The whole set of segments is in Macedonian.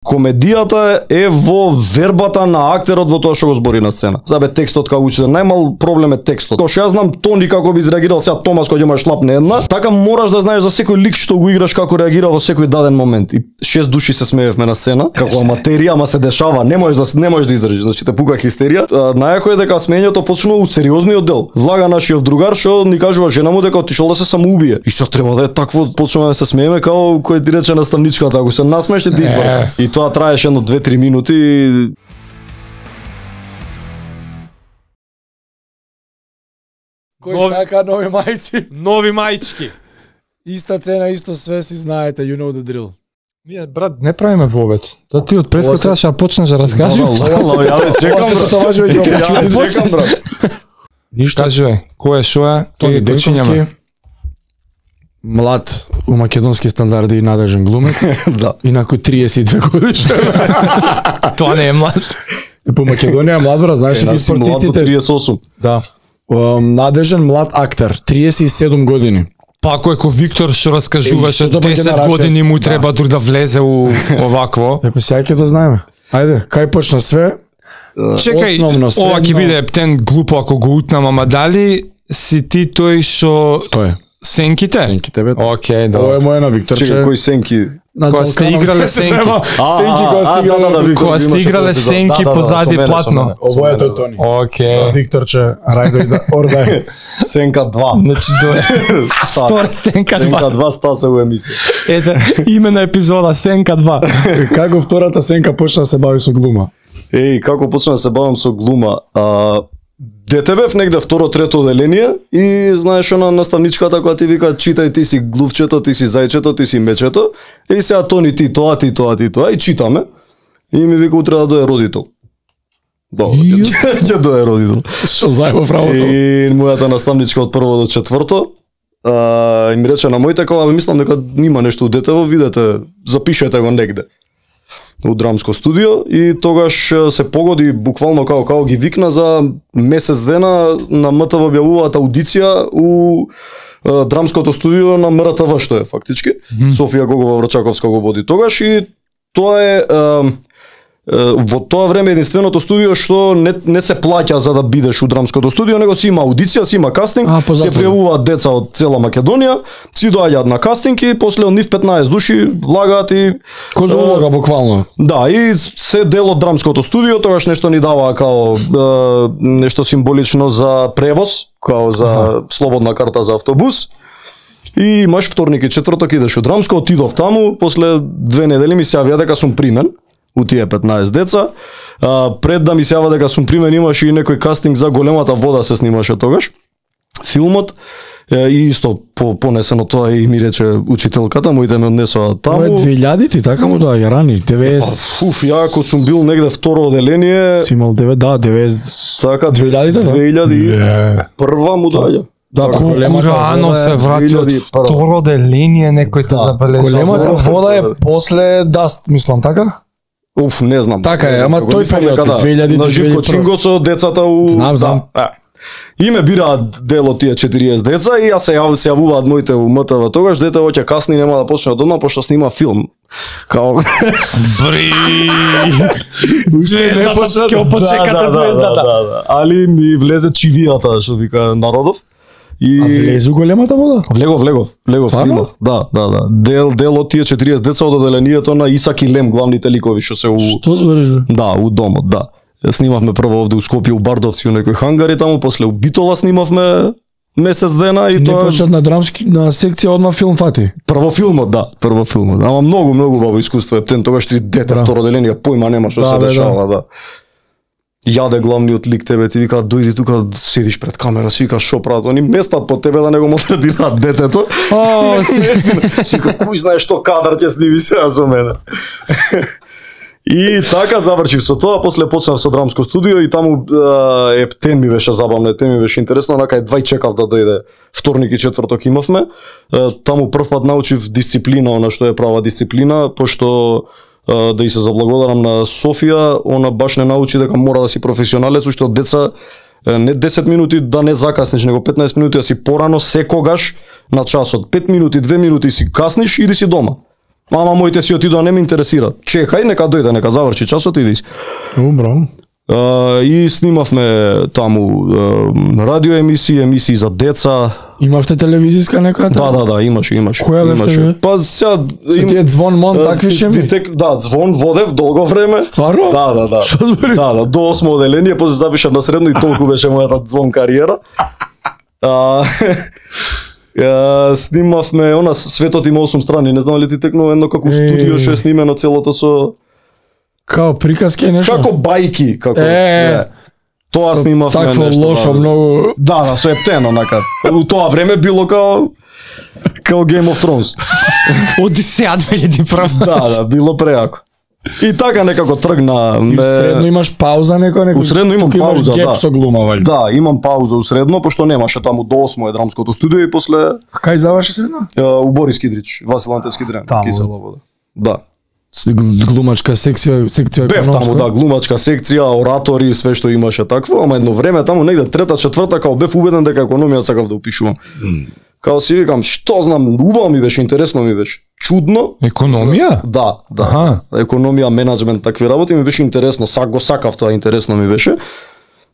Комедијата е во вербата на актерот во тоа што го збори на сцена. Забе текстот како учител, најмал проблем е текстот. Кога што ја знам Тони како би изреагирал сега Томас кога ќе му шлапне една, така мораш да знаеш за секој лик што го играш како реагира во секој даден момент. И 6 души се смеевме на сцена, како аматерија, ама се дешава, не можеш да издржиш, значи те пука хистерија. Најако е дека смењето почнува у сериозниот дел. Влага нашиот другар што ни кажува жена му дека отишол да се самоубие. И што треба да е такво, почнуваме да се смееме како кој ти рече наставничката, ако се насмееш ти избара. И тоа траеше едно 2-3 минути. Кој сака нови мајци? Нови мајчки. Иста цена, исто све, си знаете, you know the drill. Ние, брат, не правиме вовет. Да ти од преска требаше да почнеш да разкажеш. Ја чекам, брат. Ништо. Кажи, кој е, шо е, Тони почињаме. Млад у македонски стандарди и надежен глумец. Да. Инаку 32 годишен. Тоа не е млад. По Македонија е млад, брат, знаеш ли спортистите? 38. Да. Надежен млад актер, 37 години. Па ако е ко Виктор што раскажуваше, Што тоа 10 генерација години му си, треба дур да влезе у овакво. Епе сега ќе да знаеме. Ајде, кај почна све? Чекај, Основно, ова ќе средно. биде птен глупо ако го утнам, ама дали си ти тој што Тој. сенките? Сенки тебе. Океј, Ова е да. моја на Викторче. Чекај, кој сенки? Кога сте играле сенки. Сенки кога сте играле. Кога сте играле сенки позади платно. Ова е тој Тони. Океј. Викторче, рајдој да ордај. Сенка 2. Значи до Стор Сенка 2. Сенка 2 стаса у емисија. Ете, име на епизода Сенка 2. Како втората Сенка почна да се бави со глума? Еј, како почна да се бавам со глума? Дете бев негде второ, трето оделение и знаеш она наставничката која ти вика читај, ти си глувчето, ти си зајчето, ти си мечето. И сега Тони ти тоа и читаме. И ми вика утре да дое родител. Добро, ќе дое родител. Што заебав работа? И мојата наставничка од прво до четврто и ми рече на моите кога мислам дека има нешто у детево, видете, запишете го негде у драмско студио и тогаш се погоди буквално како ги викна за месец дена на МТВ објавуваат аудиција у драмското студио на МРТВ што е фактички. Софија Гогова Врачаковска го води тогаш и тоа е во тоа време единственото студио што не се плаќа за да бидеш у драмското студио, него си има аудиција, си има кастинг, се пријавуваат деца од цела Македонија, си доаѓаат на кастинг и после од нив 15 души влагаат и Кој за улога буквално? Да, и се дел од драмското студио, тогаш нешто ни дава као нешто символично за превоз, као за слободна карта за автобус. И имаш вторник и четврток идеш у драмско, отидов таму, после 2 недели ми се јавија дека сум примен у тие 15 деца. Пред да ми се јава дека сум примен имаше и некој кастинг за Големата вода се снимаше тогаш. Филмот и исто понесено тоа и ми рече учителката, моите ме однесоа таму. Тоа е 2000-ти, така му доаѓа рани, 90. Ја ако сум бил негде второ оделение, Си имал 90. така 2000-та, да? 2001 му доаѓа. Да, Рано се врати од 2001. второ деление, некој те забележа. Големата вода е после Даст, мислам, така? Уф, не знам. Така е, ама тој Мислам период, дека 2000 на Живко 2001. Чинго со децата у Знам. Да. И ме бираат дел од тие 40 деца и јас се јавуваат моите у МТВ тогаш, дете ќе касни, нема да почне од одма пошто снима филм. Као Бри! Звездата ќе почекате звездата. Али ми влезе чивијата, што вика народов. И А влезу Големата вода? Влегов Стварно? снимав. Да. Дел од тие 40 деца од оделението на Исак и Лем, главните ликови што се у Што збориш? Да, у домот, да. Снимавме прво овде у Скопје у Бардовци у некој хангари таму, после у Битола снимавме месец дена и Не тоа почнат на драмски на секција одма филм фати. прво филмот. Ама многу убаво искуство е птен, тогаш ти дете второ оделение појма нема што се дешава, да. Јаде главниот лик тебе, ти вика дојди тука, седиш пред камера, си вика шо прават, они местат по тебе да не го малтретираат детето. Си вика кој знае што кадар ќе сними сега со мене. И така завршив со тоа, после почнав со драмско студио и таму птен ми беше забавно, птен ми беше интересно, онака едва чекав да дојде вторник и четврток имавме. Таму прв пат научив дисциплина, она што е права дисциплина, пошто да и се заблагодарам на Софија, она баш не научи дека мора да си професионалец, уште од деца не 10 минути да не закаснеш, него 15 минути да си порано секогаш на часот. 5 минути, 2 минути си касниш, иди си дома. Ама моите си отидоа, не ме интересира. Чекај, нека дојде, нека заврши часот и иди си. Убро. И снимавме таму радио емисии за деца. Имавте телевизиска некоја? Да, имаше. Која бевте? Па сега Со тие звон мон такви шеми? Да, звон водев долго време. Стварно? Да. Што збори? Да, до 8 оделение, после запишав на средно и толку беше мојата звон кариера. Снимавме она Светот има 8 страни, не знам ли ти текнува едно како студио што е снимено целото со Као приказки и нешто? како бајки, како тоа Со снимавме такво нешто. лошо многу. Да, со ептен онака. У тоа време било као Game of Thrones. Одисеја 2001. Да, било преако. И така некако тргна. И средно имаш пауза некој? Усредно имам пауза, геп да. со глума, вали. Да, имам пауза усредно, пошто немаше таму до 8 е драмското студио и после Кај заврши средно? у Борис Кидрич, Васил Антевски дрем, Таму. Кисела вода. Да. Глумачка секција Бев економска. таму, да, глумачка секција, оратори, све што имаше такво, ама едно време таму негде трета, четврта, као бев убеден дека економија сакав да упишувам. Као си викам, што знам, убаво ми беше, интересно ми беше. Чудно. Економија? Да. Аха. Економија, менаџмент, такви работи ми беше интересно, го сакав тоа, интересно ми беше.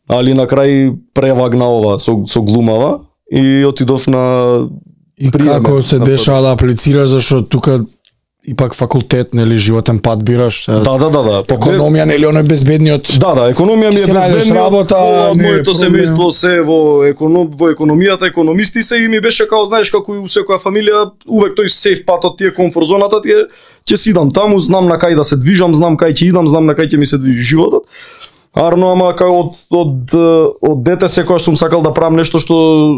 Али на крај превагна ова со глумава и отидов на И приеме, како се на дешава да аплицираш, зашто тука ипак факултет, нели, животен пат бираш. Да. Економија, нели, оној безбедниот. Да, економија ми е Си најдеш безбедно. работа, не е Моето проблем. семејство се во економијата, економисти се и ми беше као, знаеш, како и у секоја фамилија, увек тој сейф патот, тие комфорт зоната, ќе си идам таму, знам на кај да се движам, знам кај ќе идам, знам на кај ќе ми се движи животот. Арно, ама као од дете секогаш сум сакал да правам нешто што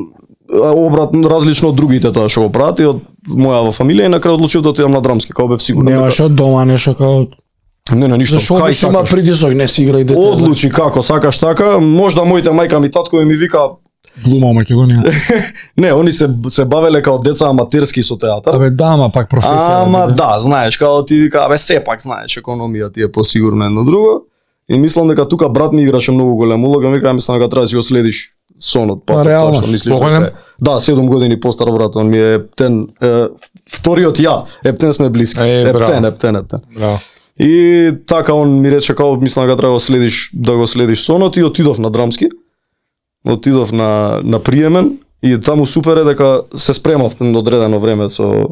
обратно различно од другите тоа што го прават и од мојава фамилија и на крај одлучив да отидам на драмски, као бев сигурен. Немаш од дома нешто како... Не, ништо. Зашо Кај обично има сакаш? притисок, не си играј дете. Одлучи како сакаш така, можда моите мајка ми татко ми вика Глума Македонија. не, они се бавеле као деца аматерски со театар. Абе да, ама пак професија. Ама да, знаеш, као ти вика, абе сепак знаеш, економија ти е посигурно едно друго. И мислам дека тука брат ми играше многу голема улога, вика мислам дека треба да си го следиш сонот, па реално, тоа што мислиш. поголем? дека е. Да, 7 години постар брат, он ми е ептен, вториот ја, ептен сме блиски. Ептен. Браво. И така он ми рече као мислам дека треба да го следиш сонот и отидов на драмски. Отидов на приемен и таму супер е дека се спремав на одредено време со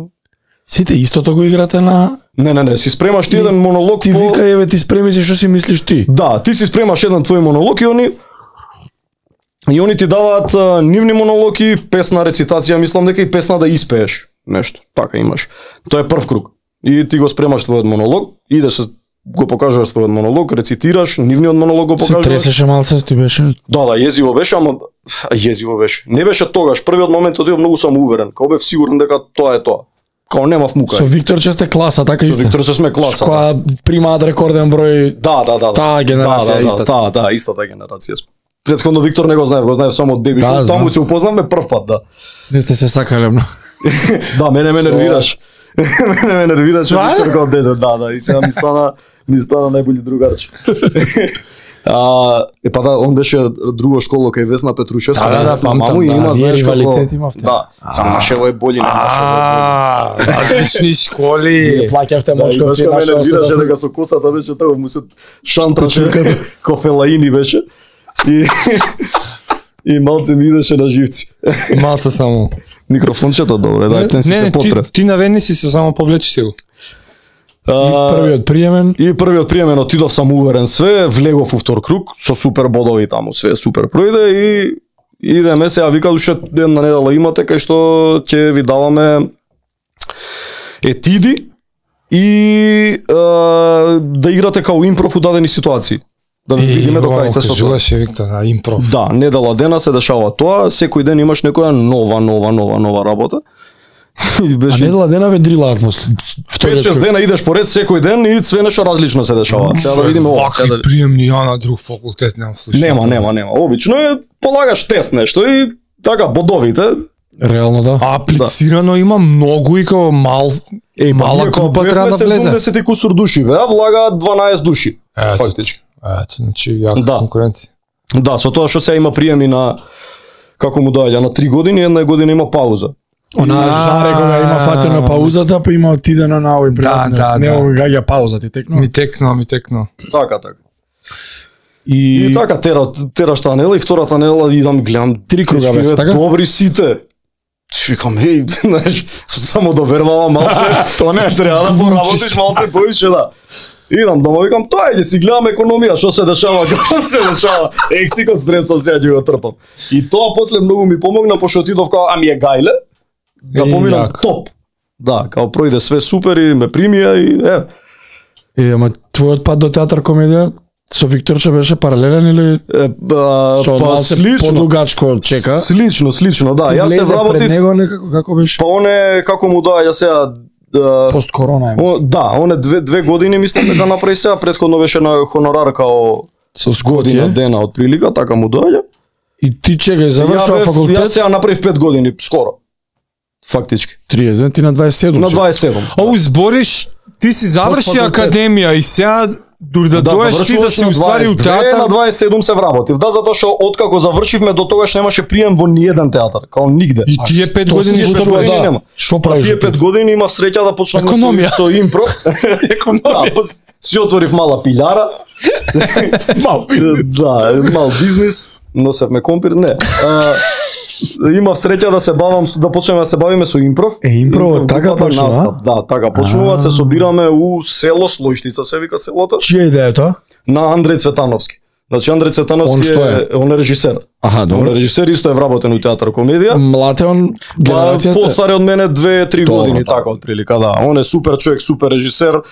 Сите истото го играте на... Не, си спремаш ти еден монолог Ти вика, еве ти спреми се, што си мислиш ти? Да, ти си спремаш еден твој монолог и они ти даваат нивни монологи, песна рецитација, мислам дека и песна да испееш нешто. Така имаш. Тоа е прв круг. И ти го спремаш твојот монолог, идеш го покажуваш твојот монолог, рецитираш, нивниот монолог го Се покажуваш. тресеше малце, ти беше... Да, језиво беше, ама језиво беше. Не беше тогаш, првиот момент отидов многу самоуверен, као бев сигурен дека тоа е тоа. Као немав мука. Со Виктор че сте класа, така Со исто? Виктор се сме класа. Која примаат рекорден број... Да. Таа генерација истата. Да, истата генерација сме. Претходно Виктор не го знаев само од Беби Шоу, таму се упознавме прв пат, да. Не сте се сакале многу. Да, мене ме нервираш. Мене ме нервираш Виктор како дете, да, и сега ми стана најболи другарче. Па да, он беше друго школо кај Весна Петрушевска. Да, памтам, маму и има, знаеш како... ривалитет имавте. Да, само Машево е боли, не Машево е Различни школи. Плаќавте боли. мочковци Да, нашо нервираше дека со косата беше тоа, му се шантраше, кофелаини беше. И малце ми идеше на живци. Малце само. Микрофончето добре, да, тен си се потреб. ти наведни си се само повлечи си го. Првиот приемен. И првиот приемен отидов самоуверен све, влегов у втор круг со супер бодови таму, све супер пројде и идеме сега вика уште една недела имате кај што ќе ви даваме етиди и да играте као импров у дадени ситуации. Да ви видиме до кај сте со тоа. Кажуваше Виктор, импров. Да, недела дена се дешава тоа, секој ден имаш некоја нова работа. И А беше недела дена ве дрилаат после. 5-6 дена идеш поред секој ден и све нешто различно се дешава. Сега да видиме ова. Вакви приемни ја на друг факултет немам слушај. Нема. Обично е полагаш тест нешто и така бодовите. Реално да. Аплицирано има многу и као мала група треба да влезе. 70 кусур души, а влагаат 12 души. Фактички. Ето, значи јака конкуренција. Да, со тоа што сега има приеми на како му доаѓа на 3 години, една година има пауза. Она жаре кога има фатено паузата, па има отидено на овој пријатно. Да. Не гаѓа пауза, ти текно. Ми текно. Така. И така терашта нела и втората нела идам гледам 3 круга дечки, беше, така? Добри сите. Викам, знаеш, само довервала малце. То не треба да поработиш малце повише, да. Идам дома, викам, тоа ќе си гледам економија, што се дешава, како се дешава. Ексикот стресот сега ќе го трпам. И тоа после многу ми помогна, пошто отидов као, ами е гајле, да поминам топ. Да, као пројде све супер и ме примија и ама твојот пат до театар комедија со Викторче беше паралелен или па слично, подугачко чека? Слично, да. Јас се вработив пред него некако како беше? Па оне како му доаѓа сега пост корона е. Да, оне 2 години мислам дека направи сега, претходно беше на хонорар као со година дена од прилика, така му доаѓа. И ти чекај, завршува факултет? Јас сега направив 5 години, скоро. Фактички. 30, ти на 27. На 27. Оу збориш, ти си заврши академија и сега дури да доеш ти да си уствари у театар. На 27 се вработив. Да, затоа што откако завршивме до тогаш немаше прием во ниеден театар, као нигде. И тие 5 години што правиш? Нема. Што правиш? Тие 5 години имав среќа да почнам со импров. Економија. Си отворив мала пилјара. Да, мал бизнис. Носевме компир, не. Имав среќа да се бавам, да почнеме да се бавиме со импров. Импров така почнува? Да, така почнува, се собираме у село Слојштица, се вика селото. Чија идеја тоа? На Андреј Цветановски. Значи Андреј Цветановски он е режисер. Аха, добро. Он е режисер, исто е вработен у театар комедија. Млад е он, генерацијата? Постаре од мене 2-3 години, така од прилика, да. Он е супер човек, супер режисер.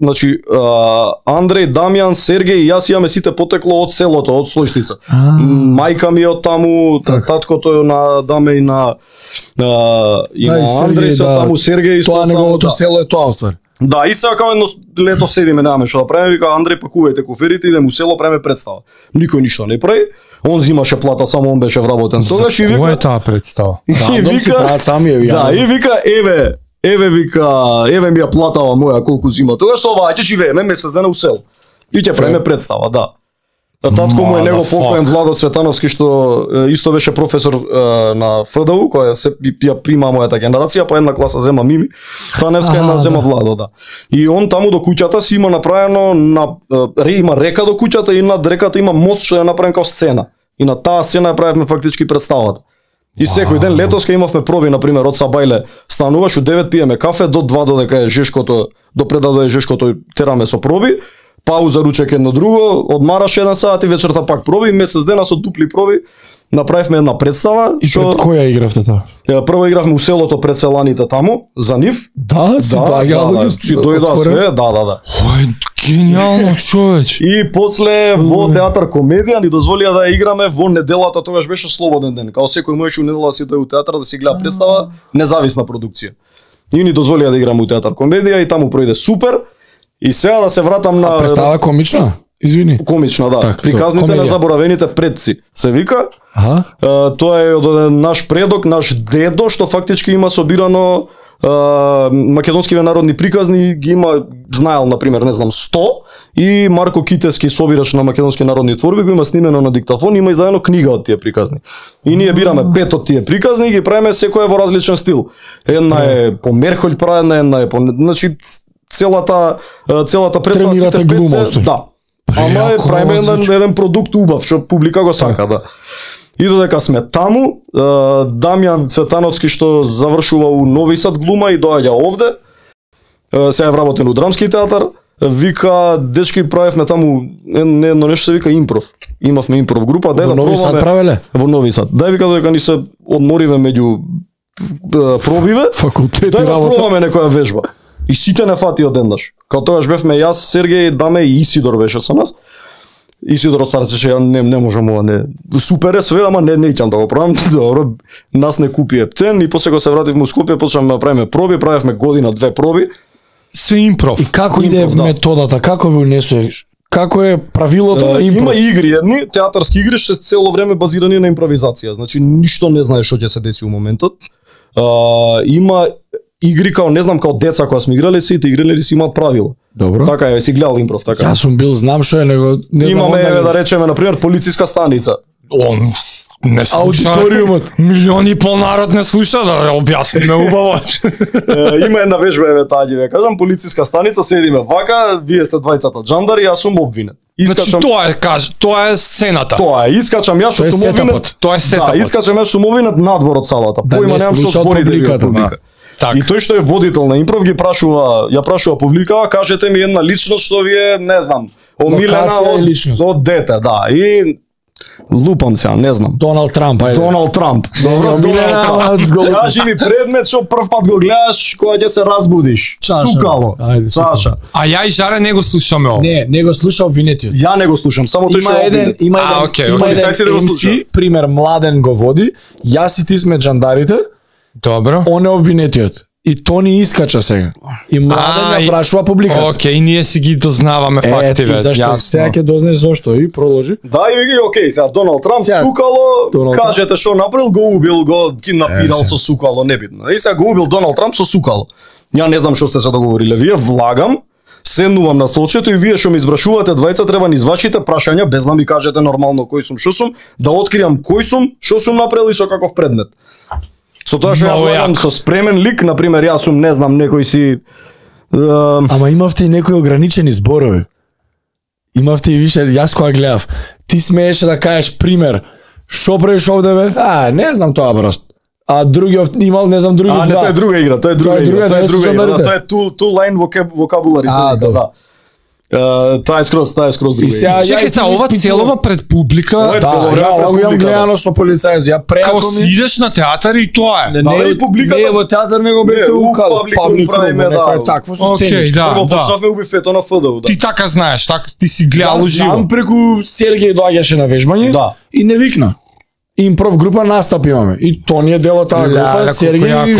Значи Андреј, Дамјан, Сергеј и јас имаме сите потекло од селото, од Слојштица. Мајка ми е од таму, таткото е на Даме и на Андреј се од таму, Сергеј исто. Тоа неговото село е тоа оствар. Да, и сега као едно лето седиме, немаме што да правиме, вика Андреј пакувајте коферите, идеме у село, правиме представа. Никој ништо не прави. Он зимаше плата, само он беше вработен. Тогаш и вика, која е таа представа? Да, дом си прават сами ја. Да, и вика еве ми ја платава моја колку зима. Тогаш со оваа ќе живееме месец дена у село. И ќе правиме представа, да. Татко му е него покоен Владо Цветановски, што исто беше професор на ФДУ, која се ја прима мојата генерација, па една класа зема Мими, Таневска една зема Владо, да. И он таму до куќата си има направено има река до куќата и над реката има мост што е направен као сцена. И на таа сцена ја правевме фактички представата. И секој ден летоска имавме проби, на пример, од Сабајле стануваш, у 9 пиеме кафе, до 2 додека е жешкото, до предадо е жешкото тераме со проби. Пауза, ручек едно друго, одмараш 1 сат и вечерта пак проби, месец дена со дупли проби, направивме една представа. И пред која игравте тоа? Прво игравме у селото пред селаните таму, за нив. Да, си дојда све, да. Ој, гениално човеч. И после во театар комедија ни дозволија да играме во неделата, тогаш беше слободен ден. Као секој можеше у недела да си дојде у театар да си гледа представа, независна продукција. И ни дозволија да играме у театар комедија и таму пројде супер. И сега да се вратам на представа комична? Извини. Комична, да. Так, приказните на заборавените предци се вика. Тоа е од наш предок, наш дедо, што фактички има собирано македонскиве народни приказни, ги има, знаел, например, не знам, 100, и Марко Китески, собирач на македонски народни творби, го има снимено на диктафон, има издадено книга од тие приказни. И ние бираме 5 од тие приказни и ги правиме секоја во различен стил. Една е по Мерхолј правена, една е по... Значи, целата представа сите пет, да. Ама е правиме еден продукт убав, што публика го сака, да. И додека сме таму, Дамјан Цветановски што завршува у Нови Сад глума и доаѓа овде, сега е вработен у Драмски театар, вика, дечки правевме таму едно нешто се вика импров. Имавме импров група, во Нови Сад правеле? Во Нови Сад. Дај вика додека ни се одмориве меѓу пробиве, дај да пробаме некоја вежба. И сите не фати одеднаш. Као тогаш бевме јас, Сергеј, Даме и Исидор беше со нас. Исидор остарачеше, ја не можам ова, не. Супер е све, ама не ќе да го правам. Добро, нас не купи ептен и после кога се вративме у Скопје, почнавме да правиме проби, правевме година 2 проби. Све импров. И како иде методата, како го унесуваш? Како е правилото на импров? Има игри, едни театарски игри што се цело време базирани на импровизација. Значи ништо не знаеш што ќе се деси у моментот. Има игри као, не знам, као деца кога сме играле, сите играли си имаат правила. Добро. Така е, си гледал импров, така. Јас сум бил, знам што е, него не знам. Имаме, да речеме, на пример, полициска станица. Он не слуша. Аудиториумот. Милиони и пол народ не слуша, да објасниме убаво. Има една вежба, еве таа ќе ве кажам, полициска станица, седиме вака, вие сте двајцата джандари, јас сум обвинет. Значи тоа е сцената. Тоа е, искачам јас што сум обвинет. Тоа е сетапот. Да, искачам јас сум обвинет надвор од салата. Поима немам што збори публика. Так. И тој што е водител на импров ги прашува, ја прашува публикава, кажете ми една личност што ви е, не знам, омилена од дете, да. И лупам се, не знам. Доналд Трамп, ајде. Доналд Трамп. Добро, Доналд Трамп. Кажи ми предмет што прв пат го гледаш кога ќе се разбудиш. Чаша. Сукало. Ајде, Чаша. А ја и Жаре не го слушаме ово. Не го слуша обвинетиот. Ја не го слушам, само тој што Има окей. еден MC, пример Младен го води, јас и ти сме джандарите, Добро. он е обвинетиот. И Тони искача сега. И Младен ја прашува публиката. Окей, ние си ги дознаваме факти ве. Зашто сега ќе дознаеш зошто и продолжи. Да, и ги окей, сега Доналд Трамп сукало, кажете што направил, го убил, го киднапирал со сукало, небитно. И сега го убил Доналд Трамп со сукало. Ја не знам што сте се договориле, вие влагам, седнувам на столчето и вие што ми избрашувате двајца треба ни извачите прашања без да ми кажете нормално кој сум, што сум, да откриам кој сум, што сум направил и со каков предмет. Со тоа што ја влагам со спремен лик, на пример јас сум, не знам, некој си Ама имавте и некои ограничени зборови. Имавте и више, јас кога гледав, ти смееше да кажеш пример, шо правиш овде бе? Не знам тоа просто. А другиот имал, не знам, други два. Не, тоа е друга игра, тоа е друга игра, тоа е two line vocabulary, да. Таа е скроз друга. Чекај се, ова целова пред публика. Ја го имам гледано со полицајот. Ја преако ми си идеш на театар и тоа е. Не, публика. Не, во театар него беше укал. Некој такво со сценички. Прво почнавме у бифето на ФДУ. Ти така знаеш, ти си гледал живо. Знам преку Сергеј доаѓаше на вежбање и не викна. Импров група настап имаме. И Тони е дел од таа група, Сергеј и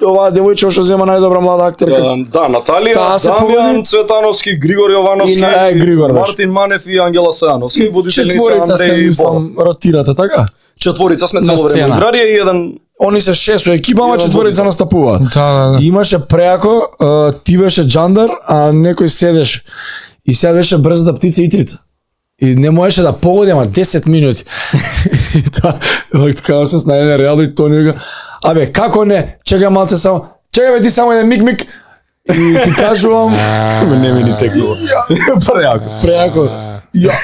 оваа девојче што зема најдобра млада актерка. Да, Наталија, Дамјан Цветановски, Григор Јовановски, Мартин Манев и Ангела Стојановски, водителници Андреј и Бора. Ротирате, така? Четворица сме цело време играри и еден. Они се 6 екипа, ама четворица настапуваат. Да. Имаше преако, ти беше джандар, а некој седеш. И сега беше брзата птица Итрица. И не можеше да погоди, ама 10 минути. И тоа, така се снајде реално и Тони вика, абе, како не, чекај малце само, чекај бе ти само еден миг, и ти кажувам, не ми ни текнува. Преако. Ја,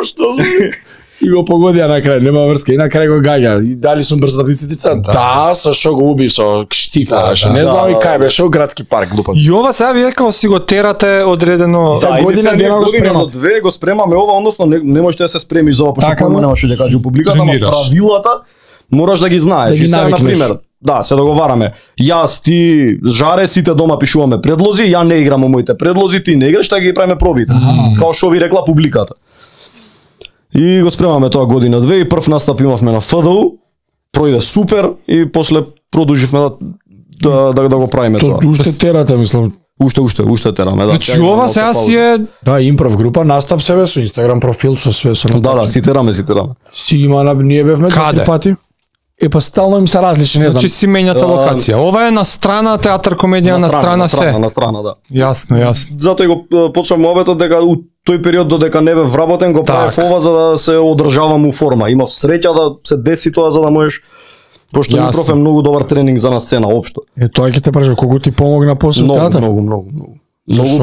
што зби? И го погодија на крај, нема врска, и на крај го гаѓа. И дали сум брзата птица? Да, со шо го уби, со штика, не знам и кај беше, градски парк, глупав. И ова сега вие како си го терате одредено за година до две го спремаме ова, односно не можеш да се спремиш за ова, пошто кој немаше да каже публиката, ама правилата мораш да ги знаеш. И сега на пример, да, се договараме. Јас, ти, Жаре, сите дома пишуваме предлози, ја не играм моите предлози, ти не играш, така ги правиме пробите. Као што ви рекла публиката. И го спремаме тоа година две и прв настап имавме на ФДУ, пројде супер и после продолживме да го правиме тоа. Уште терате, мислам. Уште тераме, да. Значи ова сега си е импров група, настап себе со Инстаграм профил со све со настап. Да, си тераме. Си има, ние бевме каде пати. Па стално им се различни, не знам. Значи си менјате локација. Ова е на страна театар комедија, на страна се. На страна, да. Јасно. Затоа го почнав мобетот дека у тој период додека не бев вработен го правев ова за да се одржавам у форма. Имав среќа да се деси тоа за да можеш, пошто импров е многу добар тренинг за на сцена општо. Тоа ќе те прашам колку ти помогна после театар? Многу,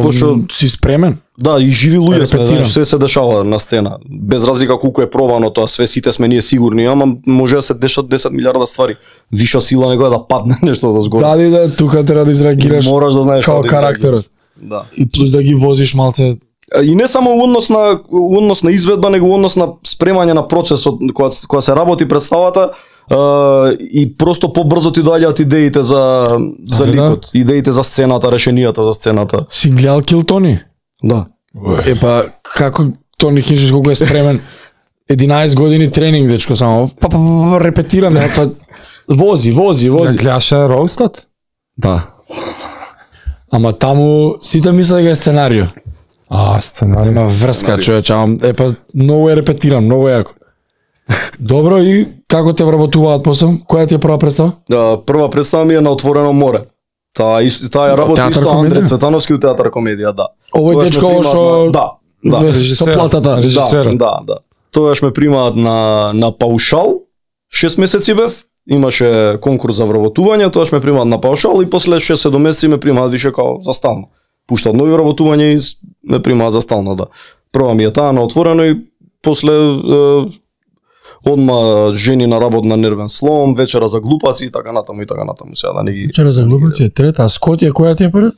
пошто си спремен. Да, и живи луѓе сме, се дешава на сцена. Без разлика колку е пробано тоа, све сите ние сигурни, ама може да се дешат 10 милиарда ствари. Виша сила некоја да падне нешто да згоди. Да, тука треба да изреагираш. Мораш да знаеш како карактерот. Да. И плюс да ги возиш малце. И не само однос на изведба, него однос на спремање на процесот кога се работи представата. И просто побрзо ти доаѓаат идеите за ликот, идеите за сцената, решенијата за сцената. Си гледал Кил Тони? Да. Епа како Тони Хинчич колку е спремен? 11 години тренинг, дечко, само репетираме, вози. Гледаше роустот? Да. Ама таму сите мислат дека е сценарио. Сценарио. Има врска, човече, епа многу е репетиран, многу јако. Добро, и како те вработуваат после? Која ти е прва представа? Прва представа ми е на Отворено море. Таа ја работи исто Андреј Цветановски у театар комедија, да. Овој дечко што да, со платата, режисерот. Да. тогаш ме примаат на паушал, 6 месеци бев, имаше конкурс за вработување, тогаш ме примаат на паушал и после 6-7 месеци ме примаат више као за стално. Пуштат нови вработување и ме примаат за стално, да. Прва ми е таа на отворено и после одма жени на работ на нервен слом, вечера за глупаци и така натаму. Сега да не ги... Вечера за глупаци е трета, а Скотија која ти е пред?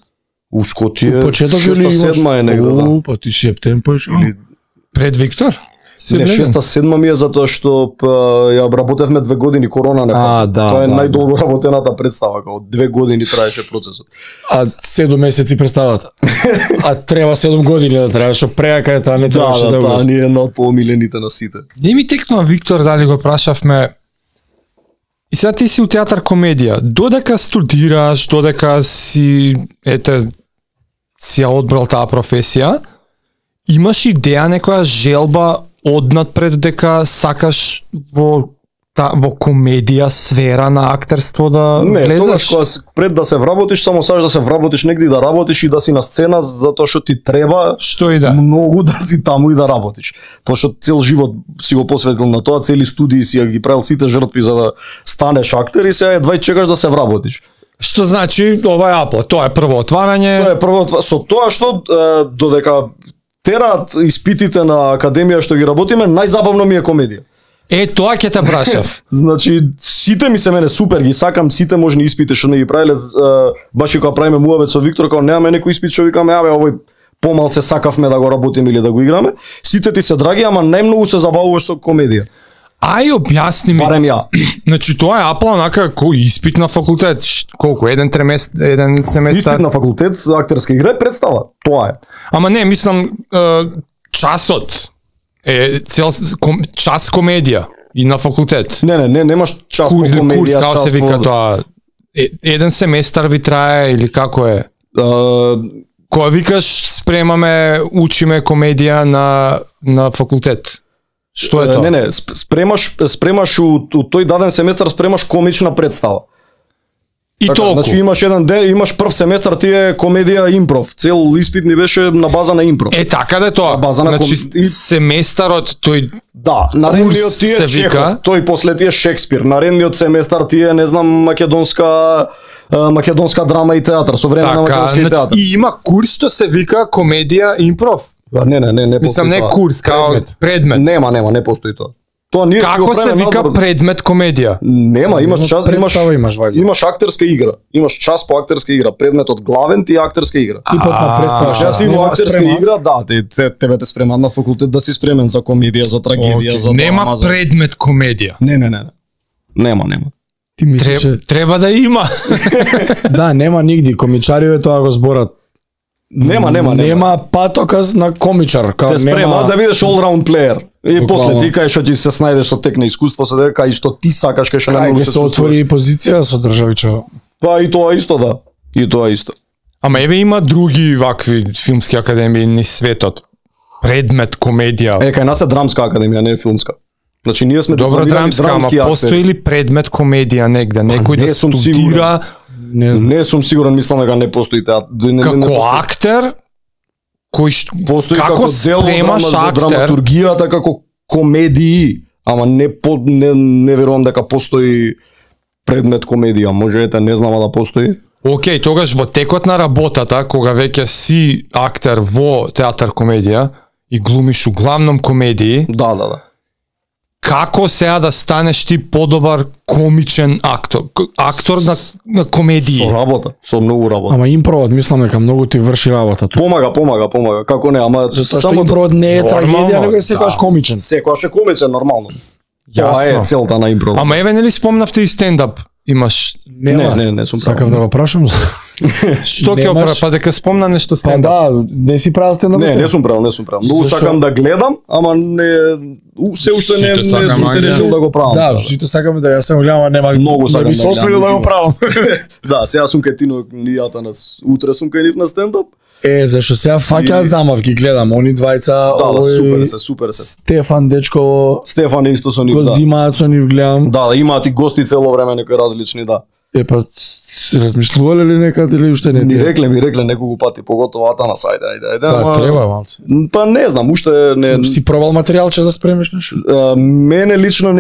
У Скотија почеток или 6-7 е негде, да. Па ти септември или пред Виктор? Не, 6-7 ми е затоа што ја работевме 2 години, корона не па. Тоа е најдолго работената представа, као 2 години траеше процесот. А 7 месеци представата. А треба 7 години да трае, што преака е таа не требаше да го. Да, ние една од поомилените на сите. Не ми текнува Виктор дали го прашавме. И сега ти си у театар комедија. Додека студираш, додека си си ја одбрал таа професија, имаш идеја, некоја желба однапред дека сакаш во комедија сфера на актерство да влезеш? Не, пред да се вработиш, само сакаш да се вработиш негде и да работиш и да си на сцена затоа што ти треба што и да многу да си таму и да работиш. Пошто цел живот си го посветил на тоа, цели студии си ги правил сите жртви за да станеш актер и сега едва чекаш да се вработиш. Што значи ова е апла, тоа е прво отварање. Тоа е прво со тоа што додека тераат испитите на академија што ги работиме, најзабавно ми е комедија. Тоа ќе те прашав. Значи, сите ми се мене супер, ги сакам сите можни испити што не ги правиле, баш и кога правиме муабет со Виктор, кога немаме некој испит што викаме, овој помалце сакавме да го работиме или да го играме. Сите ти се драги, ама најмногу се забавуваш со комедија. Ај објасни ми. Барем ја. Значи тоа е апла онака кој испит на факултет. Колку? Еден семестар. Испит на факултет, актерска игра, представа. Тоа е. Ама не, мислам часот е час комедија и на факултет. Не, немаш час по комедија, курс, како час се вика по... тоа. Еден семестар ви трае или како е? Која викаш спремаме, учиме комедија на факултет. Што е тоа? Не, спремаш у тој даден семестар спремаш комична представа. И така, толку. Значи имаш еден ден, имаш прв семестар ти е комедија импров. Цел испит ни беше на база на импров. Така да е тоа. Значи семестарот тој да, наредниот ти е Чехов, тој после ти е Шекспир. Наредниот семестар ти е, не знам, македонска драма и театар, современа македонска и театар. И има курс што се вика комедија импров. Не постои. Мислам не курс, као предмет. Нема, не постои тоа. Тоа ние како се вика предмет комедија? Нема, имаш час, имаш актерска игра. Имаш час по актерска игра. Предметот главен ти е актерска игра. Типот на представа. Ти во актерска игра, да, тебе те спремат на факултет да си спремен за комедија, за трагедија, за драма. Нема предмет комедија. Не. Нема. Ти мислиш треба да има. Да, нема нигде. Комичариве тоа го зборат. Нема патоказ на комичар. Те спрема да бидеш all-round player. И после ти кај што ти се снајдеш со тек на искуство, се дека и што ти сакаш, кај што најмногу се отвори позиција со државича. Па и тоа исто, да. И тоа исто. Ама еве има други вакви филмски академии низ светот. Предмет комедија. Кај нас е драмска академија, не е филмска. Значи ние сме добро драмска, ама постои ли предмет комедија негде? Некој да студира? Не сум сигурен, мислам дека не постои театар. Како актер? Постои како дел од драматургијата, како комедии, ама не верувам дека постои предмет комедија. Може не знам да постои. Океј, тогаш во текот на работата, кога веќе си актер во театар комедија и глумиш углавном комедии. Да. Како сега да станеш ти подобар комичен актор на комедија? Со работа, со многу работа. Ама импровот мислам дека многу ти врши работа. Помага, како не, ама само импровот не е трагедија, него е секогаш комичен. Секогаш е комичен нормално. Тоа е целта на импров. Ама еве нели спомнавте и стендап? Имаш? Не сум правил. Сакав да го прашам. Што ќе опра, па дека спомна нешто стендап? Па да, не си правил стендап? Не сум правил. Многу сакам да гледам, ама се уште не сум се решил да го правам. Да, сите сакаме да ја сам гледам, нема многу сакам. Не би се осмелил да го правам. Да, сега сум кај Тино Нијата нас. Утре сум кај нив на стендап. Зашо сега фаќаат замавки, гледам, они двајца, да, супер се. Стефан Дечко, Стефан е исто со нив, го зимаат со нив, гледам. Да, имаат и гости цело време некои различни, да. Па размислувале ли некад или уште не? Ми рекле неколку пати, поготово Атанас, ајде. Да, треба малце. Па не знам, уште не. Си пробал материјалче да спремиш нешто? Мене лично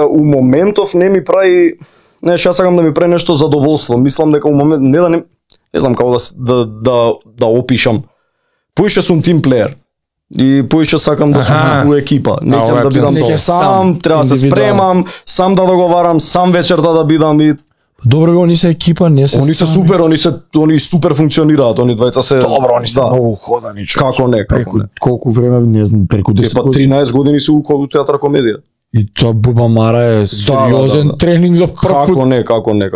у моментов не ми прави, јас сакам да ми прави нешто задоволство. Мислам дека у момент не знам како да опишам. Поише сум тим плеер. И поише сакам да сум у екипа. Не ќе да бидам сам, треба да се спремам, сам да договарам, сам вечерта да бидам и добро, они се екипа, не се. Они се супер, они супер функционираат, они двајца се. Добро, они се многу ходани. Како не. Колку време, не знам, преку 10 години. 13 години се у театар комедија. И тоа Буба Мара е сериозен тренинг за прв пат. Како не.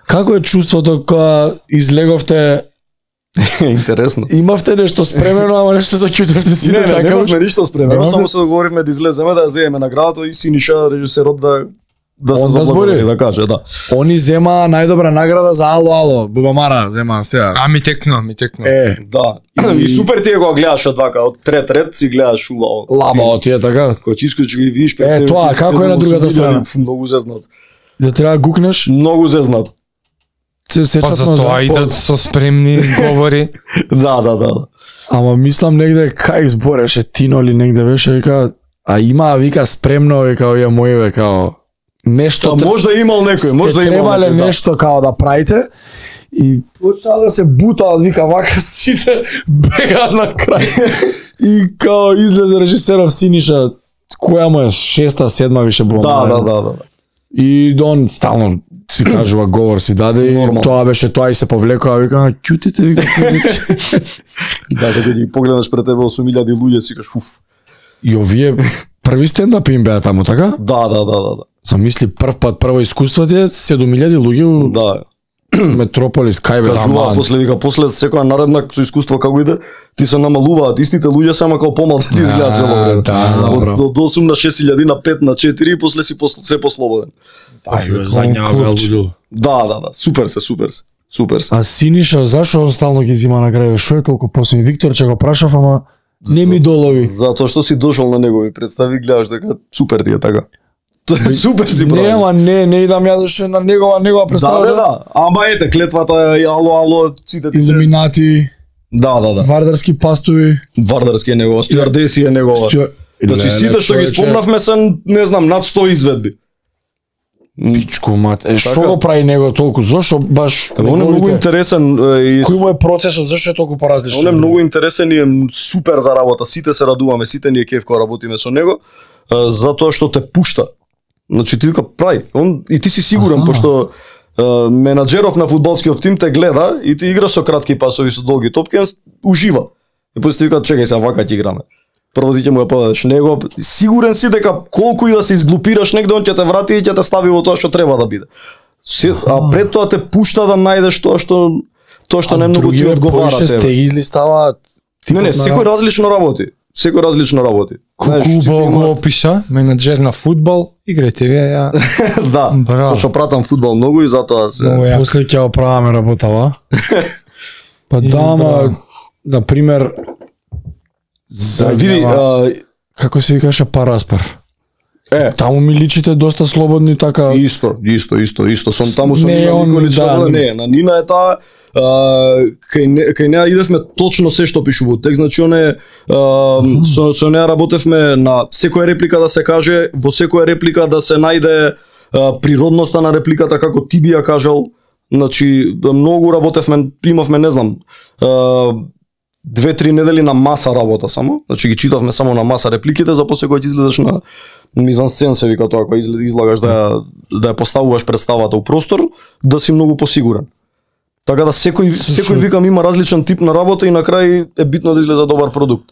Како е чувството кога излеговте? Интересно. Имавте нешто спремено, ама нешто заќутевте си не така? Немавме ништо спремено, само се договоривме да излеземе, да ја земеме наградата и Синиша, режисерот, да се заблагодари, да каже, да. Они зема најдобра награда за Ало, Буба Мара зема сега. Ми текно. Да. И супер ти го гледаш од вака, од трет ред си гледаш убаво. Лабао ти е така. Кој ти искаш ги видиш пред тебе. Тоа, како е на другата страна? Многу зезнат. Да треба да гукнеш? Многу зезнат. Се сечат за тоа идат со спремни говори. Да. Ама мислам негде кај збореше Тино ли негде беше, вика, вика спремно, вика, овие мои, века, нешто можда имал некој, можда имал. Требале нешто као да правите и почнаа да се бутаат, вика, вака сите бегаат на крај. И као излезе режисеров Синиша, која му е 6-7 више била. Да. И он стално си кажува говор си даде и тоа беше тоа и се повлекува, вика, ќутите, вика. Да, дека ги погледнаш пред тебе 8.000 луѓе, си кажеш, уф. И овие први стендап им беа таму, така? Да. Замисли прво искуство ти е 7.000 луѓе. Да. Метрополис, кај бе таму. После секоја наредна со искуство како иде, ти се намалуваат истите луѓе, само како помалку ти изгледаат цело време. Од 8 на 6.000 на 5 на 4 и после си се послободен. Да, супер се. А Синиша, зашо он стално ги зима на крај? Шо е толку посебно? Виктор ќе го прашав, ама не ми долови. Затоа што си дошол на негови представи, гледаш дека супер ти е така. Супер си прави. Не идам ја доше на негова представа. Да. Ама ете, клетвата е ало, сите ти се. Илуминати. Да. Вардарски пастови. Вардарски е негова, стюардеси е негова. Значи сите што ги спомнавме се, не знам, над 100 изведби. Пичко мат. Што го прави него толку? Зошто баш? Он е многу интересен. Кој му е процесот? Зошто е толку поразличен? Он е многу интересен и е супер за работа. Сите се радуваме, сите ни е кеф кога работиме со него, затоа што те пушта. Значи ти вика прави. И ти си сигурен, пошто менаџеров на фудбалскиот тим те гледа и ти играш со кратки пасови, со долги топки, он ужива. И после ти вика чекај се, вака ќе играме. Прво ти ќе му ја подадеш него, сигурен си дека колку и да се изглупираш негде, он ќе те врати и ќе те стави во тоа што треба да биде. А пред тоа те пушта да најдеш тоа што не многу ти одговара тебе. Сте или ставаат? Не, секој различно работи. Куба го опиша, менаџер на фудбал, играјте вие, ја. Да, што пратам фудбал многу и затоа се. После ќе оправаме работава. Па да, на пример, види, како се викаше Параспар. Таму ми личите доста слободни така. Исто. Сум таму со Нина. Не, на Нина е таа кај неа идевме точно се што пишува текст, значи оне со неа работевме на секоја реплика да се каже, во секоја реплика да се најде природноста на репликата како ти би ја кажал. Значи многу работевме, имавме не знам 2-3 недели на маса работа само, значи ги читавме само на маса репликите, за после кога ќе излезеш на мизансцен се вика тоа, кога излагаш да ја поставуваш представата у простор, да си многу посигурен. Така да секој викам има различен тип на работа и на крај е битно да излезе добар продукт.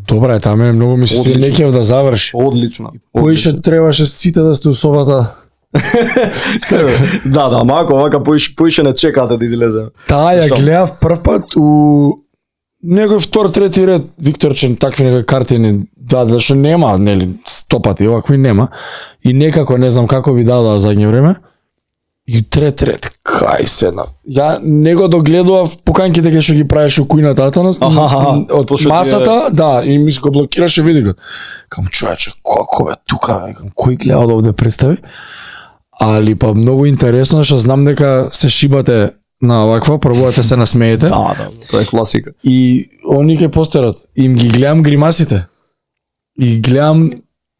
Добре, таме многу ми се лекев да заврши. Одлично. Кој ше требаше сите да сте у собата? Да, мако, вака поише не чекате да излезе. Таа ја гледав прв пат у некој втор, трети ред, Викторчен, такви некои картини, да, зашто нема, нели, 100 пати, овакви нема. И некако, не знам како ви дадоа задње време. И трети ред, кај седна. Ја него догледував поканките кај што ги правеше у кујната Атанас, од масата, да, и ми се го блокираше, види го. Кам човече, како бе тука, кој гледа од овде представи? али па многу интересно што знам дека се шибате на ваква, пробувате се насмеете. Да, тоа е класика. И они ке постерот, им ги гледам гримасите. И гледам,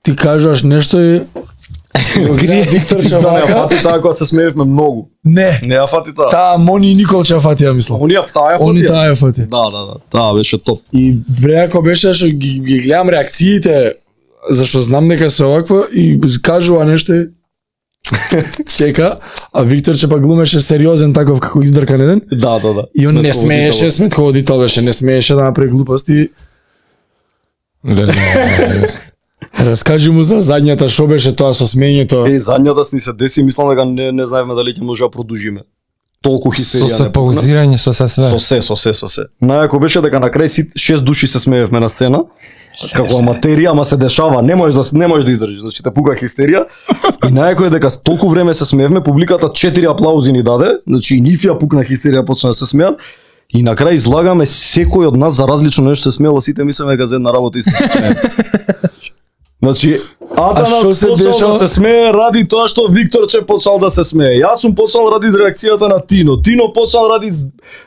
ти кажуваш нешто и Виктор Не ја Чавака. фати таа кога се смеевме многу. Не, Не ја фати таа. таа Мони и Никол ќе фати, ја мислам. Они таа ја фати. Они таа ја фати. Да, таа беше топ. И бреако беше што ги гледам реакциите, зашто знам дека се овакво и кажува нешто и чека, а Виктор че па глумеше сериозен таков како издркан еден. Да. И он не смееше, сметководител беше, не смееше да направи глупости. Раскажи му за задњата, шо беше тоа со смењето. Задњата ни се деси, мислам дека не знаевме дали ќе може да продолжиме. Толку хистерија. Со се паузирање, со се све. Со се. Најако беше дека на крај 6 души се смеевме на сцена. Како аматерија, ама се дешава, не можеш да издржиш, значи те пука хистерија. И најако е дека толку време се смеевме, публиката 4 аплаузи ни даде, значи и нив ја пукна хистерија, почна да се смеат. И на крај излагаме секој од нас за различно нешто се смеело, сите мислеме дека за една работа исто се смееме. Значи, Атанас почнал да се смее ради тоа што Викторче почнал да се смее. Јас сум почнал ради реакцијата на Тино. Тино почнал ради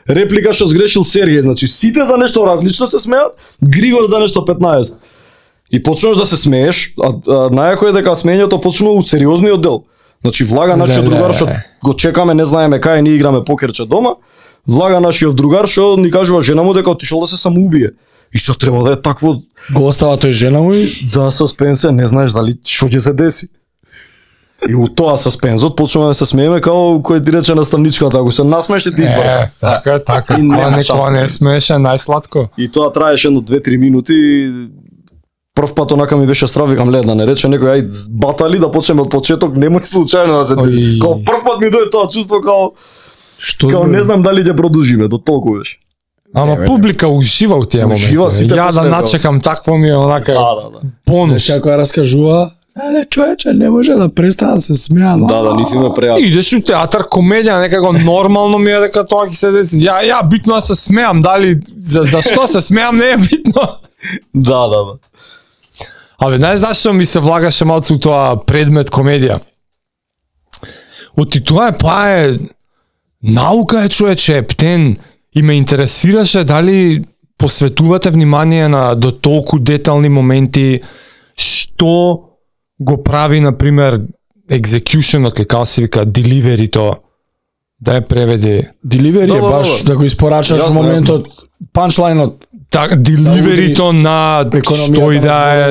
реплика што сгрешил Сергеј. Значи, сите за нешто различно се смеат, Григор за нешто 15. И почнеш да се смееш, а најако е дека смењето почнува у сериозниот дел. Значи, влага нашиот другар што го чекаме, не знаеме кај, ние играме покерче дома. Влага нашиот другар што ни кажува жена му дека отишол да се самоубие. И што треба да е такво. Го остава тој жена му и Да, суспензија, не знаеш дали што ќе се деси. И у тоа суспензот почнуваме да се смееме како кој ти рече наставничката, ако се насмееш ти избара. Така. И нема Кога не смееше најсладко. И тоа траеше едно 2-3 минути. Прв пат онака ми беше страв, викам лед да не рече некој ај батали да почнеме од почеток, немој случајно да се деси. Као прв пат ми дое тоа чувство као не знам дали ќе продолжиме, до толку беше. Ама публика ужива у тие моменти. сите Ја да посмева. начекам такво ми е онака бонус. како раскажува, не човече, не може да престана да се смеа. Да, ниф име преа. Идеш у театар, комедија, некако нормално ми е дека тоа ќе се деси. Ја битно да се смеам, дали за што се смеам не е битно. Да. Абе, знаеш зашто ми се влагаше малку у тоа предмет комедија? Оти тоа е наука е, човече, ептен. И ме интересираше дали посветувате внимание на до толку детални моменти, што го прави, например, executionот, како се вика, delivery-то, да ја преведи. Delivery е баш да го испорачаш во моментот, панчлайнот. Так, delivery-то на што и да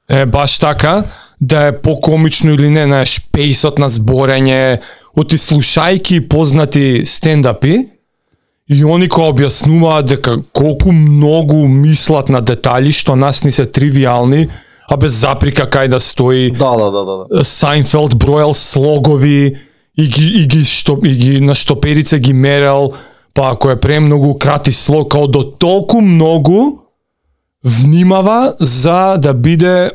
е баш така, да е покомично или не, знаеш, пейсот на зборење, оти слушајки познати стендапи, и они кои објаснуваат дека колку многу мислат на детали што нас ни се тривијални, а без заприка кај да стои. Да. Сайнфелд броел слогови и ги на штоперице ги мерел, па ако е премногу крати слог, као до толку многу внимава за да биде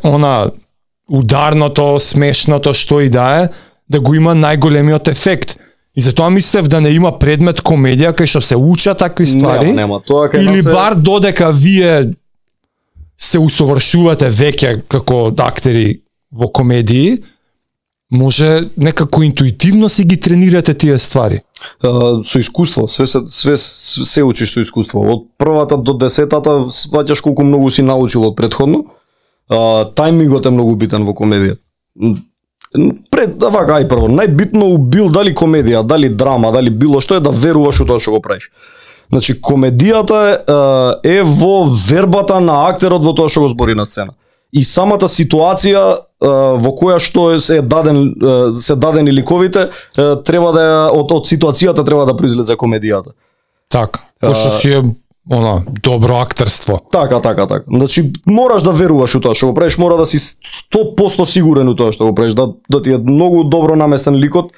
ударното, смешното, што и да е, да го има најголемиот ефект. И затоа мислев да не има предмет комедија кај што се учат такви ствари. Нема. Тоа кај или нас бар додека вие се усовршувате веќе како актери во комедии, може некако интуитивно си ги тренирате тие ствари. Со искуство, се учиш со искуство. Од првата до 10-та сваќаш колку многу си научил од претходно. Тајмингот е многу битен во комедија. Ај прво, најбитно у бил дали комедија, дали драма, дали било што е да веруваш у тоа што го правиш. Значи, комедијата е во вербата на актерот во тоа што го збори на сцена. И самата ситуација во која што се дадени ликовите, треба да од ситуацијата треба да произлезе комедијата. Така, пошто си е добро актерство. Така. Значи, мораш да веруваш у тоа што го правиш, мора да си 100% сигурен у тоа што го правиш, да ти е многу добро наместен ликот,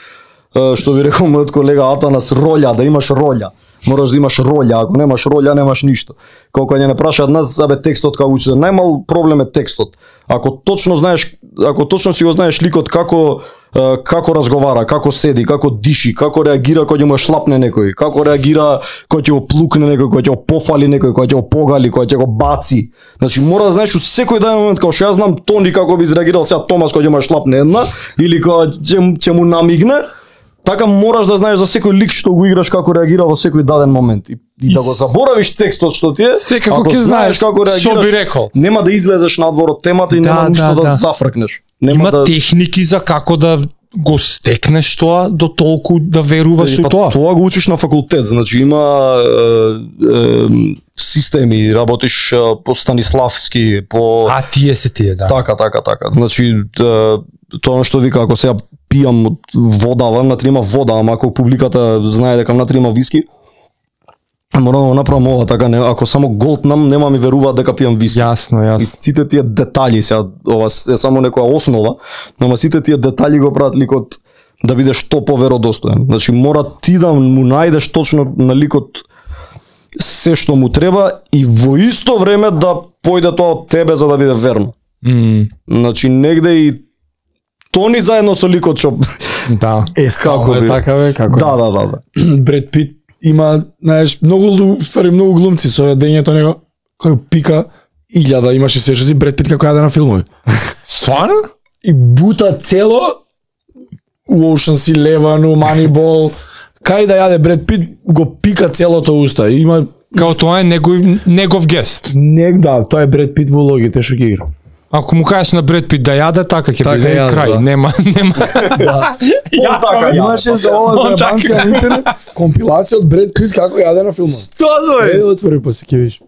што би рекол мојот колега Атанас, роља, да имаш роља. Мораш да имаш роља, ако немаш роља, немаш ништо. Колку ќе не прашаат нас за текстот како учител, најмал проблем е текстот. Ако точно си го знаеш ликот како како разговара, како седи, како диши, како реагира кога ќе му шлапне некој, како реагира кога ќе го плукне некој, кога ќе го пофали некој, кога ќе го погали, кога ќе го баци. Значи мора да знаеш у секој даден момент, како што ја знам Тони како би изреагирал сега Томас кога ќе му шлапне една или кога ќе му намигне. Така мораш да знаеш за секој лик што го играш како реагира во секој даден момент. И да го заборавиш текстот што ти е, секако ќе знаеш како реагираш, што би рекол. Нема да излезеш надвор од темата и нема ништо да зафркнеш. Има техники за како да го стекнеш тоа до толку да веруваш у тоа. Тоа го учиш на факултет, значи има системи, работиш по Станиславски, по тие се тие, да. Така. Значи тоа што вика ако сега пијам од вода, внатре има вода, ама ако публиката знае дека внатре има виски, морам да направам ова, така не, ако само голтнам, нема ми веруваат дека пијам виски. Јасно. И сите тие детали, сега ова е само некоја основа, но сите тие детали го прават ликот да биде што поверодостоен. Значи мора ти да му најдеш точно на ликот се што му треба и во исто време да појде тоа од тебе за да биде верно. Значи негде и Тони заедно со ликот што да. Како е така бе, како. Да. Бред Пит има, знаеш, многу глумци со дењето него кој пика 1000 имаше се што си Бред Пит како јаде на филмови. Стварно? И бута цело у Ocean's Eleven, Moneyball, кај да јаде Бред Пит го пика целото уста. Има као тоа е негов гест. Да, тоа е Бред Пит во улогите што ги игра. Ако му кажеш на Бред Пит да јаде, така ќе биде крај. Да. Нема. Да. Имаше за ова за банција на интернет компилација од Бред Пит како јаде на филмот. Што збориш? Отвори па си ќе видиш.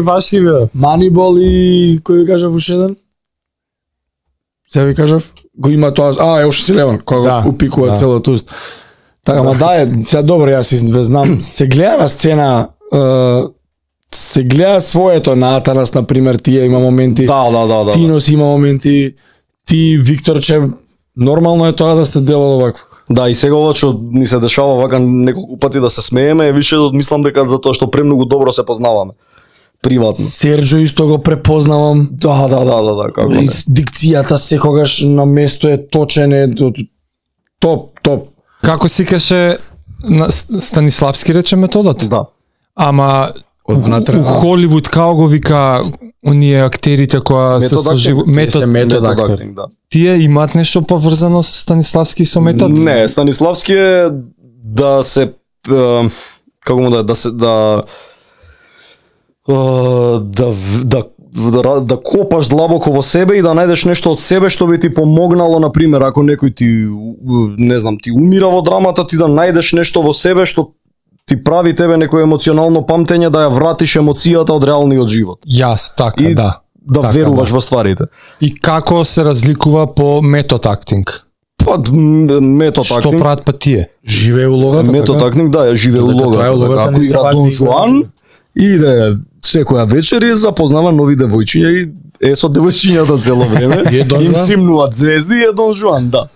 Баш ќе биде. Moneyball и кој ви кажав уште еден? Се ви кажав? Го има тоа, Ocean's Eleven, кога го упикува целото уст. Така, ма да е, сега добро, јас знам, се гледа на сцена, се гледа своето на Атанас, например, тие има моменти, Да. Тинос има моменти, ти, Викторче, нормално е тоа да сте делало вакво. Да, и сега ова што ни се дешава вака неколку пати да се смееме, више мислам дека затоа што премногу добро се познаваме. Приватно. Серџо исто го препознавам. Да, како не. Дикцијата секогаш на место е точен, е топ. Како си каше на Станиславски рече методот? Да. Ама од внатре у Холивуд како го вика оние актерите кои се со метод актер. Да. Тие имаат нешто поврзано со Станиславски со метод? Не, Станиславски е да се како му да копаш длабоко во себе и да најдеш нешто од себе што би ти помогнало, на пример, ако некој ти не знам, ти умира во драмата, ти да најдеш нешто во себе што ти прави тебе некој емоционално памтење да ја вратиш емоцијата од реалниот живот. Така, и да. Да веруваш во стварите. И како се разликува по метод актинг? Метод актинг. Што прават па тие? Живее улогата. Метод актинг, да, живее улогата. Ако игра Дон Жуан, иде секоја вечер и запознава нови девојчиња и е со девојчињата цело време. Им симнуваат звезди и е Дон Жуан, да.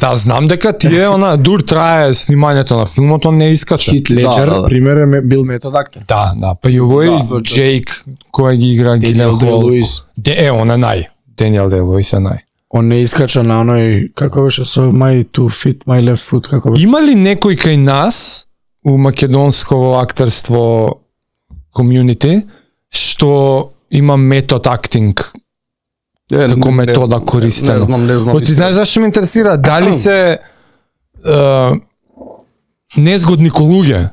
Да, знам дека тие, дур трае снимањето на филмот, он не искача. Хит Леджер, пример е бил метод актер. Да, па и овој Джейк, кој ги игра Даниел Дей-Луис. Он е нај. Даниел Дей-Луис е нај. Он не искача на оној, како беше со my two feet, my left foot, како беше. Има ли некој кај нас у македонско актерство комјунити што има метод актинг како метода користена? Не знам. Ти знаеш зашто ме интересира? Дали се незгодни луѓе?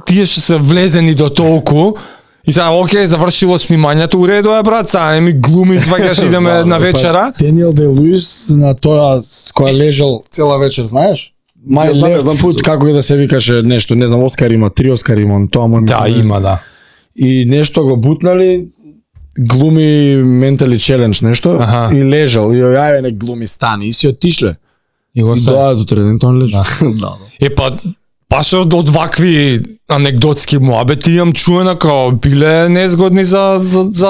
Тие што се влезени до толку и сега, окей, завршило снимањето, уредо е, брат, сега не ми глуми, сваќаш, идеме на вечера. Даниел Дей-Луис на тоа која лежал цела вечер, знаеш? My left foot, како и да се викаше нешто, не знам, Оскар има, 3 Оскар има, тоа му има, да. И нешто го бутнали, глуми ментали челендж нешто и лежал, и јаје не глуми стани и си отишле. И доаѓа до треден, он лежа. Па баш од вакви анегдотски муабети имам чуено како биле незгодни за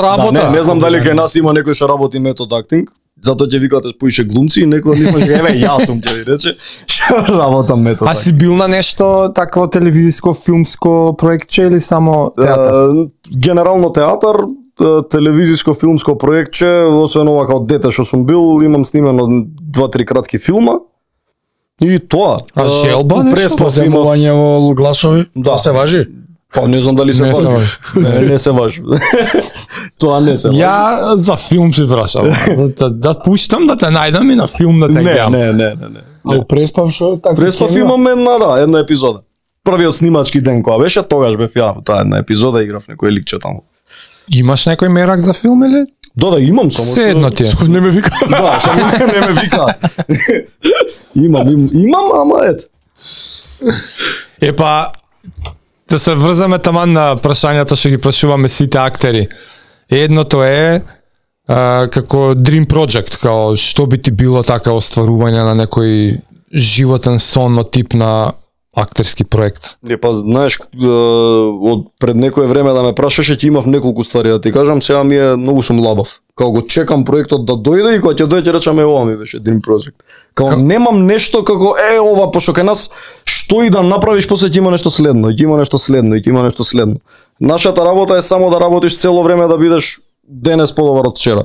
работа. Не знам дали кај нас има некој што работи метод актинг. Затоа ќе викате поише глумци и некој од нив еве јас сум ќе ви рече што работам метод. А си бил на нешто такво телевизиско филмско проектче или само театар? Генерално театар, телевизиско филмско проектче, освен ова као дете што сум бил, имам снимено 2-3 кратки филма. И тоа. А желба нешто? Преспав имав. Поземување во гласови? Да. Се важи? Па не знам дали се Не се важи. Не се важи. Тоа не се важи. Ја за филм се прашам. Да пуштам да те најдам и на филм да те гледам. Не. А преспав што така? Преспав имам една епизода. Првиот снимачки ден кога беше, тогаш бев ја во таа една епизода, играв некој ликче таму. Имаш некој мерак за филм или? Да, имам само. Се едно ти е. Не ме вика. Да, само не ме вика. Имам, ама ет. Епа, да се врзаме таман на прашањата што ги прашуваме сите актери. Едното е како Dream Project, као што би ти било така остварување на некој животен сонно тип на актерски проект. Па знаеш, од пред некое време да ме прашаше, ќе имав неколку ствари да ти кажам, сега ми е многу сум лабав. Као го чекам проектот да дојде и кога ќе дојде речам ова ми беше Dream Project. Као немам нешто како ова, пошто кај нас што и да направиш после ќе има нешто следно, ќе има нешто следно и ќе има нешто следно. Нашата работа е само да работиш цело време да бидеш денес подобар од вчера.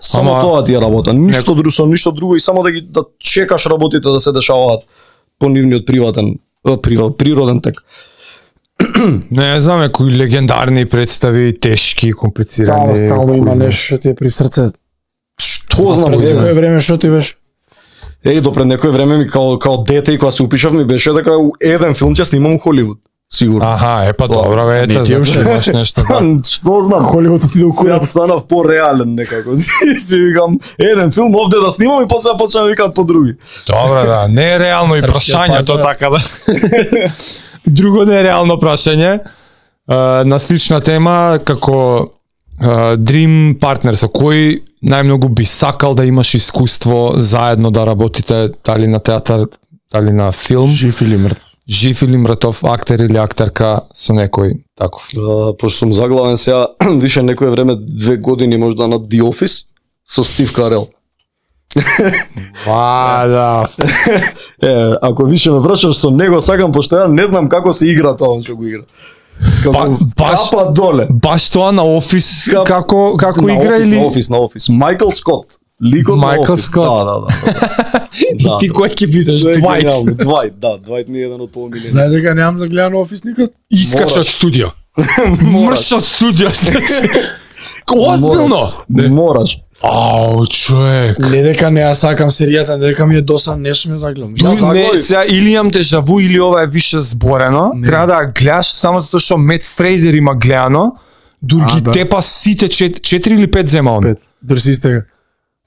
Само тоа ти е работа, ништо друго, со ништо друго и само да чекаш работите да се дешаваат по нивниот природен тек. Не знам, некои легендарни представи, тешки, комплицирани. Да, стално има нешто што ти е при срце. Што знам, Пред некој време што ти беше? До пред некој време ми као дете и кога се упишав ми беше дека еден филм ќе снимам у Холивуд. Сигурно. Аха, епа добро, ете, значи имаш нешто. Што знам, Холивуд ти да сега станав пореален некако. Си викам, еден филм овде да снимам и после да почнам викаат по други. Добро, да, не е реално и прашањето така да. Друго не е реално прашање. На слична тема, како Dream Partner, со кој најмногу би сакал да имаш искуство заедно да работите, дали на театар, дали на филм? Жив или мртов актер или актерка со некој таков? Пошто сум заглавен сега, више некое време 2 години можда на The Office со Стив Карел. Да. Ако више ме прашаш со него сакам, пошто ја не знам како се игра тоа што го игра. Капа доле. Баш тоа на Офис како игра или? На Офис. Майкл Скот. Ликот на Офис. Да. И ти кој ќе бидеш? Двајт, Двајт ми е еден од поомилени. Знаеш дека немам за гледано Офис никад? Искач од студио. Мрш од студио. Озбилно? Мораш. Ау, човек. Не дека не ја сакам серијата, дека ми е досан, нешто ме загледам. Не, сега или имам дежаву или ова е више зборено. Треба да ја гледаш само затоа што Мет Фрейзер има гледано. Дури тепа сите 4 или 5 зема он. 5. Дури си истега.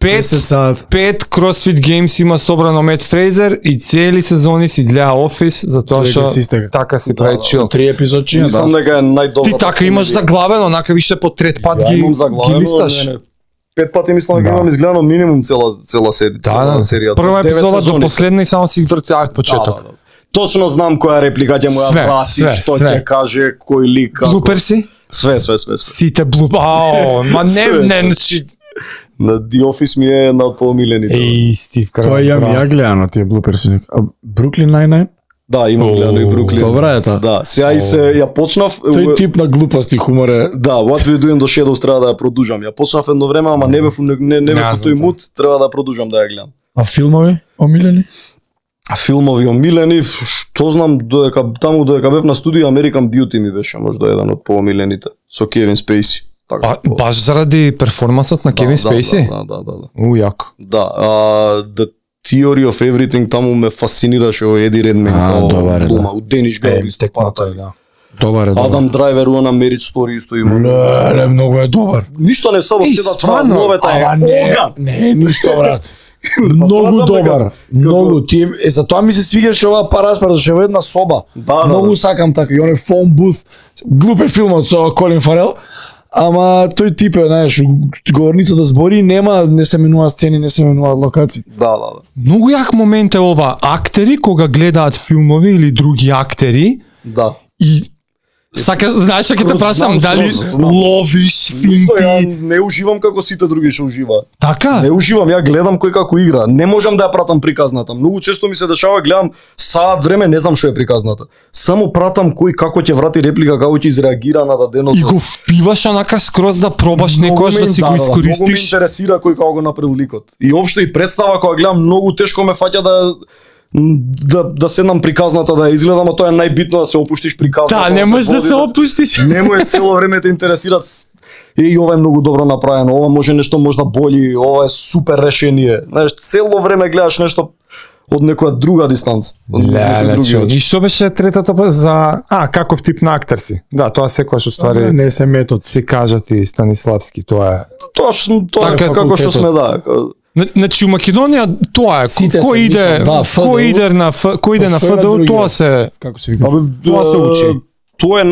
5 CrossFit Games има собрано Мет Фрейзер и цели сезони си гледа Офис затоа што така си прави чил. 3 епизодчи. Мислам дека е најдобро. Ти така имаш заглавено, онака више по трет пат ги листаш. 5 пати мислам дека имам изгледано минимум цела серија. Прва епизода до последна и само си врти почеток. Точно знам која реплика ќе му ја врати, што ќе каже, кој лик како. Блуперси? Све. Сите блуп. Ма не, значи на The Office ми е една од поомилените. Стив Карел. Тоа ја гледано тие блуперси. А Бруклин Nine-Nine? Да, имам гледано и Бруклин. Добра е таа. Да, сега и ја почнав. Тој тип на глупост и хумор е. Да, What We Do in the Shadows треба да ја продужам. Ја почнав едно време, ама не бев тој мут, треба да продужам да ја гледам. А филмови омилени? Филмови омилени, што знам, додека бев на студио American Beauty ми беше можда еден од поомилените со Кевин Спейси. Баш заради перформансот на Кевин Спейси? Да. Јако. Да, The Theory of Everything таму ме фасцинираше Еди Редмейн дома, у Дениш Грейв исто парата. Добар е. Адам Драйвер на Marriage Story исто има. Не, многу е добар. Ништо не само седат новата е. Не, ништо брат. Многу добар. Многу ти затоа ми се свигаше оваа параспар зашто е една соба. Многу сакам така и оној фон бус. Глупе филмот со Колин Фарел. Ама тој тип е, знаеш, говорницата збори, не се менуваат сцени, не се менуваат локации. Да. Многу јак момент е ова, актери кога гледаат филмови или други актери. Да. И Сакаш, знаеш што ќе те прашам, дали ловиш Ја финти? не уживам како сите други што уживаат. Така? Не уживам, ја гледам кој како игра. Не можам да ја пратам приказната. Многу често ми се дешава, гледам саат време, не знам што е приказната. Само пратам кој како ќе врати реплика, како ќе изреагира на даденото. И го впиваш онака скроз да пробаш некојаш да си го Многу ме искористиш. интересира кој како го направил ликот. И општо и представа кога гледам, многу тешко ме фаќа да седнам приказната да ја изгледам, а тоа е најбитно да се опуштиш приказната. Да, не можеш да се опуштиш. Не му е цело време те интересира. И ова е многу добро направено, ова може нешто можда боли, ова е супер решение. Знаеш, цело време гледаш нешто од некоја друга дистанца. И што беше третото за каков тип на актер си? Да, тоа секогаш уствари Не се метод. си кажа ти Станиславски, тоа е. Тоа Така, е како што сме, да. Значи у Македонија тоа е. Сите се Кој иде, мислам, да, кој иде на кој иде на Што е на ФДУ, другиот? тоа се Како се вика? Тоа се учи. Тоа е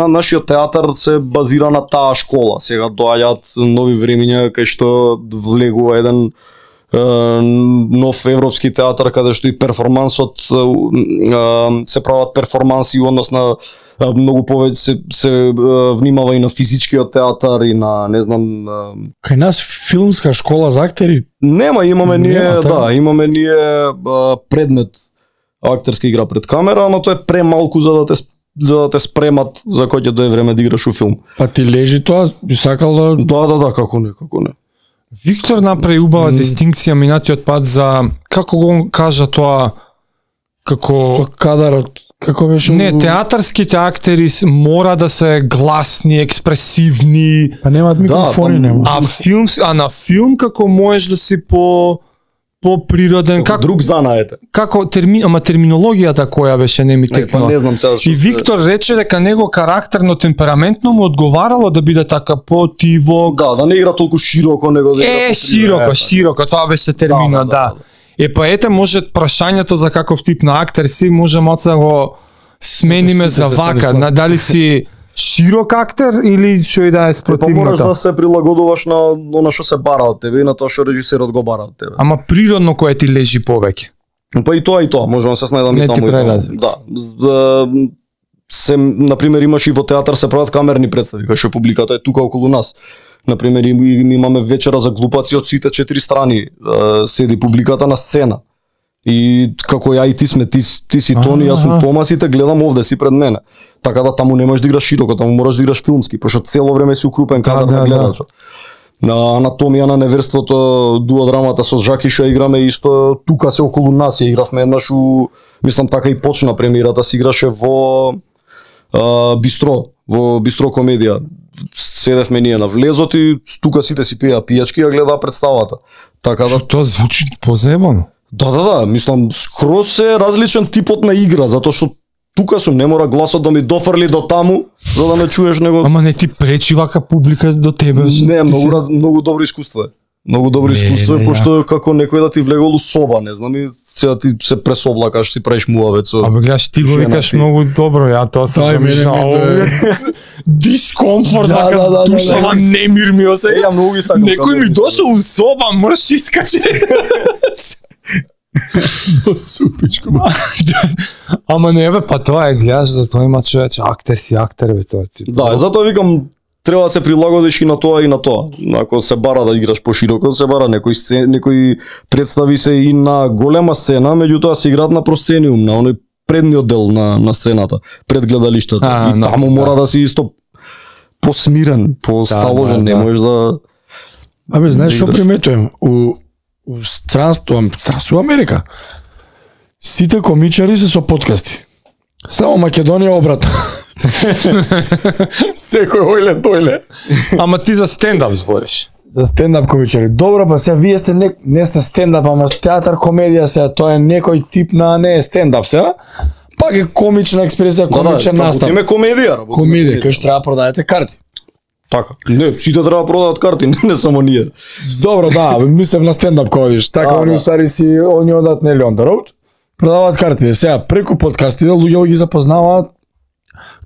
нашиот театар се базира на таа школа. Сега доаѓаат нови времиња кај што влегува еден нов европски театар каде што и перформансот се прават перформанси, односно многу повеќе се внимава и на физичкиот театар и на не знам Кај нас филмска школа за актери. имаме ние Нема, така? имаме ние предмет актерска игра пред камера, ама тоа е премалку за да те спремат за кој ќе дое време да играш у филм. Па ти лежи тоа, би сакал да Да, како не. Виктор направи убава дистинкција минатиот пат за како го кажа тоа како со кадарот, како беше? не театарските актери мора да се гласни, експресивни, Па немаат микрофони, нема. а на филм како можеш да си по-природен, Како како друг занаете. ама терминологијата која беше не ми Па текнала. не знам сега И Виктор рече дека него карактерно, темпераментно му одговарало да биде така потиво. Да не игра толку широко, него да игра Широко, тоа беше терминот, да. Па ете, може прашањето за каков тип на актер си, може малце да го смениме за вака, дали си широк актер или што и да е Па мораш да спротивното. се прилагодуваш на она што се бара од тебе и на тоа што режисерот го бара од тебе. Ама природно кое ти лежи повеќе. Па и тоа, можам да се снајдам Не и ти таму. прави разлика. Да. Се, например, имаш и во театар се прават камерни представи, кај што публиката е тука околу нас. Например, имаме вечера за глупаци од сите 4 страни, седи публиката на сцена. И како ја и ти сме, ти си Тони, јас сум Томас и те гледам овде си пред мене. Така да таму не можеш да играш широко, таму мораш да играш филмски, пошто цело време си укрупен кадар на гледачот. На анатомија на неверството, дуодрамата со Жаки што играме исто, тука се околу нас ја игравме еднаш мислам така и почна премиерата, се играше во Бистро комедија. Седевме ние на влезот и тука сите си пиеа пијачки, ја гледаа представата. Така да Тоа звучи позебано. Да, мислам скроз е различен типот на игра, затоа што тука сум, не мора гласот да ми дофрли до таму за да ме чуеш него. Ама не ти пречи вака публика до тебе. Не, многу добро искуство е. Многу добро искуство е, пошто како некој да ти влегол у соба, не знам, и сега ти се пресоблакаш, си правиш муавет со. Абе гледаш, ти го викаш многу добро, ја тоа се замишljao. Дискомфорт, вака душава немир ми осеќа. Ја многу ги сакам. Некој ми дошол у соба, мрш искаче. Супичко. Ама не бе, па тоа е, гледаш, за тоа има човече, актер си актер, бе, тоа ти. Да, затоа викам, треба да се прилагодиш и на тоа и на тоа. Ако се бара да играш пошироко, се бара некои представи се и на голема сцена, меѓутоа се играат на просцениум, на оној предниот дел на сцената, пред гледалиштето. И таму мора да си исто посмирен, посталожен, не можеш да. Абе, знаеш што приметувам? У странство Америка. Сите комичари се со подкасти. Само Македонија обратно. Секој ојле тојле. Ама ти за стендап збориш. За стендап комичари. Добро, па сега вие сте не сте стендап, ама театар комедија сега, тоа е некој тип на не е стендап сега. Пак е комична експресија, комичен настап. Работиме комедија. Комедија, кај што треба продадете карти. Така. Не, сите треба продават карти, не само ние. Добро, да, мислев на стендап кога видиш. Така они усари си, они одат нели on the road. Продаваат карти. Сега преку подкастите луѓе ги запознаваат.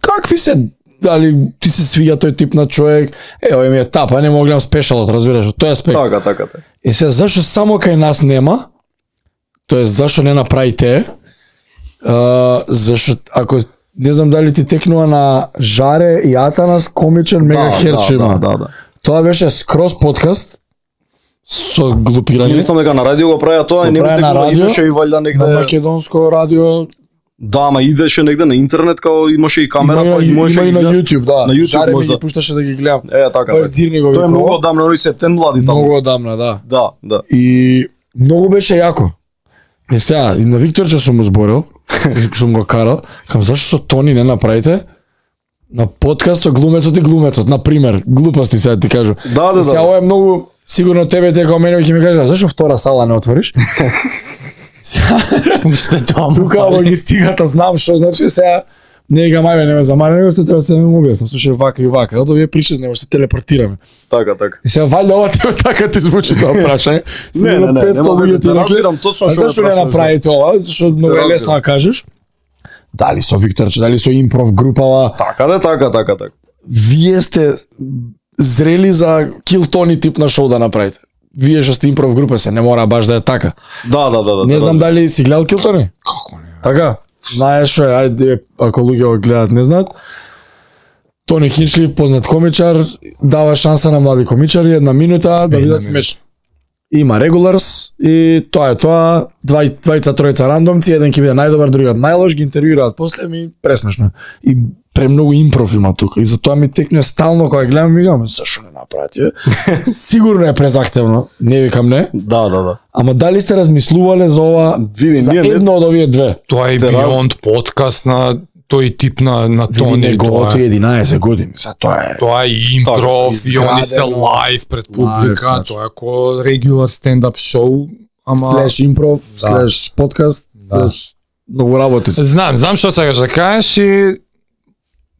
Какви се, дали ти се свиѓа тој тип на човек? Еве ми е тапа, не мога гледам спешалот, разбираш, од тој аспект. Така. Е сега зашо само кај нас нема? Тоест зашо не направите? Зашо ако не знам дали ти текнува на Жаре и Атанас комичен Мегахерц има. Да. Тоа беше скроз подкаст со глупирање. Мислам дека на радио го правеа тоа и прави на радио, идеше и валјда негде. На македонско радио. Да, ама идеше негде на интернет, као имаше и камера, Има па и можеше на YouTube, да. На YouTube Жаре ми можда. ги пушташе да ги гледам. Така. Цирни Тоа е многу одамна, они се тен млади таму. Многу одамна, да. Да. И многу беше јако. И сега, и на Викторче сум му зборил, и сум го карал, кам зашто со Тони не направите на подкаст со глумецот и глумецот, на пример, глупости сега ти кажу. Да. И сега ова е многу сигурно тебе дека мене ќе ми кажеш, зашто втора сала не отвориш? Уште тоа. Тука логистиката знам што значи сега не га мајме не ме замара, него се треба се не му објаснам, слушај вака и вака, да вие причат него се телепортираме. Така. И сега валјда ова тебе така ти звучи тоа прашање. Не, луѓе ти разбирам точно а што зашто не направите ова? Зашто многу е лесно да кажеш. Дали со Викторче, дали со импров групава. Така. Вие сте зрели за Kill Tony тип на шоу да направите. Вие што сте импров група се не мора баш да е така. Да. Не знам дали си гледал Kill Tony? Како не? Така. Знаеш што е, ајде ако луѓе го гледаат не знаат. Тони Хинчлив, познат комичар, дава шанса на млади комичари, 1 минута да бидат смешни. Има регуларс и тоа е тоа, двајца тројца рандомци, еден ќе биде најдобар, другиот најлош, ги интервјуираат после ми пресмешно. И премногу импров има тука и затоа ми текне стално кога гледам и викам зашо не направи? Сигурно е презахтевно, не викам не. Да. Ама дали сте размислувале за ова за едно од овие две? Тоа е Beyond подкаст на тој тип на Тони. Неговото 11 години, за тоа е. Тоа е импров и они се лайв пред публика, тоа е ко регулар стендап шоу, ама слеш импров, слеш подкаст, слеш многу работи се. Знам што сакаш да кажеш и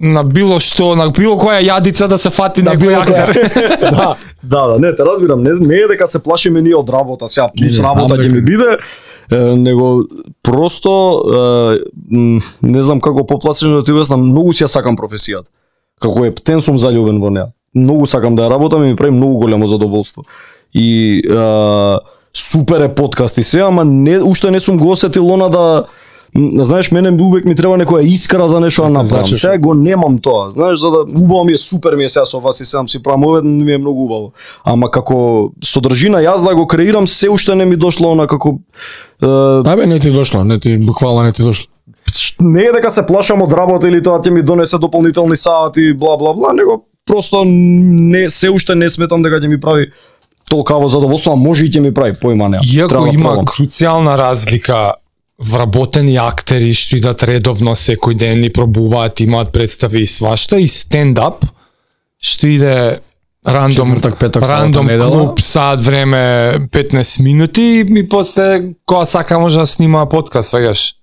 на било што, на било која јадица да се фати некој актер. Да, не, те разбирам, не е дека се плашиме ние од работа, сега плюс работа ќе ми биде, него просто не знам како попласено да ти објаснам, многу си ја сакам професијата. Како е птен сум заљубен во неа. Многу сакам да ја работам и ми прави многу големо задоволство. И супер е подкаст и се, ама уште не сум го осетил она да знаеш, мене увек ми треба некоја искра за нешто да направам. Сега го немам тоа. Знаеш, за да убаво ми е, супер ми е сега со вас и сам си правам овде, ми е многу убаво. Ама како содржина јас да го креирам, се уште не ми дошло она како Да бе, не ти дошло, не ти буквално не ти дошло. Не е дека се плашам од работа или тоа ќе ми донесе дополнителни сати бла бла бла, него просто не се уште не сметам дека ќе ми прави толкаво задоволство, а може и ќе ми прави, појма нема. Иако има круцијална разлика вработени актери што идат редовно секој ден и пробуваат, имаат представи и свашта, и стендап што иде рандом, Четвртак, петок, рандом сабота, клуб, саат време, 15 минути и после кога сака може да снима подкаст, свегаш.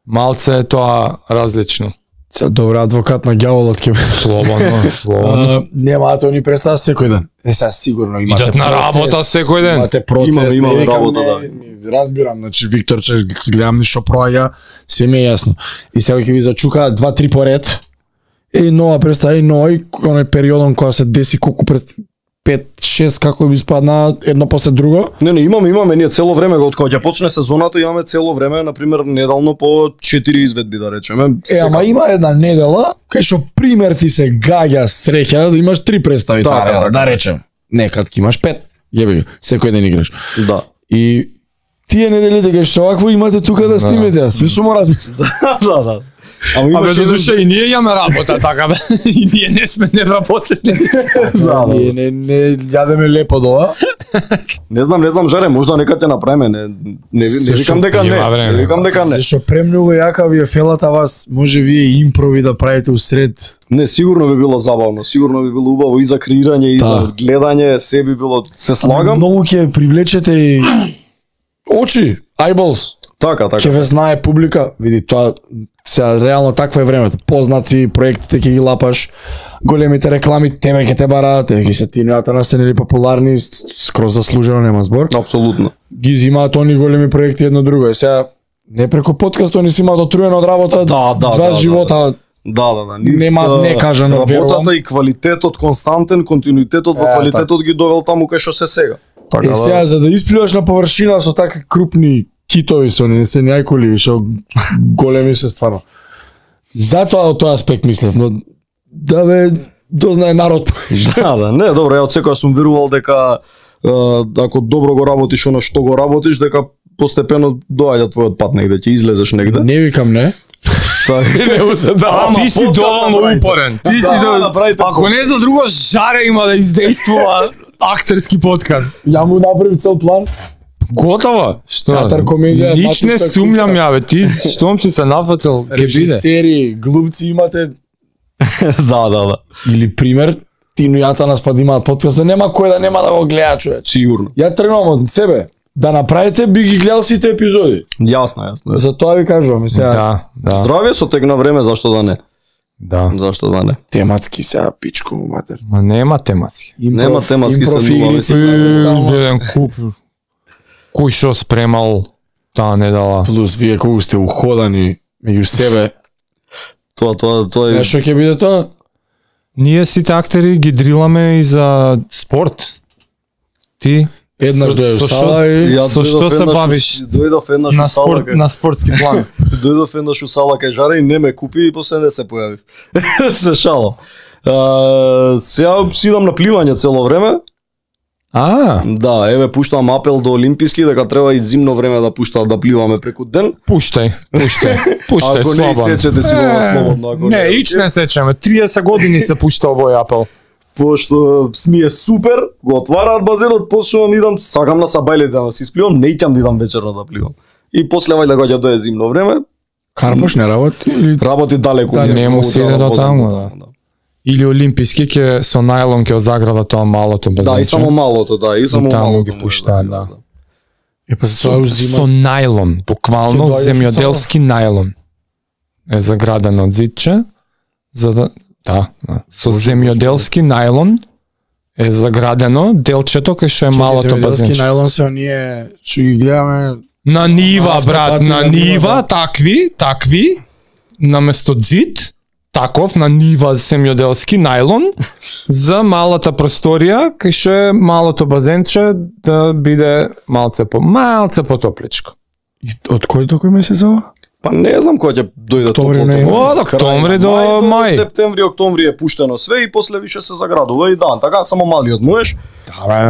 Малце е тоа различно. Добра адвокат на ѓаволот ќе Слободно. Нема тоа ни представа секој ден. Сега сигурно имате идат на работа секој ден. Имате процес, имаме работа, да. Разбирам, значи Виктор че гледам ништо проаѓа, се ми е јасно. И сега ќе ви зачукаат 2-3 поред. И нова представа, и оној периодон кога се деси колку пред 5-6 како би спадна едно после друго. Не, имаме ние цело време, од кога ќе почне сезоната, имаме цело време, на пример, неделно по 4 изведби да речеме. Ама има една недела кај што пример ти се гаѓа среќа да имаш 3 представи да речем. Некад ќе имаш 5. Јеби, секој ден играш. Да. И тие неделите кај што овакво имате тука да снимете, све сум размислил. Да. Абе, до душа и ние имаме работа, така да, и ние не сме невработени. Ние не јадеме лепо до ова. Не знам, Жаре, можда нека те направиме, не викам дека не. Не викам дека не. Зашто премногу јака ви е фелата вас, може вие импрови да правите усред. Не, сигурно би било забавно, сигурно би било убаво и за креирање и за гледање, се би било, се слагам. Многу ќе привлечете и очи, eyeballs. Така. Ќе ве знае публика, види тоа сега реално такво е времето. Познаци, проектите ќе ги лапаш, големите реклами тебе ќе те бараат, ќе се тинеата на се нели популарни, скроз заслужено нема збор. Апсолутно. Ги зимаат они големи проекти едно друго. Сега не преку подкаст они си имаат отруено од работа, два живота. Да. Нема некажано, верувам. Работата и квалитетот константен, континуитетот во квалитетот ги довел таму кај што се сега. Така, сега за да испливаш на површина со такви крупни китови со не се најколи, што големи се стварно. Затоа од тој аспект мислев, но да бе дознае народ. Да, не, добро, ја од секоја сум верувал дека ако добро го работиш оно што го работиш, дека постепено доаѓа твојот пат негде, ќе излезеш негде. Не викам не. Не му се да. Ти си доволно упорен. Ти си направите. Ако не за друго, Жаре има да издействува актерски подкаст. Ја му направив цел план. Готово. Што? Театар, комедија, Нич не матушка, сумњам кука. ја, бе. Ти штом си се нафатил, ќе биде. Режисери, глумци имате Да. или пример Тино Јата нас па да имаат подкаст, но нема кој да нема да го гледа човек. Сигурно. Ја тргнувам од себе. Да направите, би ги гледал сите епизоди. Јасно. Затоа ви кажувам, сега Да. Здравје со тек на време, зашто да не? Да. Зашто да не? тематски сега пичко му матер. Ма нема тематски. Нема тематски се игрици, Еден куп кој шо спремал таа недела. плюс вие колку сте уходани меѓу себе. Тоа е Нешто ќе биде тоа? Ние сите актери ги дриламе и за спорт. Ти Еднаш Со- дојде со у сала и Ја Со што дојдов се еднаш бавиш? Дојдов еднаш на у сала, спорт, на спортски план. дојдов еднаш у сала кај Жаре и не ме купи и после не се појавив. Се шалам. Сега сидам на пливање цело време. Да, еве пуштам апел до олимписки дека треба и зимно време да пуштаат да пливаме преку ден. Пуштај. Пуштај, Ако не слободно. сечете си го слободно, ако Не, ич не сечеме. 30 години се пушта овој апел. Пошто ми е супер, го отвараат базенот, почнувам идам, сакам на сабајле да си спливам, не ќам да идам вечерно да пливам. И после вајде кога ќе дое зимно време, Карпош не работи или работи далеку. Да, ми е, не му многу седе треба до возам таму, до да. Или олимписки ќе со најлон ќе заграда тоа малото базенче. Да, и само малото, да, и само таму малото. ги може пуштаат, биде, да. е па се тоа Со узима. најлон, буквално Ќе доаѓаш земјоделски најлон е заградено од зидче, за да со земјоделски најлон е заградено делчето кај што е малото Земјоделски базенче. најлон се оние што ги гледаме. На нива, Автопати брат, на на нива, нива, да. такви, наместо зид, таков на нива земјоделски најлон за малата просторија кај што е малото базенче да биде малце потопличко. И од кој до кој месец ова? Па не знам кога ќе дојде Октомври, топлото ноември. време. Од октомври Крај до на мај. Септември, октомври е пуштено све и после више се заградува и дан, така само малиот можеш.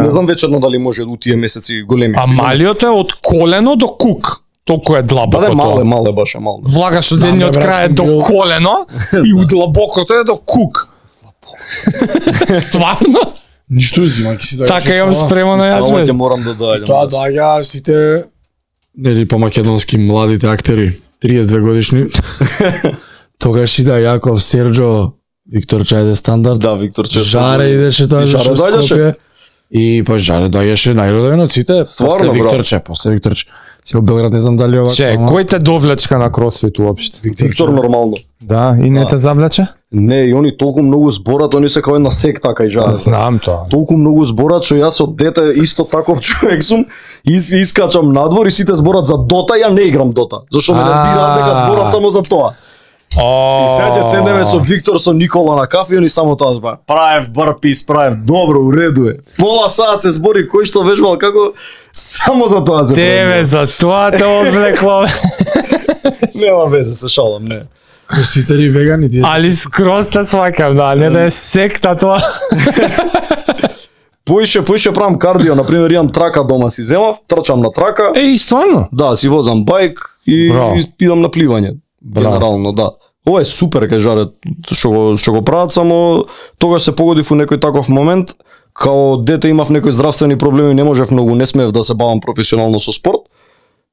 Не знам вечерно дали може у тие месеци големи. А малиот е од колено до кук. Толку е длабоко Да, тоа. мале баш е мал. Влагаш од едниот брат, крај сум до бил- колено и у длабокото е до кук. Стварно? Ништо узима, ќе си дојдеш. Така имам спремано јас Само бе. ќе морам да доаѓам. Тоа доаѓа сите нели по македонски младите актери, 32 годишни. Тогаш иде Јаков, Серџо, Виктор Чајде стандард. Да, Виктор Чешко. Жаре идеше тоа И Жаре што доаѓаше? Скопје. И па Жаре доаѓаше најроден од сите. Стварно, После брат. Викторче, после Викторче. Си од Белград не знам дали ова. Че, кој те довлечка на кросфит уопште? Виктор нормално. Да, и не Да. те завлече? Не, и они толку многу зборат, они се кај една секта кај Жаре. Знам тоа. Толку многу зборат што јас од дете исто таков човек сум, искачам надвор и сите зборат за Дота, ја не играм Дота. Зашто ме нервираат дека зборат само за тоа. И сега ќе седнеме со Виктор, со Никола на кафе и они само тоа зборат. Правев барпис, правев добро, уреду е. Пола саат се збори кој што вежбал како само за тоа се Тебе за тоа те одвлекло. Нема везе, се шалам, не. Кросфитери вегани тие. Али скроз те сваќам, да, не да е секта тоа. Поише правам кардио, на пример имам трака дома си земав, трчам на трака. Еј, стварно? Да, си возам бајк и Браво. идам на пливање. Браво. Генерално, да. Ова е супер кај Жаре што го прават, само тогаш се погодив у некој таков момент, као дете имав некои здравствени проблеми, не можев многу, не смеев да се бавам професионално со спорт.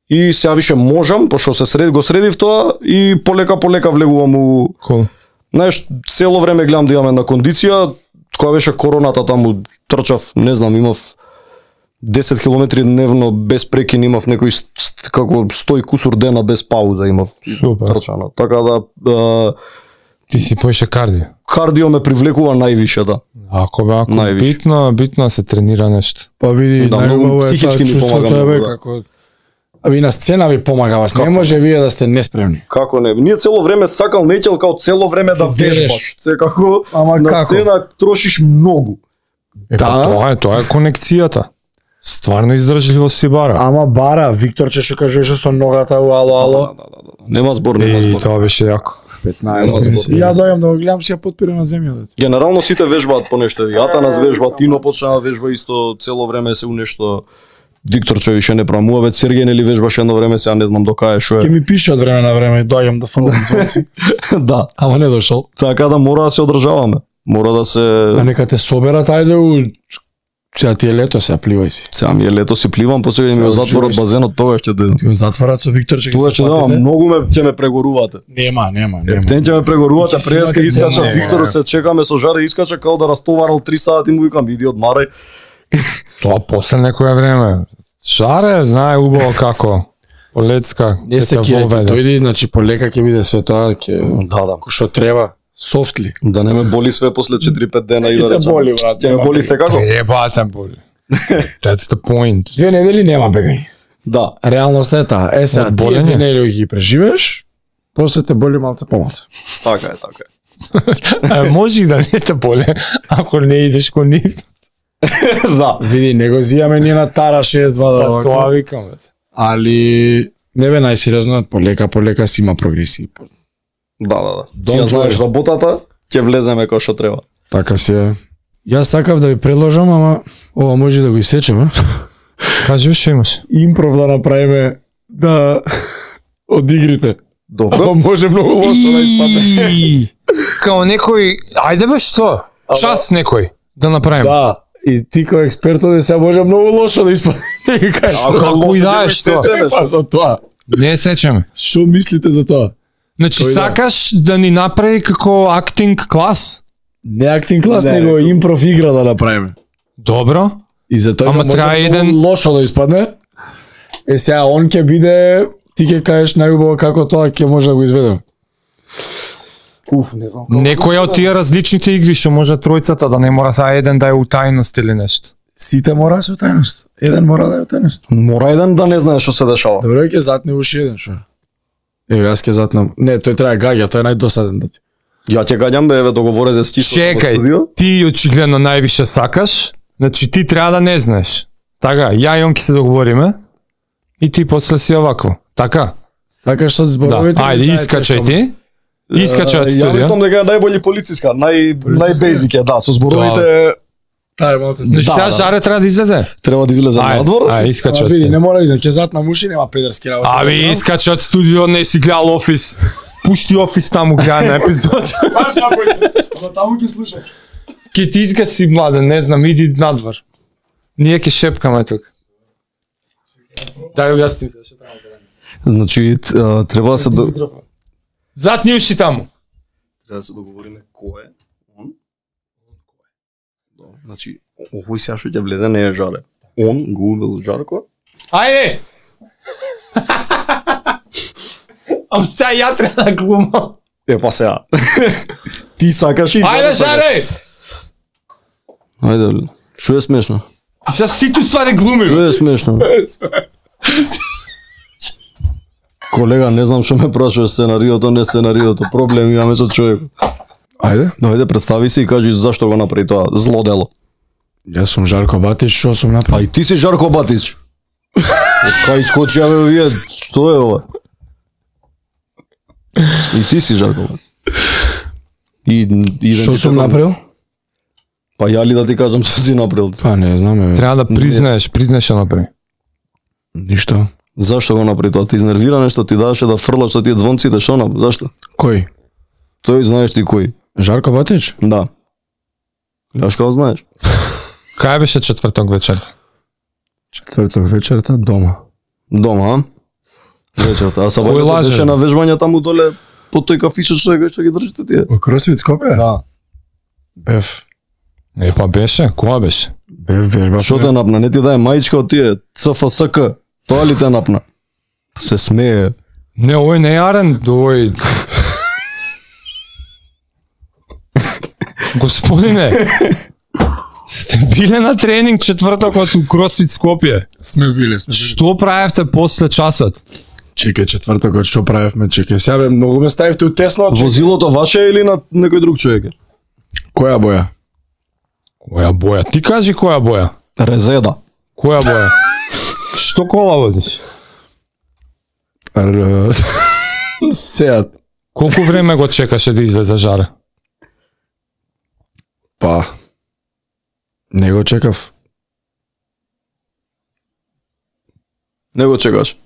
И сега више можам, пошто го средив тоа и полека влегувам у... Хубаво. Знаеш, цело време гледам да имам една кондиција, кога беше короната таму трчав, не знам, имав 10 километри дневно без прекин, имав некои како 100 и кусур дена без пауза имав Супер. трчано. Така да Ти си поише кардио. кардио ме привлекува највише, да. Ако бе, ако Највише. битно се тренира нешто. Па види, Да, најубаво многу е психички тоа ми чувството помага е многу, бе да. како Аби на сцена ви помага вас. Не Како? може вие да сте неспремни. Како не? Ние цело време сакал неќел као цело време да Се дереш. вежбаш. Секако Ама на како? сцена трошиш многу. Па Да. тоа е конекцијата. Стварно издржливо си бара. Ама бара, Викторче што кажеше со ногата, ало. Да. Нема збор, нема И збор. тоа беше јако. 15 минути. Ја дојам да го гледам, си ја потпирам на земјата. Генерално сите вежбаат по нешто. Јатанас вежба, Тино почна да вежба исто цело време се у нешто. Виктор че више не прамува, веќе Сергеј нели вежбаше едно време, сега не знам до кај што Ке е. ми пише од време на време, дојам да фрлам звонци. Да, Ама не дошол. така да мора да се одржаваме. Мора да се А нека те соберат, ајде у... Сега ти е лето, сега пливај си. сега ми е лето си пливам, после ми Сега го затворат живееш. базенот, тогаш ќе дојдам. Ти го затварат со Виктор, че ги Тогаш се ќе дојдам, платите. многу ќе ме прегорувате. Нема. Тен ќе ме прегорувате, Ќе си преска имате искача, цена, Виктор се чекаме со жаре, искача као да растоварал 3 сати, му викам иди одмарај. Тоа после некое време. Жаре, знае убаво како. Полецка. Не се кире, ќе дојди, значи полека ќе биде све тоа, ќе... Да. Ко што треба, софтли. Да не ме боли све после 4-5 дена и да Ќе те речам. боли, брат. Ќе ме боли секако. Ебате боли. That's the point. 2 недели нема бегање. Да. Реалноста е таа. Е, сега, Од тие болење? 2 недели ги преживееш, после те боли малце помалку. Така е, така е. Може и да не те боли, ако не идеш кон нив. Да. Види, не го зијаме ние на Тара 62 да Па тоа овако. викам, бе. Али не бе најсериозно, полека си има прогресии. Да. Ти Don't ја знаеш worry. работата, ќе влеземе како што треба. Така си е. Јас сакав да ви предложам, ама ова може да го исечеме. Кажи што имаш. Импров да направиме да од игрите. Добро. Ама може многу лошо да испадне. Као некој, ајде бе што? Час некој да направиме. Да, и ти кој експерт оде сега може многу лошо да испадне. Кажеш, Ако идаеш што? па за тоа. Не сечеме. Што мислите за тоа? Значи Кој да? сакаш да ни направи како актинг клас? Не актинг клас, Не, него импров игра да направиме. Добро. И за тоа Ама може трае многу еден- лошо да испадне. Е сега он ќе биде, ти ќе кажеш најубаво како тоа ќе може да го изведеме. Уф, не знам. Некоја од тие различните игри што може тројцата да не мора са еден да е утајност или нешто. Сите мора да се тајност. Еден мора да е тајност. Мора еден да не знае што се дешава. Добре, ќе затне уши еден што. Еве јас ќе затнам. Не, тој треба гаѓа, тој е најдосаден да ти. Ја ќе гаѓам бе, еве договорете с Кишо. Чекај, ти очигледно највише сакаш, значи ти треба да не знаеш. Така, ја и он ќе се договориме и ти после си овако. Така? Сакаш со Да. зборовите. Ајде, искачај ти. Искачај од Ја студио. мислам дека е најбољи полициска, најбезик е, да, со зборовите Таа е малце. Значи Да, сега да. Жаре треба да излезе. треба да излезе надвор. Ајде, искачај Ама од види, студио. не мора да ќе затнам уши, нема педерски работи. Аби, искачај од студио, не си гледал Офис. Пушти Офис таму гледа на епизод. Баш напојде. Ама таму ќе слушај. Ке ти изгаси, младен, не знам, иди надвор. Ние ќе шепкаме тука. Дај објасни се што треба да правиме. Значи треба да се Затни уши таму. Треба да се договориме кој е он. Да, значи овој сега што ќе влезе не е Жаре. Он го увел Жарко. Ајде! Ам сега ја треба да глумам. Е па сега. Ти сакаш и Ајде, сакаш. Жаре! Ајде. Што е смешно? И сега сите ствари глуми. Што е смешно? Колега, не знам што ме прашуваш сценариото, не сценариото. Проблем имаме со човекот. Ајде. Дојде, представи се и кажи зашто го направи тоа зло дело. Јас сум Жарко Батич, што сум А направил? и ти си Жарко Батич. Кај искочи, абе, вие, што е ова? И ти си Жарко Батич. И Што сум направил? Па ја ли да ти кажам што си направил? Па не знам, еве. Треба да признаеш што направи. Ништо. Зашто го направи тоа? Ти изнервира нешто, ти даваше да фрлаш со тие звонците, што нам? Зашто? Кој? Тој знаеш ти кој. Жарко Батич? Да. Јаш како знаеш? Кај беше четврток вечер? Четврток вечерта дома. Дома, а? Вечерта. А Кој сабајата лаже? беше на вежбање таму доле под тој кафичот што ги држите тие. Во Кросфит Скопје? Да. Бев. Е, па беше, која беше? Бев вежба. Што те напна? Не ти дај мајчка од тие ЦФСК. Тоа ли те напна? Се смее. Не, овој не е Арен, овој... Господине, сте биле на тренинг четвртокот у Кросфит Скопје. Сме биле. Што правевте после часот? Чекај четвртокот што правевме, чекај. Сега бе многу ме ставивте у тесно. Возилото ваше е или на некој друг човек? Која боја? Која боја? Ти кажи која боја. Резеда. Која боја? Што кола возиш? Сеат. Колку време го чекаше да излезе Жаре? Па, не го чекав. Не го чекаш.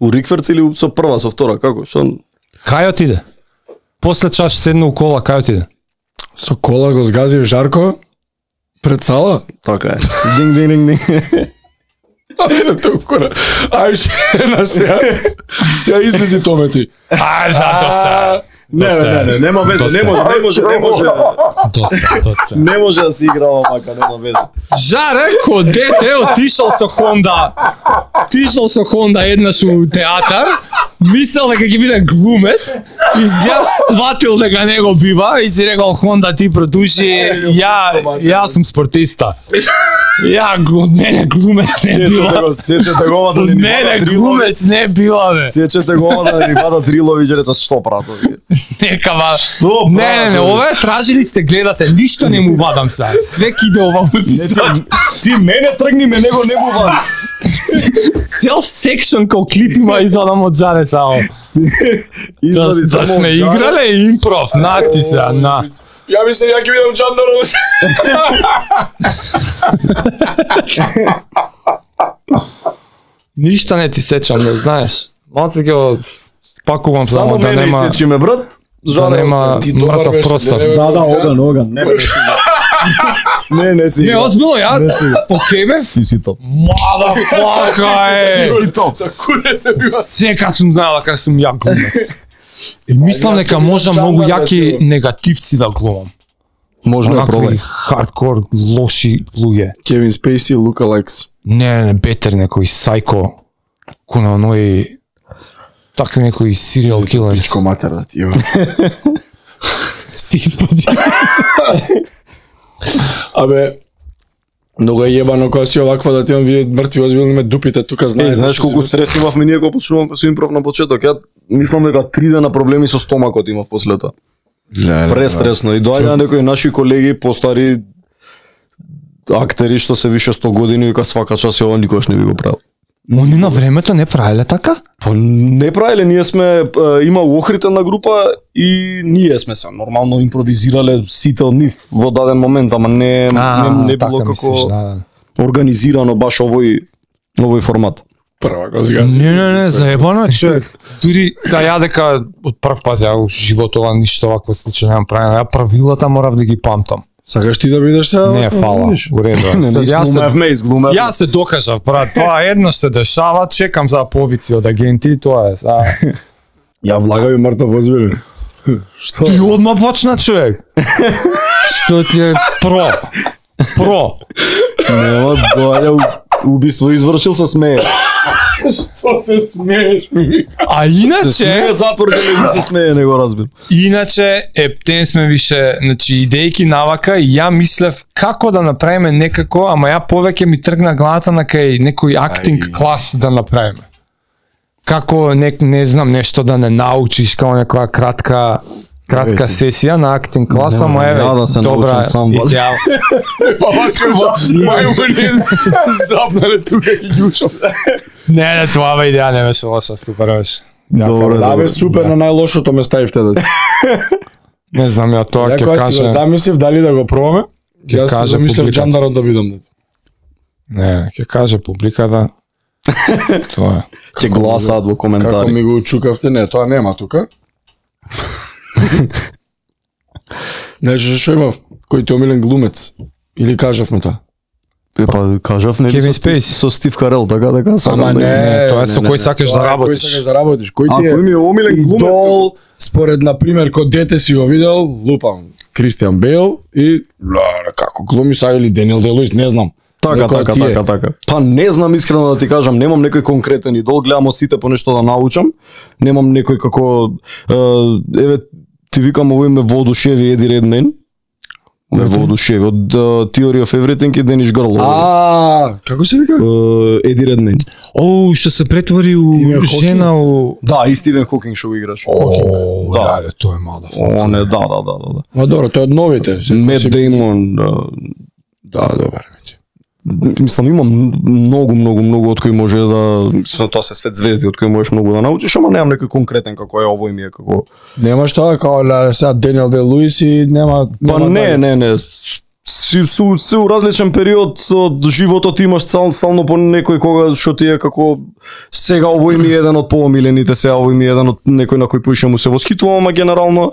У Рикверц или со прва, со втора, како? Што? Кај отиде? После чаш седна у кола, кај отиде? Со кола го згазив Жарко пред сала. Така е. Динг, динг, динг, динг. Ај, шена сега. Сега излези томети. Ај, зато ста. Не, нема веза, не може. Доста. Не може да се играва мака, нема веза. Жаре, ко дете, отишол со Хонда. Отишол со Хонда еднаш у театар, мислел дека ќе биде глумец, изгледа сватил дека не го бива и си рекол Хонда ти продуши, ја сум спортиста. Од мене глумец не бива. Сечете го да Од мене глумец не бива, бе. Сечете го да ни бада Дриловиќ реца што пратови. Нека ва. Не, ова тражили сте гледате, ништо не му вадам сега. Све киде ова епизод. Ти мене тргни, не го вади. Цел секшн као клип има извадам од Жаре само. Да сме играле импров, на ти сега, на. Ја мислам, ја ќе видам Джандаров. Ништа не ти сечам, не знаеш. Малце ќе го спакувам само да нема... Само мене сечиме, брат. Да нема мртов простор. Да, оган. Не си. Не, озбилно, ја по кебе? Ти си топ. Мадафака е! Ти си топ. За курете бива. Сека сум знаела дека сум ја глумец. И мислам дека може многу јаки негативци да глумам. Можно да Онакви пробај. хардкор, лоши луѓе. Кевин Спейси, лукалекс. Не, бетер некој сайко. Куна оној... Така некој serial killers. Пичко матер да ти, ево. Стив поди. Абе, многу е јебано кога си оваква да ти имам вие мртви озбилни ме дупите тука знаеш. Знаеш колку стрес имавме ние кога почнувам со импров на почеток. Ја мислам дека 3 дена проблеми со стомакот имав после тоа. Престресно. И доаѓа некои наши колеги, постари актери што се више 100 години и вика свака час ова никош не би го правил. Они на времето не правеле така? Па не правиле, ние сме има охритена група и ние сме се нормално импровизирале сите од нив во даден момент, ама не било како организирано баш овој формат. Прва го зга. Не, заебано човек. Дури за ја дека од прв пат ја у животова ништо вакво слично немам правено. Ја правилата морав да ги памтам. Сакаш ти да бидеш сега? Не, фала. Уредо. Ја се докажав, брат. Тоа еднаш се дешава, чекам за повици од агенти, тоа е. Ја влагави мртов озбилен. Што? Ти одма почна, човек. Што ти е про? Нема, доаѓа убиство извршил се смее. Што се смееш ми? А иначе... затвор да не се смее, не го разбил. Иначе, ептен сме више, значи, идејки навака и ја мислев како да направиме некако, ама ја повеќе ми тргна главата на кај некој актинг клас да направиме. Како, не знам, нешто да не научиш, како некоја кратка сесија на актинг клас, ама еве, добра, идеал. Па мајмуни запнале тука и јушо. Не, тоа бе идеја не беше лоша, супер беше. Добре, да бе супер, на најлошото ме ставивте да. Не знам, ја тоа ќе кажа. Ја си го замислив дали да го пробаме, ја си замислив Джандарот да бидам. Не, ќе каже публика да. Тоа е. Ќе гласаат во коментари. Како ми го учукавте, не, тоа нема тука. Значи, што имав? Кој ти омилен глумец? Или кажавме тоа? Па кажав нели со Стив Карел, така. Ама не, тоа е со кој сакаш да работиш. Кој сакаш да работиш? Кој ти кој ми е омилен глумец? Идол, според на пример кога дете си го видел, лупам Кристијан Бейл и како глуми са или Денил Делуис, не знам. Така. Па не знам искрено да ти кажам, немам некој конкретен идол, гледам од сите по нешто да научам. Немам некој како еве ти викам овој ме воодушеви Еди Редмейн. Ме воодушеви од Theory of Everything и Дениш Грл. Како се вика? Еди Редмейн. Што се претвори у жена у... Да, и Стивен Хокинг што го играш. Да, тоа е мада. Не, да. Ма добро, тоа од новите. Мет Деймон. Да, добар. мислам има многу од кои може да тоа се свет звезди од кои можеш многу да научиш, ама немам некој конкретен како е овој ми е како. Немаш тоа како сега Даниел Де Луис и нема. Па не. Си у различен период од животот имаш стално по некој кога што ти е како сега овој ми е еден од поомилените, сега овој ми е еден од некој на кој поише му се восхитувам, ама генерално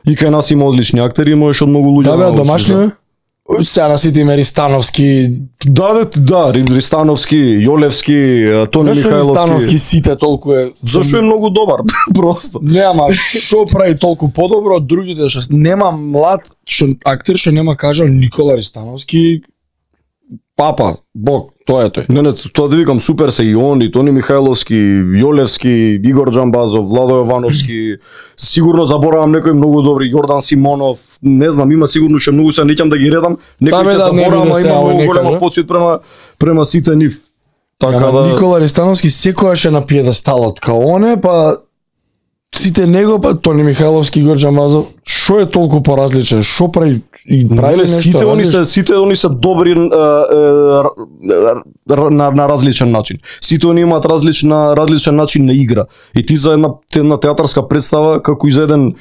и кај нас има одлични актери, можеш од многу луѓе. Да, домашни. Сега на сите има Ристановски. Да, Ристановски, Јолевски, Тони Михајловски. Зашо Ристановски сите толку е? Зашо е многу добар, просто. Нема што прави толку подобро од другите, што нема млад актер што нема кажал Никола Ристановски папа, бог, тоа е тој. Не, тоа да викам, супер се и они, Тони Михајловски, Јолевски, Игор Џамбазов, Владо Јовановски, сигурно заборавам некои многу добри, Јордан Симонов, не знам, има сигурно ше многу се неќам да ги редам, некои ќе заборавам, а има многу голема почит према сите нив. Така да Никола Ристановски секогаш е на пиедесталот као оне, па сите него, па Тони Михајловски, Игор Џамбазов, што е толку поразличен, што прави и прави нешто? Сите они се добри на различен начин. Сите они имаат различен начин на игра. И ти за една театарска представа, како и за еден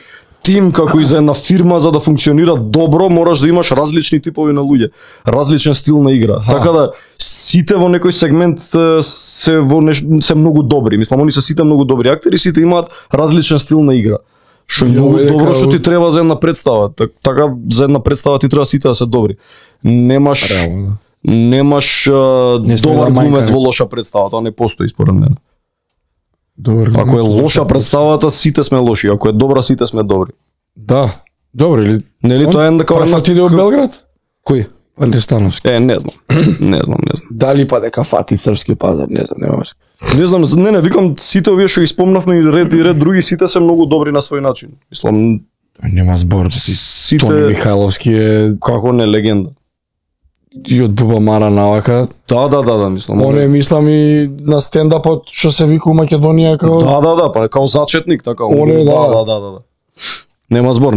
тим, како и за една фирма, за да функционира добро, мораш да имаш различни типови на луѓе, различен стил на игра. Така да сите во некој сегмент се многу добри. Мислам, они се сите многу добри актери, сите имаат различен стил на игра. Што е многу добро што ти треба за една представа. Така за една представа ти треба сите да се добри. Немаш добар глумец во лоша представа, тоа не постои според мене. Ако е лоша представата, сите сме лоши, ако е добра, сите сме добри. Да, добро или? Нели тоа е дека Фати од Белград? Кој? Ристановски. Не знам. Не знам. Дали па дека фати српски пазар, не знам, нема врска. Не знам, не, викам сите овие што ги спомнавме и ред други, сите се многу добри на свој начин. Мислам, нема збор. Сите Тони Михајловски е како не легенда. И од Буба Мара навака. Да, мислам. Оне мислам и на стендапот што се вика у Македонија како. Да, па како зачетник така. Оне да. Нема збор.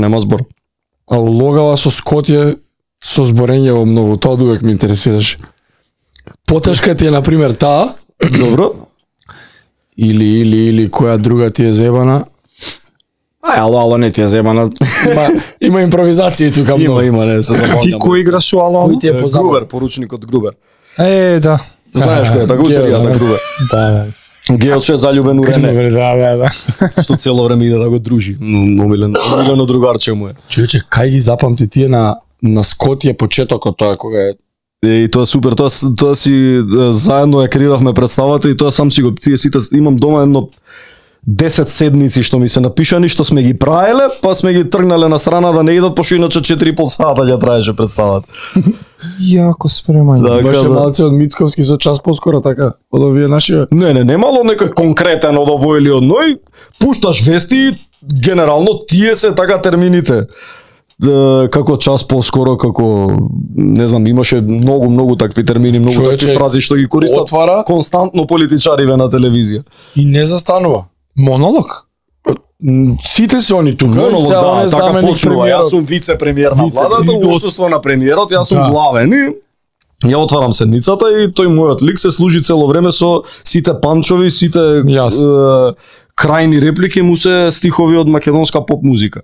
А улогала со Скотје со зборење во многу, тоа довек ме интересираш. Потешка ти е на пример таа, добро? Или која друга ти е зебана? Ало, не ти е зебана. Има импровизација тука многу. Има, не се забавам. Ти кој играш у ало? Кој ти е позабавен? Грубер, поручникот Грубер. Да. Знаеш кој е, така серијата Грубер. Да. Геот што е залюбен у Рене. Да. Што цело време иде да го дружи. Омилено другарче му е. Човече, кај ги запамти тие на Скотје почетокот тоа кога е. И тоа супер, тоа си заедно ја креиравме представата и тоа сам си го тие сите имам дома едно 10 седници што ми се напишани, што сме ги правеле, па сме ги тргнале на страна да не идат, пошто иначе 4,5 сата ќе траеше представата. Јако спремање. Да, беше малце од Мицковски со час поскоро така, од овие наши. Не мало некој конкретен од овој или од ној, пушташ вести, генерално тие се така термините. Како час поскоро, како не знам, имаше многу такви термини, многу такви фрази што ги користат константно политичариве на телевизија. И не застанува. Монолог? Сите се они тука. Монолог, да, така почнува. Јас сум вице-премиер на владата, у отсуство на премиерот, јас сум главен и ја отварам седницата и тој мојот лик се служи цело време со сите панчови, сите крајни реплики му се стихови од македонска поп музика.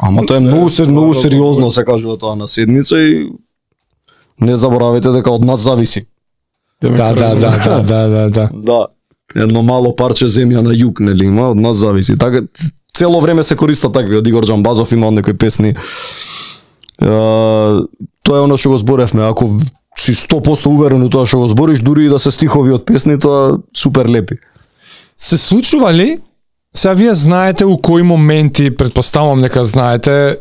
Ама тоа е многу сериозно се кажува тоа на седница и не заборавајте дека од нас зависи. Да. Едно мало парче земја на југ, нели има, од нас зависи. Така цело време се користат такви, од Игор Џамбазов има од некои песни. Тоа е оно што го зборевме, ако си 100% уверен у тоа што го збориш, дури и да се стихови од песни, тоа супер лепи. Се случува ли? Сега вие знаете у кои моменти, предпоставам дека знаете,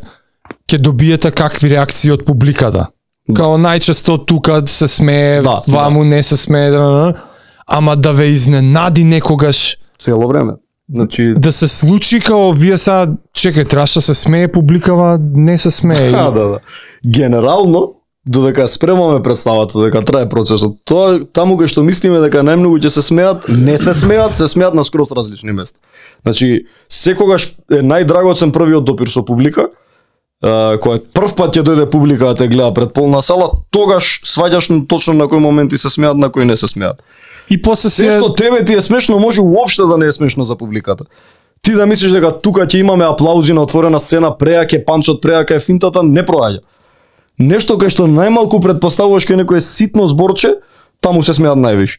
ќе добиете какви реакции од публиката. Као најчесто тука се смее, ваму не се смее, ама да ве изненади некогаш цело време. Значи да се случи као вие сега чекај, требаше се смее публикава, не се смее. Да. Генерално додека спремаме представата, додека трае процесот, тоа таму кај што мислиме дека најмногу ќе се смеат, не се смеат на скроз различни места. Значи, секогаш е најдрагоцен првиот допир со публика, кога прв пат ќе дојде публика да те гледа пред полна сала, тогаш сваѓаш точно на кои моменти се смеат, на кои не се смеат. И после Се што тебе ти е смешно, може уопште да не е смешно за публиката. Ти да мислиш дека тука ќе имаме аплаузи на отворена сцена, преак е панчот, преак е финтата, не проаѓа. Нешто кај што најмалку предпоставуваш кај некое ситно зборче, таму се смеат највиш.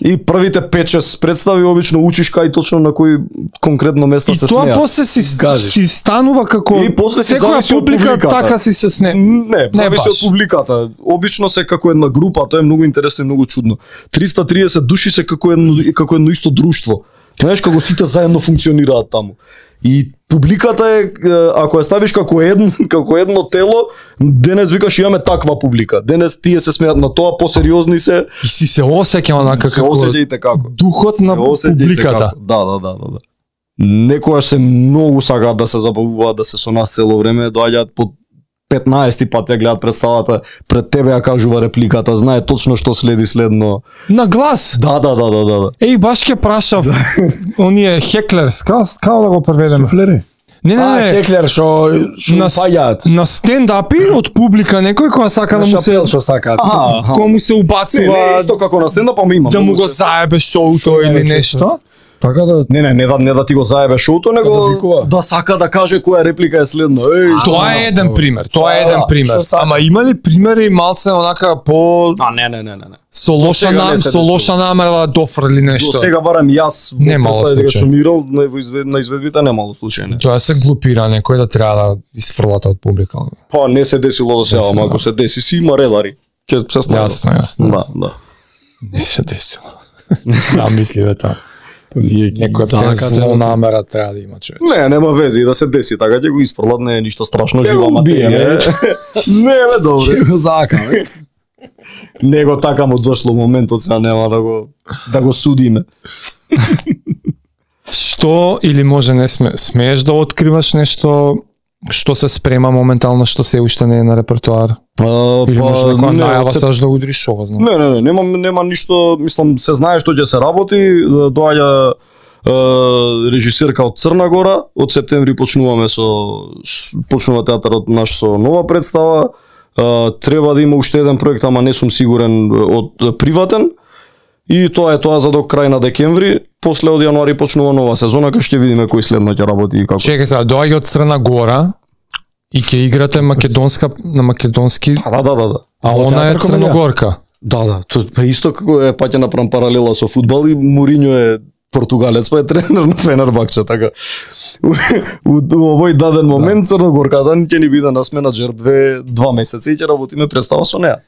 И првите 5-6 представи обично учиш кај точно на кои конкретно места се смеат. И тоа после си станува како И после се секоја зависи од публика публиката. така си се сне. Не, зависи баш. од публиката. Обично се како една група, тоа е многу интересно и многу чудно. 330 души се како едно исто друштво. Знаеш како сите заедно функционираат таму. И публиката е, ако ја ставиш како едно тело, денес викаш имаме таква публика. Денес тие се смеат на тоа, посериозни се. И си се осеќа онака Се како осеќајте како. духот на Се осеќајте публиката. како. Да. Некојаш се многу сакаат да се забавуваат, да се со нас цело време, доаѓаат по 15 пат ја гледат представата, пред тебе ја кажува репликата, знае точно што следи следно. На глас. Да. Еј, баш ќе прашав оние хеклерс, како да го преведеме? Суфлери. Не. Хеклер што На паѓаат. На стендапи од публика некој која сака да му се што сакаат. кој му се Не, убацува исто како на стендап, ама има. да му многу го се- заебе шоуто или нешто. Така да Не да ти го заебе шоуто, Да него викува. да сака да каже која реплика е следно. Тоа е еден пример. Тоа е еден Да, пример. што сака. Ама има ли примери малце онака по Не. со До лоша сега не се со десува. лоша намера да дофрли До нешто? сега барам јас Немало представи дека случај. сум играл на изведбите немало случаи. Не. Тоа се глупира некој да треба да изфрлата од публика. Па не се десило до сега, Не се, ама да. ако се деси, си има редари. Ќе се снајдат. Јасно. Да. Не се десило. Да, мисливе тоа. вие ги Некоја закате. зло намера треба да има човек. Не, нема вези и да се деси, така ќе го изфрлат, не е ништо страшно, Ќе жива го убие, материја. Не, бе, добре. Ќе го закаме. Него така му дошло моментот, сега нема да го судиме. Што или може не смееш да откриваш нешто што се спрема моментално, што се уште не е на репертоар? Или може некоја не, најава се- саш да удриш ова, знам. нема ништо, мислам, се знае што ќе се работи, доаѓа режисерка од Црна Гора, од септември почнуваме почнува театарот наш со нова представа. Треба да има уште еден проект, ама не сум сигурен од приватен. И тоа е тоа за до крај на декември. После од јануари почнува нова сезона, кај ќе видиме кој следно ќе работи и како. Чекај сега, доаѓа од Црна Гора и ќе играте македонска на македонски, Да. а она е театар комедија? црногорка. Да, тоа па исто како е паќа направам паралела со фудбал и Мориньо е португалец, па е тренер на Фенербакче, така. У овој даден момент Црногорката ќе ни биде нас менаџер 2 месеци и ќе работиме представа со неа.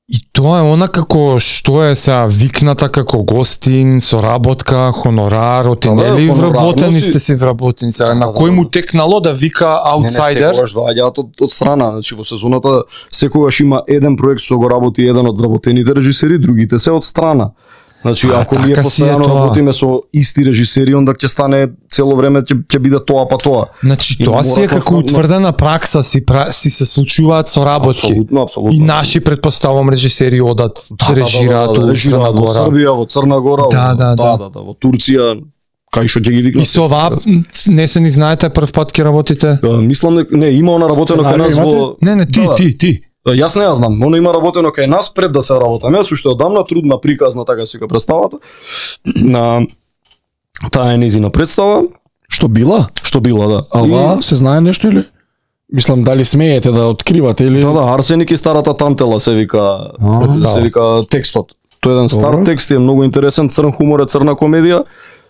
И тоа е она како што е сега викната како гостин, соработка, хонорар, оти Да, нели хонорарно вработени си. сте си вработени сега, на кој му текнало да вика аутсайдер? Секогаш доаѓаат од страна, значи во сезоната секогаш има еден проект што го работи еден од вработените режисери, другите се од страна. Значи ако ние така си е постојано тоа. работиме со исти режисери, онда ќе стане цело време ќе биде тоа па тоа. Значи И тоа си е мора како константно- утврдена пракса, си се случуваат соработки. Апсолутно. И наши предпоставам режисери одат, режираат у Црна режираат во Гора. Србија, во Црна Гора, Да. во Турција, кај што ќе ги викнат. И со ова не се ни знаете прв пат ќе работите? Мислам не има она работено кај нас Сценарио во Не, ти. Јас не ја знам, оно има работено кај нас пред да се работаме, јас уште одамна трудна приказна така се представата. На таа е незина представа, Што била? што била, да. А ова се знае нешто или? Мислам дали смеете да откривате или Да, Арсеник и старата тантела се вика, се вика текстот. Тоа е еден стар Добро. текст, е многу интересен, црн хумор, е црна комедија.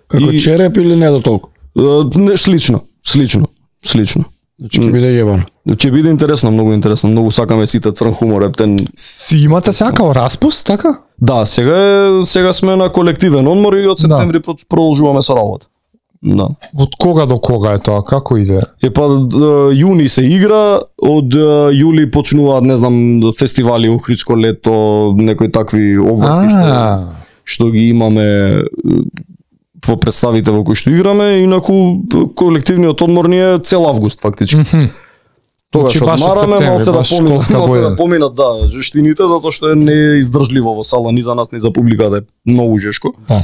како и- череп или не до толку? Не, слично. Значи ќе биде јебано. Ќе биде интересно, многу сакаме сите црн хумор, ептен. Си имате сакао распуст, така? Да, сега сме на колективен одмор и од септември продолжуваме со работа. Да. Од кога до кога е тоа? Како иде? Јуни се игра, од јули почнуваат, не знам, фестивали, Охридско лето, некои такви обврски што ги имаме во представите во кои што играме, инаку колективниот одмор ни е цел август фактички. Тогаш Значи, баш од одмараме, септември, малце да баш поминат, школска малце година. да поминат, да, жештините, затоа што не е издржливо во сала ни за нас, ни за публиката, е многу жешко. Да,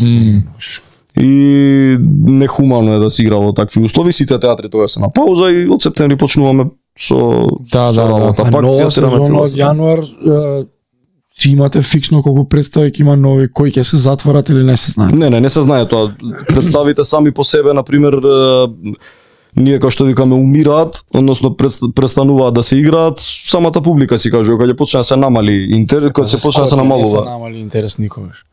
И нехумано е да се игра во такви услови, сите театри тоа се на пауза и од септември почнуваме со Да, со да, работа. А Пак нова театираме сезона цела од сезона. јануар си имате фиксно колку представи ќе има нови, кои ќе се затворат или не се знае? Не се знае тоа. Представите сами по себе, на пример, ние како што викаме умираат, односно престануваат да се играат, самата публика си кажува кога ќе почне да се намали интерес, кога се почне да се Не се намалува. намали интерес никогаш.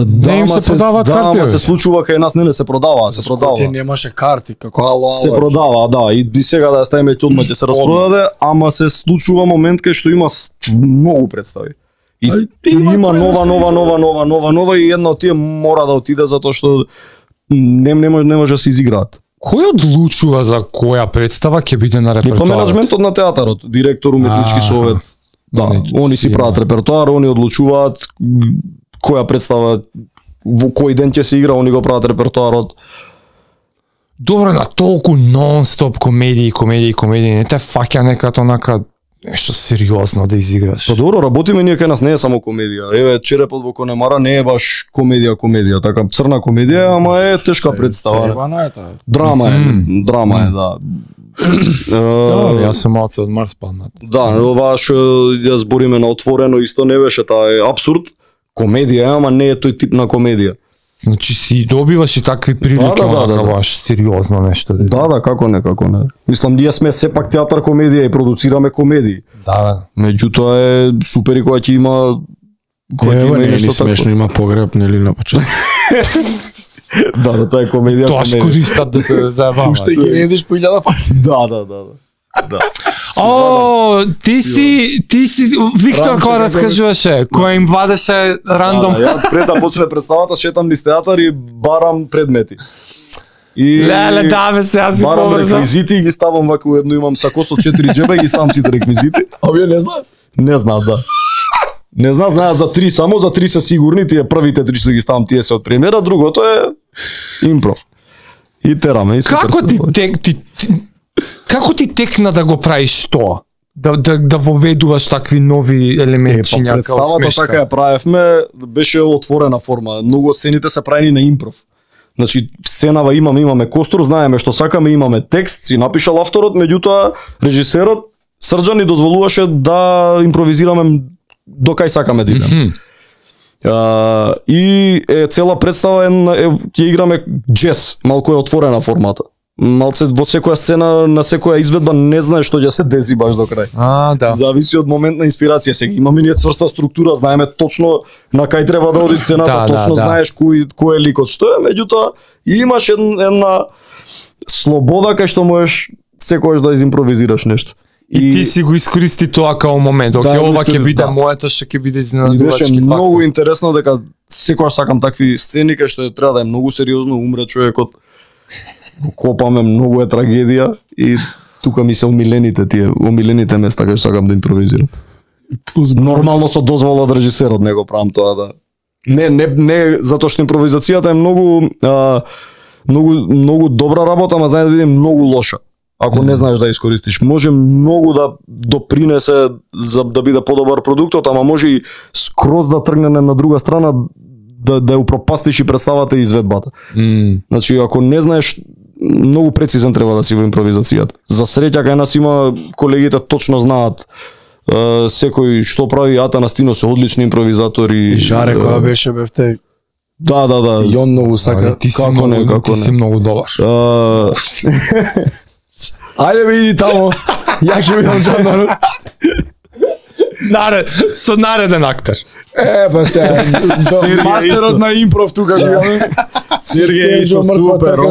Да, им се продаваат карти, ама бе. се случува кај нас не се продава, се продава. Скопје немаше карти, како ало. Се продава, да, и сега да ја ставиме ќе одма ќе се распродаде, ама се случува момент кај што има многу представи. И има нова и една од тие мора да отиде затоа што не може да се изиграат. Кој одлучува за која представа ќе биде на И репертоарот? па менаџментот на театарот, директор, уметнички совет, да, они си прават репертоар, они одлучуваат која представа во кој ден ќе се игра, они го прават репертоарот. Добро, на толку нон-стоп комедии, не те фаќа некато онака нешто сериозно да изиграш. Па добро, работиме ние кај нас, не е само комедија. Еве Черепот во Конемара не е баш комедија, така црна комедија, ама е тешка представа. Себана е таа. Драма е, да. Да, јас сум малце од Марс паднат. Да, ова што ја збориме на отворено исто не беше, таа е абсурд. Комедија е, ама не е тој тип на комедија. Значи си добиваш и такви прилики, Да. баш сериозно нешто. Да, како не. Мислам, ние сме сепак театар комедија и продуцираме комедии. Да. Меѓутоа е супер и кога ќе има Ева, не е ни нешто смешно, има погреб, нели на почеток. Да, тоа е комедија. Тоа користат да се заебаваат. Уште ги едеш по 1000 пати. Да. О, ти си Виктор Рамче, кој како- раскажуваше, кој им вадеше рандом. Ја пред да почне представата шетам низ театар и барам предмети. И Леле, да бе, сега си барам побрзо. реквизити и ги ставам вака уедно, имам сако со 4 џеба и ги ставам сите реквизити. Овие не знаат. Не знаат, да. Не знаат за 3, само за 3 се сигурни, тие првите 3 што ги ставам, тие се од премиера, другото е импров. И тераме и супер. Како ти текна да го правиш тоа? Да воведуваш такви нови елементи Па представата така ја правевме, беше отворена форма. Многу од сцените се правени на импров. Значи, сценава имаме костур, знаеме што сакаме, имаме текст, си напишал авторот, меѓутоа режисерот Срđan ни дозволуваше да импровизираме до кај сакаме да идеме. И цела представа ќе играме джез, малку е отворена формата. Малце во секоја сцена, на секоја изведба не знаеш што ќе се деси баш до крај. Да. Зависи од момент на инспирација. Сега имаме ние цврста структура, знаеме точно на кај треба да оди сцената, точно знаеш кој е ликот што е, меѓутоа имаш една слобода кај што можеш секогаш да изимпровизираш нешто. И ти си го искористи тоа као момент. Оке, ова ќе биде моето, што ќе биде изненадувачки фактор. Беше многу интересно дека секогаш сакам такви сцени кај што треба да е многу сериозно, умре човекот. Копаме, многу е трагедија и тука ми се омилените места кај што сакам да импровизирам. Нормално со дозвола од режисерот не го правам тоа, да. Не затоа што импровизацијата е многу добра работа, ама знае да биде многу лоша. Ако не знаеш да искористиш, може многу да допринесе за да биде подобар продуктот, ама може и скроз да тргне на друга страна да ја упропастиш и представата и изведбата. Значи, ако не знаеш, многу прецизен треба да си во импровизацијата. За среќа кај нас има колегите точно знаат секој што прави. Ата Настино се одлични импровизатори. Жаре која беше бевте. Да. И он многу сака. Ти си многу добар. Ајде бе иди тамо. Ја ќе видам Жандарот. Со нареден актер. Па се, мастерот на импров тука го имаме. Сергеј супер,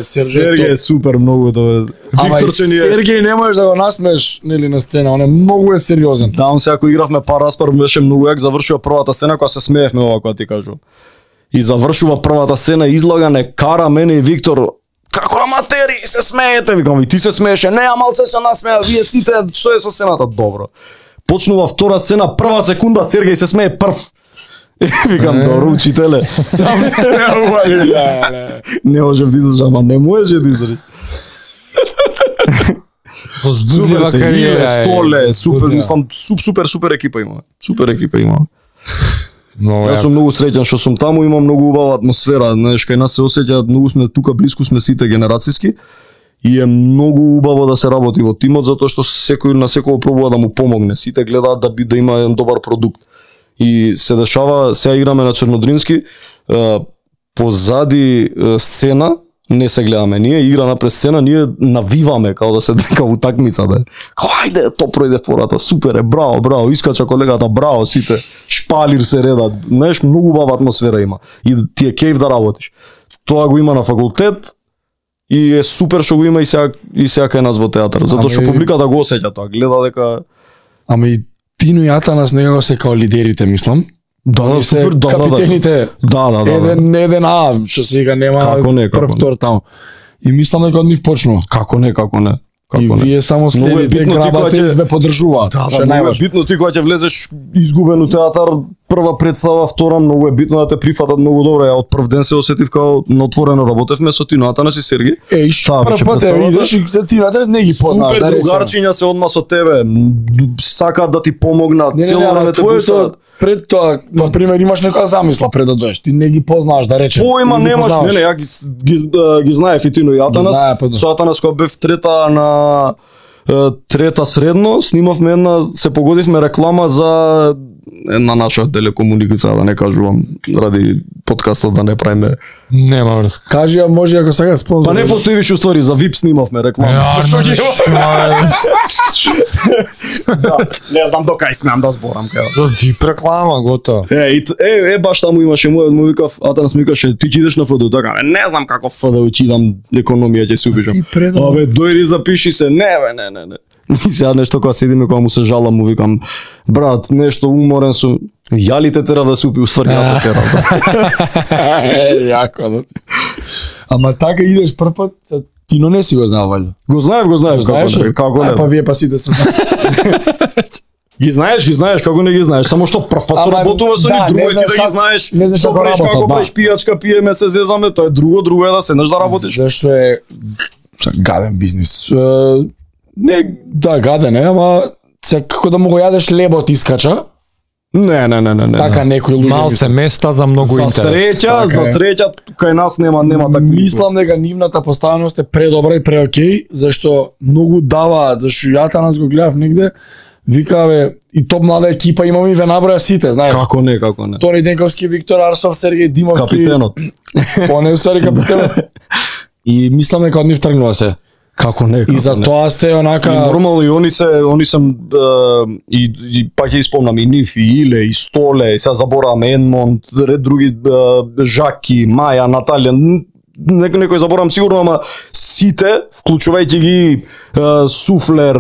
Сергеј е супер многу добар. Викторче ни е. Сергеј не можеш да го насмееш нели на сцена, он е многу сериозен. Да, он сега кога игравме пар распар беше многу јак, завршува првата сцена кога се смеевме ова кога ти кажувам. И завршува првата сцена, излага не кара мене и Виктор. Како аматери се смеете, викам, и ти се смееше, не, а малце се насмеа, вие сите, што е со сцената? Добро. Почнува втора сцена, прва секунда Сергеј се смее прв. Викам, добро, учителе. Сам се не ували. Не можев да издржам, ама не можеше да издржи. Возбудлива кариера. Столе, супер, мислам, супер екипа имаме. Супер екипа имаме. Јас сум многу среќен што сум таму, има многу убава атмосфера, знаеш, кај нас се осеќа, многу сме тука, блиску сме сите генерацијски И е многу убаво да се работи во тимот затоа што секој на секој пробува да му помогне. Сите гледаат да има еден добар продукт. И се дешава, сега играме на Чернодрински, позади сцена не се гледаме. Ние игра напред сцена, ние навиваме као да се дека утакмица да е. Као ајде, то пројде фората, супер е, браво, браво, искача колегата, браво, сите, шпалир се редат. Знаеш, многу убава атмосфера има и ти е кејф да работиш. Тоа го има на факултет и е супер што го има и сега кај нас во театар, затоа што публиката го осеќа тоа, гледа дека Ама и Тино и Атанас некако се као лидерите, мислам. да, супер, да, капитените. Да. Еден што сега нема прв втор таму. И мислам дека од нив почнува. Како не. И вие само следите, грабате и ве поддржуваат. Да, многу е битно ти кога ќе влезеш изгубен у театар, прва представа, втора, многу е битно да те прифатат многу добро. Ја од прв ден се осетив као на отворено работевме со Тино, Атанас и Сергеј. Прв пат идеш и ти не ги познаваш. Супер другарчиња се одма со тебе, сакаат да ти помогнат, цело време те пуштаат. Пред тоа, на пример, имаш некоја замисла пред да доеш, ти не ги познаваш, да речем. Поима немаш, не, ја ги знаев и Тино и Атанас. Со Атанас кога бев трета средно, снимавме се погодивме реклама за една наша телекомуникација, да не кажувам, ради подкастот да не правиме. Нема врска. Кажи, а може ако сега спонзор. Па не постои више ствари, за VIP снимавме реклама. Не знам до кај смеам да зборам кај. За VIP реклама, готово. Баш таму имаше му викав, Атанас ми викаше, ти идеш на ФДУ, така, не знам како ФДУ ќе идам, економија ќе се убежам. Абе, дојди запиши се, не. И сега нешто кога седиме, кога му се жалам, му викам, брат, нешто уморен сум, јалите тера да се упи, уствари ја тера. Јако. Ама така идеш прв пат, Тино не си го знаел, валјда. Го знаев, како не. Па вие па сите се знаат. Ги знаеш, како не ги знаеш, само што прв пат се работува со нив, друго е ти да ги знаеш, што правиш, како правиш пијачка, пиеме, се зезаме, тоа е друго е да седнеш да работиш. Зашто е гаден бизнис. Не, да, гаден е, ама како да му го јадеш лебот искача. Не. Така некои луѓе Малце места за многу интерес. За среќа, кај нас нема такви. Мислам дека нивната поставеност е предобра и преокей, зашто многу даваат, зашто јата нас го гледав негде, викаве и топ млада екипа имаме и ве наброја сите, знаеш. Како не. Тони Денковски, Виктор Арсов, Сергеј Димовски. Капитенот. Поне ствари капитенот. И мислам дека од нив тргнува се. Како не. И за тоа сте онака. И нормално и они се и пак ќе испомнам и нив, и Иле, и Столе, и сега заборавам Енмонд, ред други, Жаки, Маја, Наталија, некој заборавам сигурно, ама сите, вклучувајќи ги Суфлер,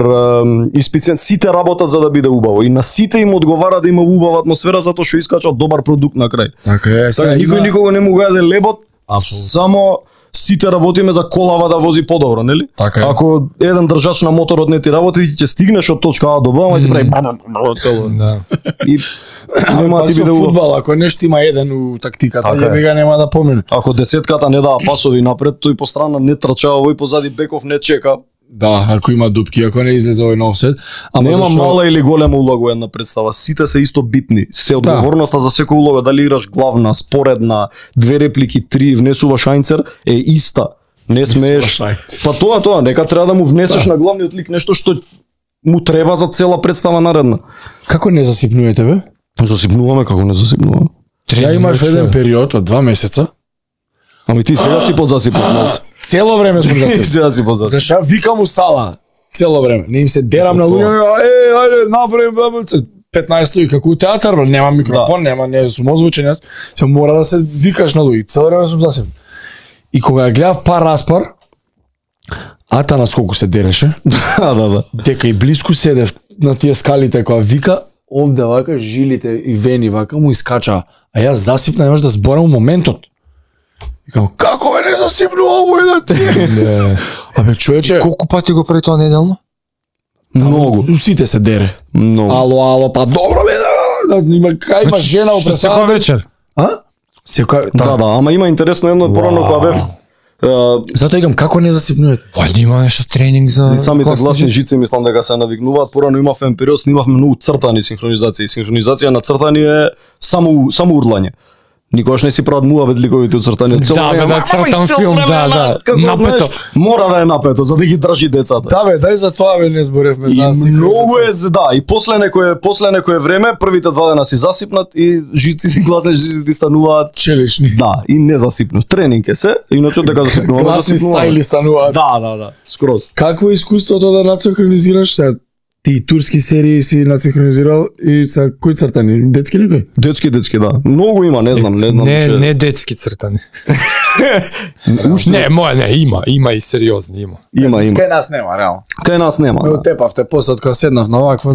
Испицен, сите работат за да биде убаво. И на сите им одговара да има убава атмосфера затоа што искачат добар продукт на крај. Така е, никој никого не му го јаде лебот, само сите работиме за колава да вози подобро, нели? Така е. Ако еден држач на моторот не ти работи, ти ќе стигнеш од точка А до Б, ама ти прави цело. Да. И нема ти биде фудбал, ако нешто има еден у тактиката, јебега нема да помине. Ако десетката не дава пасови напред, тој по страна не трча, овој позади беков не чека. Да, ако има дупки, ако не излезе овој на офсет. Нема мала или голема улога во една представа, сите се исто битни. Се одговорноста за секоја улога, дали играш главна, споредна, 2 реплики, 3, внесуваш ајнцер, е иста. Не смееш. Па тоа, нека треба да му внесеш на главниот лик нешто што му треба за цела представа наредна. Како не засипнувате бе? Засипнуваме, како не засипнуваме. Ја имаш еден период од 2 месеца. Ами ти сега си подзасипнат малце. Цело време сум засипнат. Сега си подзасипнат. Зашто викам у сала цело време. Не им се дерам на луѓе, ајде, направи 15 луѓе како у театар, нема микрофон, нема, не сум озвучен јас. Се мора да се викаш на луѓе. Цело време сум засипнат. И кога ја гледав пар распар, Атанас колку се дереше. Да. Дека и блиску седев на тие скалите кога вика, овде вака жилите и вени вака му искача. А јас засипна, не може да зборам моментот. Викам, како бе не засипнува овој да ти? Абе човече, Колку пати го прави тоа неделно? Многу. Сите се дере. Многу. Ало, па добро бе да има кај има жена у Секоја вечер. А? Секоја Да, ама има интересно едно порано кога бев. Затоа игам како не засипнувате. Вајде има нешто тренинг за Самите гласни жици мислам дека се навигнуваат. Порано имав еден период, снимавме многу цртани синхронизации. Синхронизација на цртани е само урлање. Никогаш не си прават муабет ликовите уцртани. цртан филм, да. Напето. Мора да е напето за да ги држи децата. Да бе, дај за тоа бе не зборевме за И многу е, да, и после некое време првите 2 дена си засипнат и жиците, гласни жиците стануваат челични. да, и не засипнат. Тренинг е се, иначе дека засипнуваме, Гласни сајли стануваат. Да, скроз. Какво е искуството да нацинхронизираш се? Ти турски серии си нацинхронизирал и са кои цртани? Детски некои? Детски, да. Многу има, не знам. Не детски цртани. Има и сериозни, има. Има. Кај нас нема, реално. Кај нас нема. Ме утепавте после кога седнав на ваква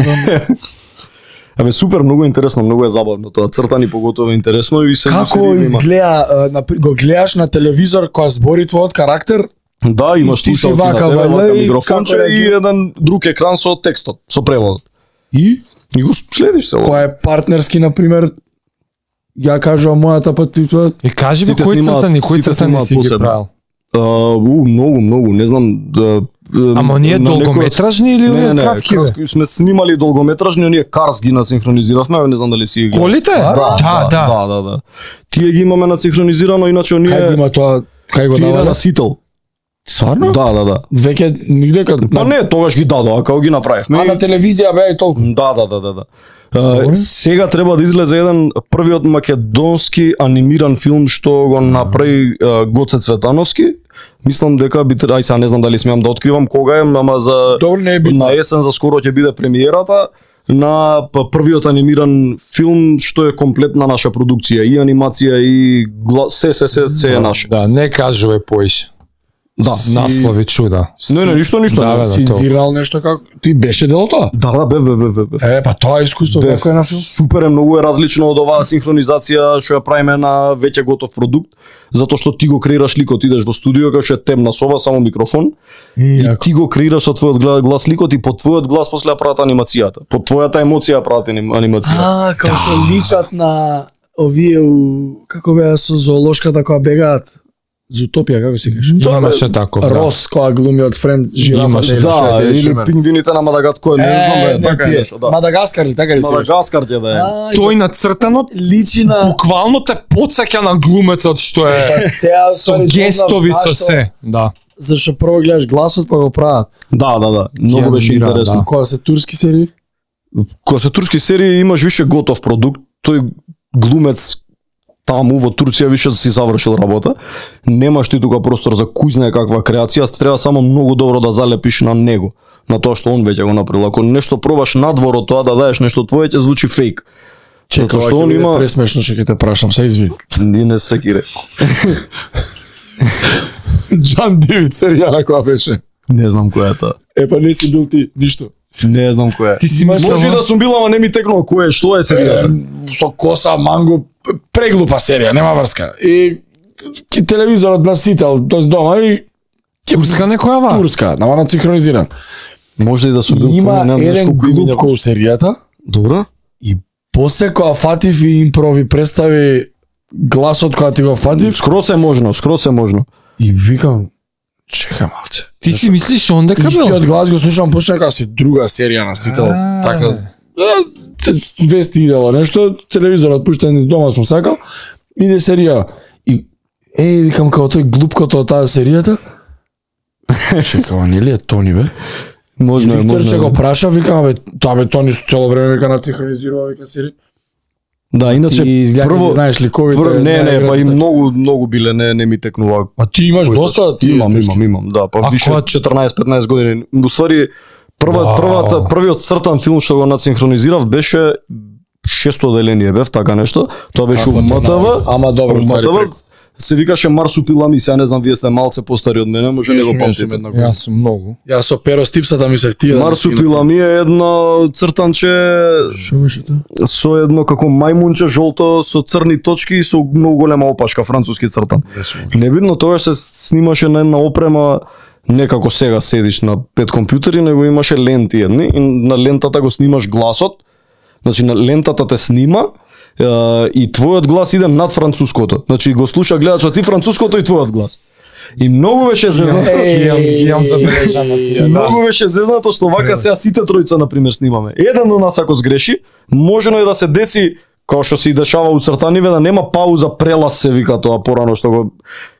Абе супер, многу интересно, многу е забавно тоа. Цртани поготово е интересно и се Како изгледа, го гледаш на телевизор кога збори твојот карактер? Да, имаш ти си слушалки на вака, тебе, вајде, и микрофонче како и еден друг екран со текстот, со преводот. И го следиш се. кој е партнерски на пример ја кажувам мојата пат и тоа. И кажи ми Сите кои снимаат цртани си ги посебно. правил? Многу, не знам. Ама ние на долгометражни или Не, кратки бе? кратки сме снимали долгометражни, оние Карс ги насинхронизиравме, не знам дали си ги гледал. Колите? Да. Тие ги имаме насинхронизирано, иначе оние Кај го има тоа? Кај го ги иде дава? на Сител. Сварно? Да. Веќе нигде кај Па не, тогаш ги дадоа, кога ги направивме. А на телевизија беа и толку. Да. Сега треба да излезе еден првиот македонски анимиран филм што го направи Гоце Цветановски. Мислам дека би ај сега не знам дали смеам да откривам кога е, ама за Добро, не е битно. на есен за скоро ќе биде премиерата на првиот анимиран филм што е комплетна наша продукција, и анимација и се е наше. Да, не кажуве поише. Да. Наслови чуда. Не, ништо. Да, бе, Цензирал нешто како ти беше дел од тоа? Да, бе. Па тоа е искуство како е на филм. Супер е, многу е различно од оваа синхронизација што ја правиме на веќе готов продукт, затоа што ти го креираш ликот, идеш во студио кај што е темна соба, само микрофон, и ти го креираш со твојот глас ликот и по твојот глас после ја прават анимацијата. По твојата емоција ја прават анимацијата. Како што личат на овие како беа со зоолошката кога бегаат. Зутопија, како се кажеш? Имаше таков, да. Рос која глуми од Френд жирафа. Имаше, Да, или пингвините на Мадагаскар, не знам бе, така нешто, да. Мадагаскар ли, така ли се? Мадагаскар ќе да е. Тој нацртанот личи на буквално те потсеќа на глумецот што е со гестови со се, да. Зашто прво гледаш гласот па го прават. Да. Многу беше адмирам, интересно. да. Кога се турски серии? Кога се турски серии имаш више готов продукт, тој глумец таму во Турција више си завршил работа. Немаш ти тука простор за кој знае каква креација, треба само многу добро да залепиш на него, на тоа што он веќе го направил. Ако нешто пробаш надвор од тоа да даеш нешто твое, ќе звучи фейк. Чекај, што он има пресмешно што ќе те прашам, се извини. Не се кире. Џан Дивид серија на која беше? Не знам која е таа. Па не си бил ти, ништо. Не знам која е. Ти си мислел, Може и да сум бил, ама не ми текнува кој е, што е серијата. Со коса, манго, преглупа серија, нема врска. И телевизорот на Сител, тоест дома и турска некоја ва? турска, нама на синхронизиран. Може и да сум бил. Има еден глуп кој серијата. Добро. И после кога фатив и импрови представи гласот кога ти го фатив, Скроз е можно. и викам, чекај малце. Ти си мислиш он дека бил? Истиот глас го слушам после дека си друга серија на Сител. Така вести идело нешто, телевизорот пуштен из дома сум сакал, иде серија. И викам како тој глупкото од таа серијата. Чекава, нели е Тони бе? Можно е, Виктор можно че е. го праша, викам бе, тоа бе Тони цело време вика нацинхронизирува вика серија. Да, иначе Ти изгледа прво знаеш ликовите. не, па и многу биле, не ми текнува. А ти имаш доста, ти Имам, да, па А више кога- 14-15 години. Уствари првиот цртан филм што го нацинхронизирав беше шесто деление бев, така нешто. Тоа беше у МТВ. Ама добро, ствари МТВ се викаше Марсупилами, сега не знам, вие сте малце постари од мене, може не го памтите. Јас сум многу. Јас со перо стипсата ми се втија. Марсупилами е едно цртанче Што беше тоа? со едно како мајмунче жолто со црни точки и со многу голема опашка, француски цртан. Небитно, тогаш се снимаше на една опрема, не како сега седиш на 5 компјутери, него имаше ленти едни и на лентата го снимаш гласот. Значи на лентата те снима и твојот глас иде над француското. Значи го слуша гледачот и француското и твојот глас. И многу беше зезнато. Јам забележано тие. Многу беше зезнато што вака сега сите тројца на пример снимаме. Еден од нас ако сгреши, можено е да се деси Као што се и дешава у цртаниве, да нема пауза, прелаз се вика тоа порано што го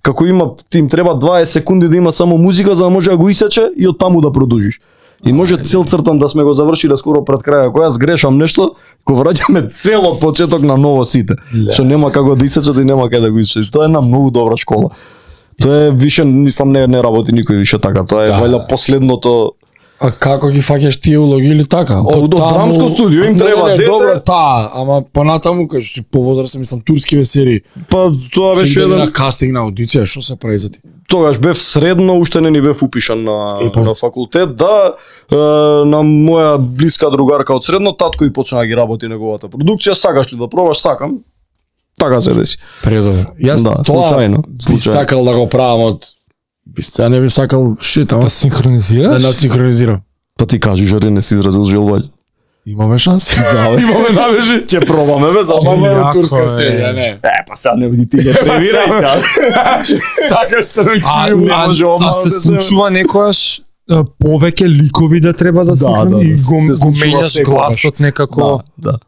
како има им треба 20 секунди да има само музика за да може да го исече и од таму да продолжиш. И може цел цртан да сме го завршиле скоро пред крај, ако јас грешам нешто, го враќаме цел од почеток на ново сите. Што нема како да исече и нема кај да го исече. Тоа е една многу добра школа. Тоа е више, мислам, не работи никој више така. Тоа е вајда последното. А како ги фаќаш тие улоги или така? Од драмско студио им треба дете. Добро, ама понатаму кај што повозрасен, мислам, турскиве серии. Па тоа беше еден на кастинг на аудиција, што се прави за ти? Тогаш бев средно, уште не ни бев упишан на факултет, да, на моја блиска другарка од средно, татко и почна да ги работи неговата продукција, сакаш ли да пробаш, сакам, така се деси. Предобро. Јас да, случајно би сакал да го правам од Ја не би сакал шит, ама да синхронизираш? Да синхронизирам. Па ти кажи, жари не си изразил желба. Имаме шанси. Да, имаме надежи. Ќе пробаме бе, зашто не турска серија, не. Па сега не биди ти да превирај сега. Сакаш црнки, не може а се случува некојаш повеќе ликови да треба да синхронизираш, го менјаш гласот некако. Да.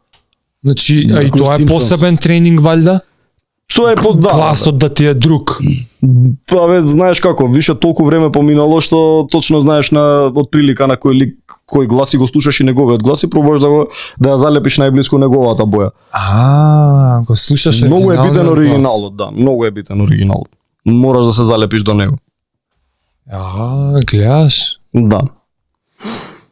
Значи, и тоа е посебен тренинг валјда? Тоа е гласот да ти е друг. Па бе, знаеш како, више толку време поминало што точно знаеш на од прилика на кој лик, кој гласи го слушаш и неговиот глас и пробуваш да ја залепиш најблиску неговата боја. Го слушаш многу е битен оригиналот, да, многу е битен оригиналот. Мораш да се залепиш до него. Гледаш? Да.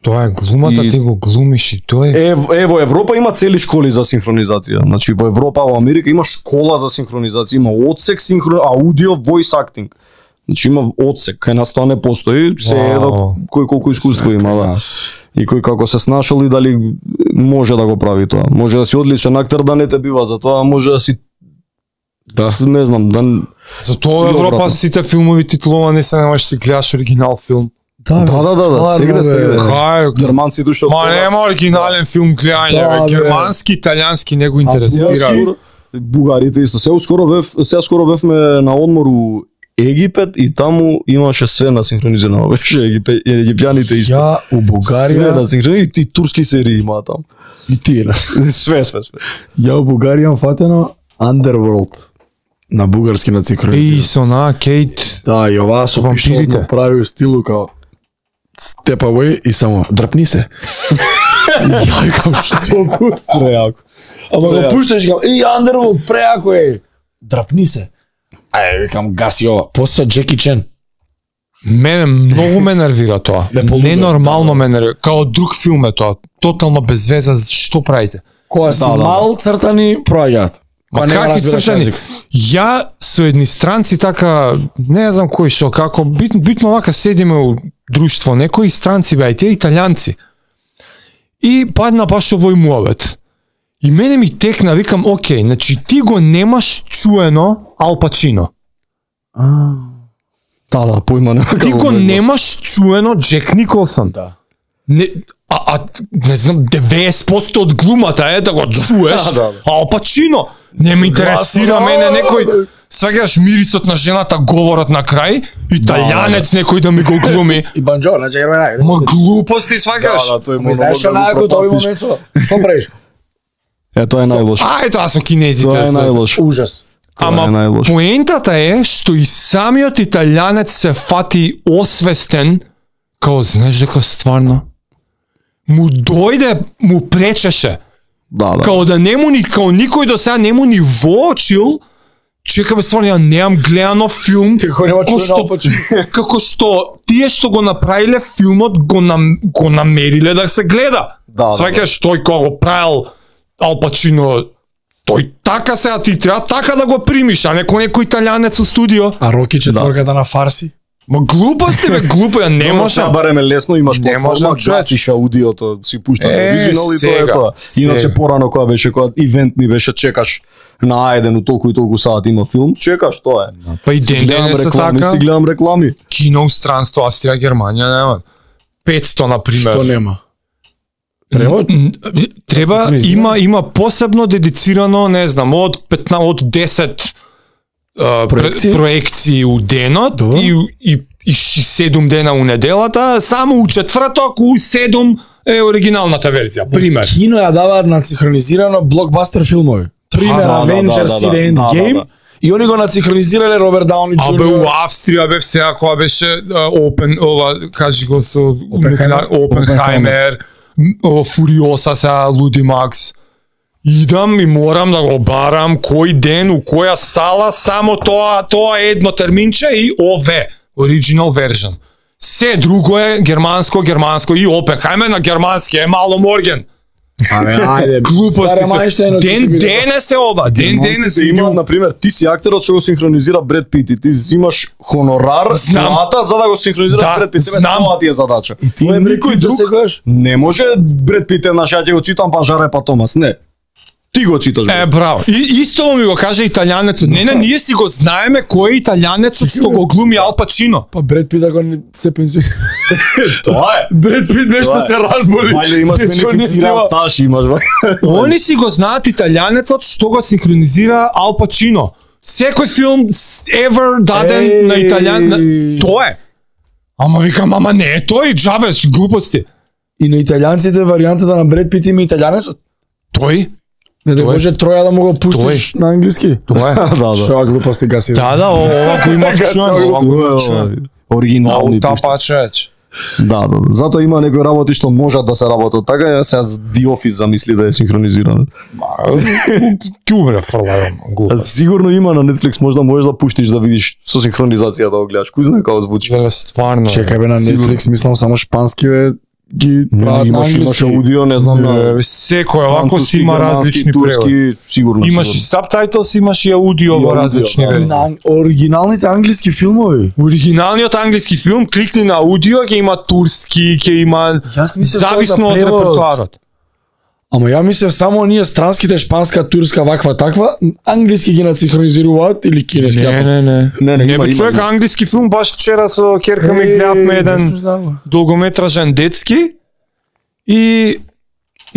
Тоа е глумата, ти го глумиш и тоа е... Во Европа има цели школи за синхронизација. Значи во Европа, во Америка има школа за синхронизација, има одсек аудио voice acting. Значи има одсек, кај нас тоа не постои, се едно кој колку искуство има, да. И кој како се снашал и дали може да го прави тоа. Може да си одличен актер, да не те бива за тоа, може да си не знам, да. Затоа Европа сите филмови титуловани се, не можеш да си гледаш оригинал филм. Да, сегде. Германците што ма нема оригинален филм гледање, германски, италијански не го интересира. Бугарите исто. Сега скоро бевме на одмор у Египет и таму имаше све на синхронизирано, беше египјаните исто. Ја у Бугарија на синхронизирано и турски серии има таму. И ти све. Ја у Бугарија имам фатено Underworld на бугарски на синхронизирано. И со на Кейт. Да, и оваа со вампирите прави стилу као step away и само дрпни се. Ја викам што преако. Ама го пушташ као Underworld преако е. Дрпни се. Викам гаси ова. После Джеки Чен. Мене многу ме нервира тоа. Ненормално ме нервира. Као друг филм е тоа. Тотално без веза, што правите? Кога си мал цртани проаѓаат. Какви цртани? Ја со едни странци така, не знам кој шо, како битно вака седиме у друштво, некои странци беа, тие италијанци. И падна баш овој муавет. И мене ми текна, викам, окей, значи ти го немаш чуено Ал Пачино. Да, појма нема. Ти го немаш чуено Джек Николсон. Да. Не знам, 90% од глумата е да го чуеш. Ал Пачино. Не ме интересира мене некој. Сваќаш мирисот на жената, говорот на крај, италијанец некој да ми го глуми. И Бонџорно, чекај. Ма глупости сваќаш. Ми знаеш што најако тој момент што правиш? Тоа е најлош. Тоа со кинезите. Тоа е најлош. Ужас. Ама поентата е што и самиот италијанец се фати освестен, као знаеш дека стварно му дојде, му пречеше. Да. Као да нему ни, као никој до сега нему ни воочил, чекаме стварно, ја немам гледано филм, како што тие што го направиле филмот го намериле да се гледа. Сваќаш тој кога го правил Ал Пачино, тој така сега ти треба така да го примиш, а некој италијанец у студио. А Роки четворката на фарси? Ма глупости бе, глупо, ја не може. Бареме лесно, имаш платформа, гасиш аудиото, си пушташ оригинал и тоа е тоа. Иначе порано кога беше, кога ивент ни беше, чекаш на А1 у толку и толку сат има филм, чекаш, тоа е. Па и ден денес така. Си гледам реклами. Кино странство, Австрија, Германија нема. 500 на пример. Што нема? Превод? Треба, има посебно дедицирано, не знам, од 10 проекции у денот и 7 дена у неделата, само у четврток у 7 е оригиналната верзија, пример. Кино ја даваат на синхронизирано блокбастер филмови. Пример Avengers и Endgame. И они го нацинхронизирале Роберт Дауни Джуниор. А бе у Австрија бе сега кога беше кажи го со Опенхаймер, Фуриоса сега Луди Макс. Идам и морам да го барам кој ден у која сала само тоа едно терминче и ОВ, original version. Се друго е германско и Опенхаймер на германски е мало морген. Абе, ајде. Глупости се. Ден денес е ова. Ден денес има, например, ти си актерот што го синхронизира Бред Пит и ти взимаш хонорар плата за да го синхронизираш Бред Пит. Тоа ти е задача. Никој друг не може Бред Пит наш ја го читам па Жаре па Томас, не. Ти го читаш. Браво. И исто ми го каже италијанецот. Не, ние си го знаеме кој е италијанецот што го глуми Ал Пачино. Па Бред Пит го се пензионира. Тоа е. Бред Пит нешто се разболи. Вајде имаш бенефициран стаж, имаш. Они си го знаат италијанецот што го синхронизира Ал Пачино. Секој филм ever даден на италијан, тоа е. Ама викам, ама не е тој, џабе, глупости. И на италијанците варијантата на Бред Пит има италијанецот. Тој? Не да може троја да му го пуштиш на англиски. Тоа е. Да. Шо глупости гаси. Да, ова го има вчуено. Оригинални. Та пачеч. Да. Затоа има некои работи што можат да се работат така, сега The Office замисли да е синхронизирано. Ки умре фрлајом, глупост. Сигурно има на Netflix, можеш да пуштиш да видиш со синхронизација да го гледаш. Кој знае како звучи. Стварно. Чекај бе, на Netflix мислам само шпански бе ги прават на имаш англиски. аудио, не знам на секој овако си има различни преводи. Сигурно. Имаш и сабтајтлс, имаш и аудио во различни верзии. На оригиналните англиски филмови. Оригиналниот англиски филм, кликни на аудио, ќе има турски, ќе има зависно од репертоарот. Ама ја мислев само ние странските шпанска, турска, ваква таква, англиски ги нацинхронизираат или кинески. Не бе човек, англиски филм баш вчера со керка ми гледавме еден долгометражен детски и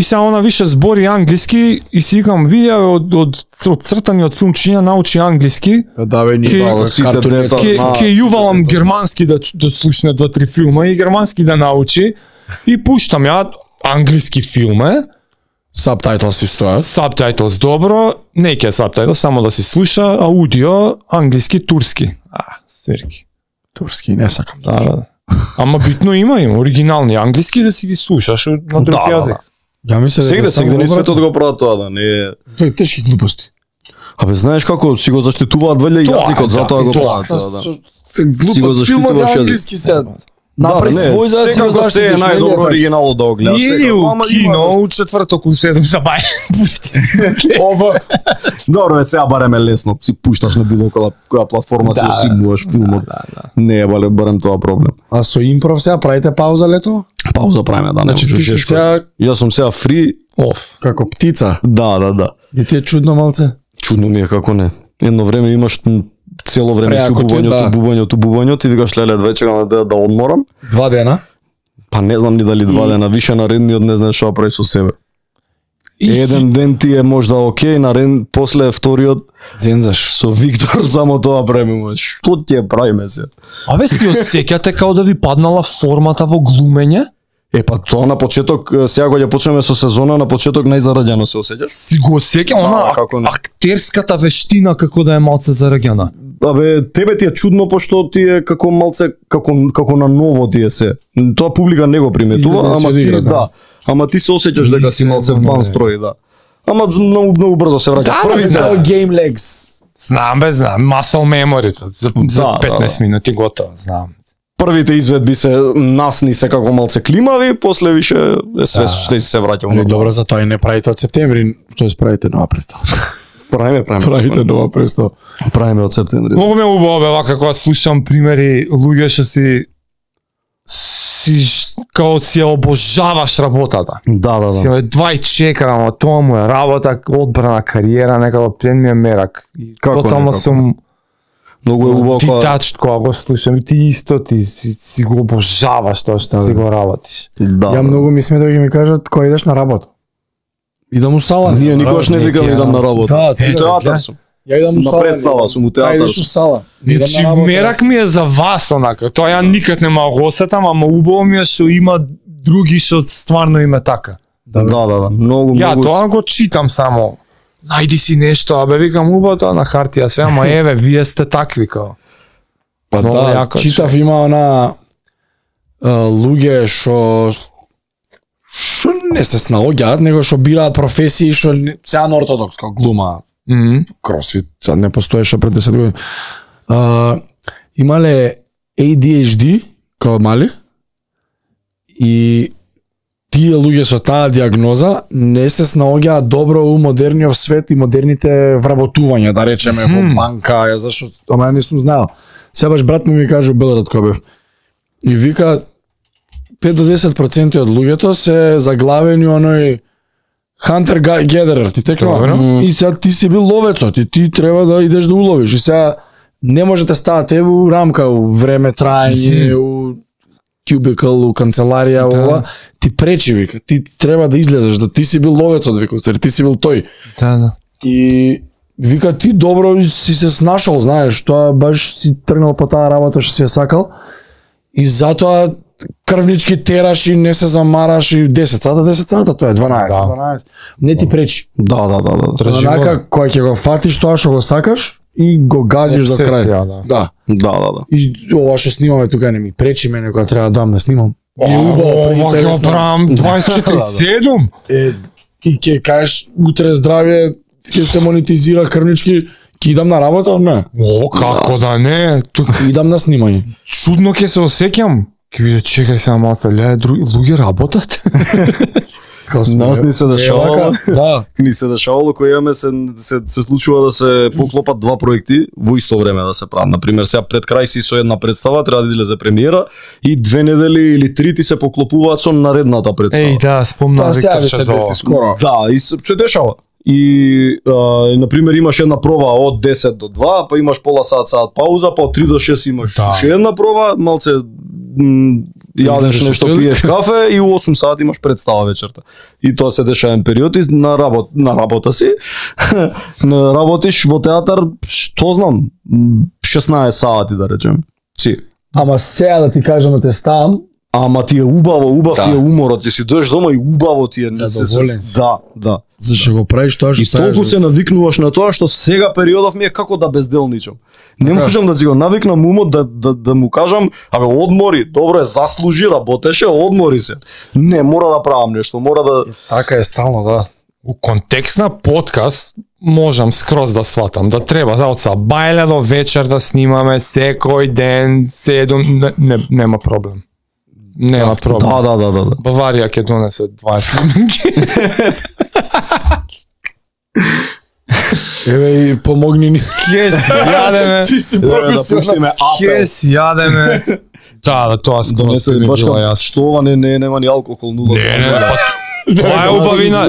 само на више збори англиски и си викам видео од цртани од филмчиња научи англиски. Да бе, ќе јувалам германски да слушне 2-3 филма и германски да научи и пуштам ја англиски филм е. Subtitles си стојат. Subtitles добро, не ќе subtitles, само да си слуша, аудио, англиски, турски. Сверки. Турски не сакам. Да. Ама битно има оригинални англиски да си ги слушаш на друг јазик. Ја мислам сега не светот го прават тоа, да не е. Тоа е тешки глупости. Абе знаеш како си го заштитуваат валја јазикот, затоа го прават тоа, да. Се глупат филмот англиски се. Направи свој за да се се е најдобро оригинално да го гледаш. И у кино у четврток у 7 забај. Ова добро е, сега барем е лесно, си пушташ на било која платформа си осигнуваш филмот. Не е барем тоа проблем. А со импров сега правите пауза лето? Пауза правиме, да. Значи ти си сега јас сум сега фри, како птица. Да. И ти е чудно малце? Чудно ми е како не. Едно време имаш цело време си бубањето и викаш леле две чекам да одморам. 2 дена? Па не знам ни дали 2 дена, више наредниот не знаеш што прави со себе. Еден ден ти е можда окей, после вториот дзензаш со Виктор само тоа правиме. Што ти е правиме се? Абе си осеќате као да ви паднала формата во глумење? Па тоа на почеток, сега кога ќе почнеме со сезона, на почеток најзараѓано се осеќа. Си го осеќам, она актерската вештина како да е малце зараѓана. Абе, тебе ти е чудно пошто ти е како малце како на ново ти е се. Тоа публика не го приметува, ама ти ама ти се осеќаш дека си малце ван строј, да. Ама многу брзо се враќа. Првите game legs. Знам, muscle memory за 15 минути готово, знам. Првите изведби се насни се како малце климави, после више све се враќа. Добро, за тоа и не правите од септември, тоест правите нова представа. Правиме нова представа. Правиме од септември. Многу ме убаво бе вака кога слушам примери луѓе што си као си обожаваш работата. Да. Си едва и чекам, тоа му е работа, одбрана кариера, некако плен ми е мерак. Тотално сум многу е убаво детачд кога го слушам и ти исто ти си го обожаваш тоа што си го работиш. Ја многу ми сме да ги ми кажат кога идеш на работа. Идам у сала. Ние никогаш не викам идам на работа. Да, театар сум. Ја идам у сала. На представа сум у театар. Идеш у сала. Мерак ми е за вас онака. Тоа ја никад не ма го осетам, ама убаво ми е што има други што стварно има така. Да, многу Ја многу. тоа го читам само. Најди си нешто, абе викам убаво на хартија све, ама еве вие сте такви као. Па Много да, јако, читав има она луѓе што не се снаоѓаат, него што бираат професии што сега на ортодокс, како глума, кросфит, сега не постоеше пред 10 години. Имале ADHD као мали и тие луѓе со таа диагноза не се снаоѓаат добро у модерниот свет и модерните вработувања, да речеме, во банка, ја зашо, ама ја не сум знаел. Сега баш брат ми каже у Белград кога бев. И вика 5 до 10% од луѓето се заглавени оној hunter gatherer, ти текнува. И сега ти си бил ловецот и ти треба да идеш да уловиш. И сега не може да ставате у рамка, у време траење, у кубикал, у канцеларија, ова, ти пречи, вика. Ти треба да излезеш, да ти си бил ловецот, вика, ти си бил тој. Да. И вика ти добро си се снашал, знаеш, тоа баш си тргнал по таа работа што си ја сакал. И затоа крвнички тераш и не се замараш и 10 сата, тоа е 12. Не ти пречи. Да. Онака кога ќе го фатиш тоа што го сакаш и го газиш до крај. Да. И ова што снимаме тука не ми пречи мене кога треба да дам да снимам. Ова ќе правам 24/7. И ќе кажеш утре здравје, ќе се монетизира крвнички, ќе идам на работа, не? О, како да не? Идам на снимање. Чудно ќе се осеќам. Ке биде, чекај сега малку, луѓе работат? Нас ни се дешавало. Да. Ни се дешавало кој имаме се случува да се поклопат два проекти во исто време да се прават. Например, сега пред крај си со една представа треба да излезе премиера и 2 недели или 3 ти се поклопуваат со наредната представа. Еј, да, спомнав Виктор се деси скоро. Да, и се дешава. И например имаш една проба од 10 до 2, па имаш пола сат пауза, па од 3 до 6 имаш уште една проба, малце јадеш нешто, пиеш кафе и у 8 сати имаш представа вечерта. И тоа се дешава еден период и на работа си. Работиш во театар, што знам, 16 сати да речем. Си. Ама сега да ти кажам да те ставам, Ама ти е убав ти е уморот, ти си дојдеш дома и убаво ти е. Задоволен си. Да. Зашто го правиш тоа што И толку се навикнуваш на тоа што сега периодов ми е како да безделничам. Не можам да си го навикнам умот да му кажам, абе одмори, добро е, заслужи, работеше, одмори се. Не, мора да правам нешто, мора да... Така е стално, да. У контекст на подкаст можам скроз да сватам да треба од сабајле до вечер да снимаме секој ден 7, нема проблем. Нема проблем. Да. Баварија ќе донесе 20 снимки. Еве и помогни ни. Ке си јадеме. Ти си Да професионален. пуштиме Ке апел. си јадеме. Да, тоа скроз Донесе ми баш било како, јасно. што ова нема ни алкохол, нула. Тоа е убавина.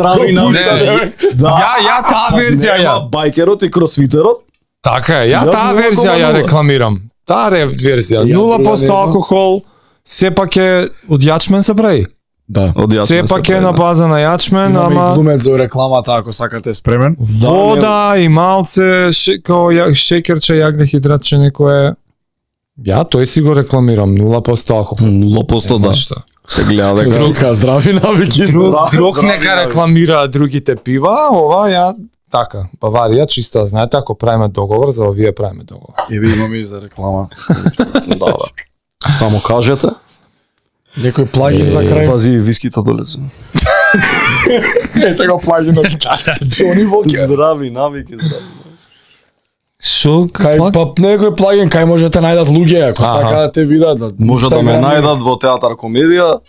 Ја таа верзија ја. Байкерот и кросфитерот. Така е, ја Ја таа нула верзија кома ја нула. рекламирам. Таа верзија, Ја 0% знам. алкохол, сепак е од јачмен се прави. Да. Сепак е на база на јачмен, Имаме и ама глумец за рекламата ако сакате спремен. вода и малце као шекерче, јаглехидратче некое. Ја тој си го рекламирам, 0% алкохол. 0% да. Нешта. Се гледа дека Друга здрави навики. Друг нека рекламира другите пива, ова ја така. Баварија чисто знаете, ако правиме договор, за овие правиме договор. Еве имаме и за реклама. да. Само кажете. Некој плагин за крај. Пази вискито долезе. Ете го плагинот. Джони Вокер. Здрави навики, здрави. Шо? Кај па некој плагин кај можете најдат луѓе ако Аха. сакаат да те видат. Може да ме Инстаграм, најдат во театар комедија,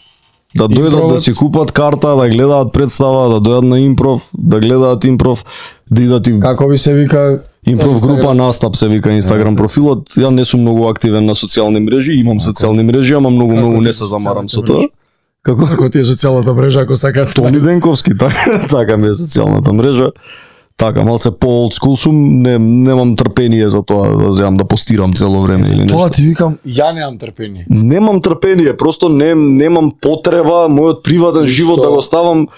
да дојдат да Импровот. си купат карта, да гледаат представа, да дојдат на импров, да гледаат импров, да идат и Како ви се вика? импров Инстаграм? група Настап се вика Инстаграм профилот. Ја не сум многу активен на социјални мрежи, имам социјални мрежи, ама многу ти не се замарам со социјалните тоа. Како Како ти е социјалната мрежа ако сакаат? Тони Денковски, така ми е социјалната мрежа. Така, малце по-олдскул сум, немам трпение за тоа да земам да постирам цело време или Тоа нешто. ти викам, ја немам трпение. Немам трпение, просто немам потреба мојот приватен живот да го ставам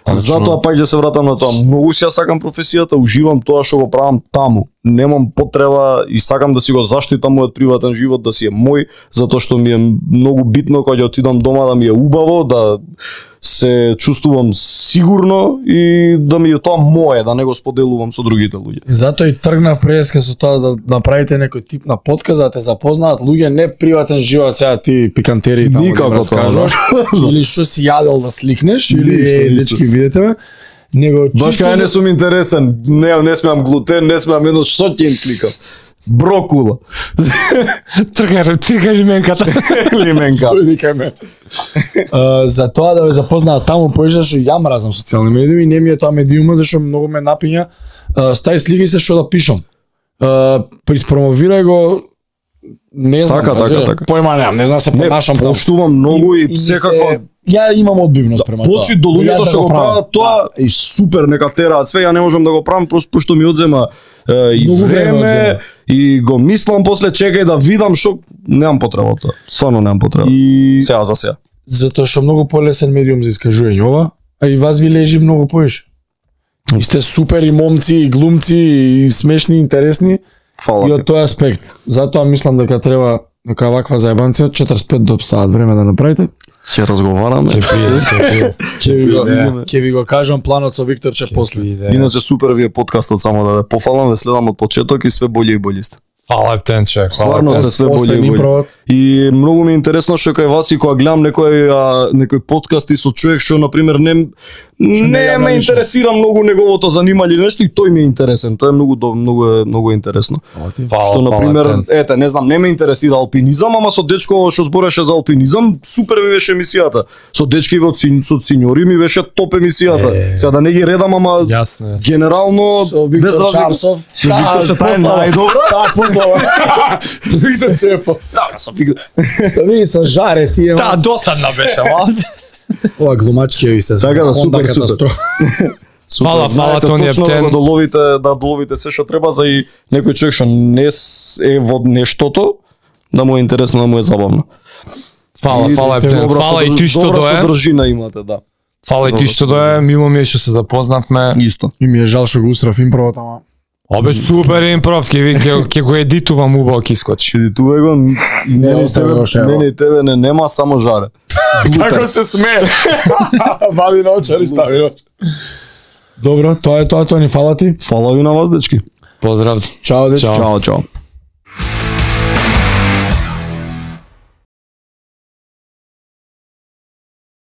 Затоа пак ќе се вратам на тоа. Многу си ја сакам професијата, уживам тоа што го правам таму. Немам потреба и сакам да си го заштитам мојот приватен живот, да си е мој, затоа што ми е многу битно кога ќе отидам дома да ми е убаво, да се чувствувам сигурно и да ми е тоа мое, да не го споделувам со другите луѓе. Затоа и тргнав преска со тоа да направите некој тип на подкаст да те запознаат луѓе, не приватен живот, сега ти пикантери таму Никако да раскажуваш, или што си јадел да сликнеш, или дечки видете ме, него Баш кај не сум интересен, не смеам глутен, не смеам едно што ќе им сликам. Брокула. Трга лименката. Лименка. За тоа да ве запознаат таму поише што ја мразам социјални медиуми, не ми е тоа медиумот зашто многу ме напиња. Стај сликај се што да пишам. Приспромовирај го, не знам, Така. Појма немам, не знам се понашам таму. Поштувам многу и секаква. Ја имам одбивност према тоа. Почи до луѓето што го прават тоа и супер нека тераат све, ја не можам да го правам просто што ми одзема и Многу време време и го мислам после чекај да видам што немам потреба од тоа. Стварно немам потреба. И Сега за сега. затоа што многу полесен медиум за искажување ова, а и вас ви лежи многу поише. И сте супер и момци, и глумци, и смешни, и интересни. Фала. И од тој аспект. Затоа мислам дека треба нека ваква заебанција 45 до саат време да направите. Ќе разговараме. Ќе ви го кажам планот со Викторче после. Иначе супер ви е подкастот, само да ве пофалам, ве следам од почеток и све болje и болje сте. Фала Птенче. Стварно сте све болje и болje. И многу ми е интересно што кај вас и кога гледам некој подкасти со човек што на пример не ме интересира многу неговото занимање или нешто и тој ми е интересен. Тоа е многу интересно. Што на пример, ете, не знам, не ме интересира алпинизам, ама со дечко што збореше за алпинизам, супер ми беше емисијата. Со дечки со синьори ми беше топ емисијата. Сега да не ги редам, ама Јасно. Со генерално Виктор Чарсов. Со Виктор се таа најдобра. Со Виктор Чепо. Со жаре тие. Да, досадна беше, малце. Ова глумачки ви се. Така да, супер. Фала, Тони Ептен. Ептен. Да доловите се што треба за и некој човек што не е во нештото, да му е интересно, да му е забавно. Фала Ептен. Фала и ти што Добра дое. содржина имате, да. Фала и ти што дое. Мило ми е што се запознавме. Исто. И ми е жал што го усрав импровот, ама. Обе супер импров, ќе го едитувам убаво ќе искочи. Едитувај го, и мене и тебе не нема само жаре. Како се смее. Вали на очари стави. Добро, тоа е тоа, Тони, фала ти. Фала ви на вас, дечки. Поздрав. Чао, дечки. Чао.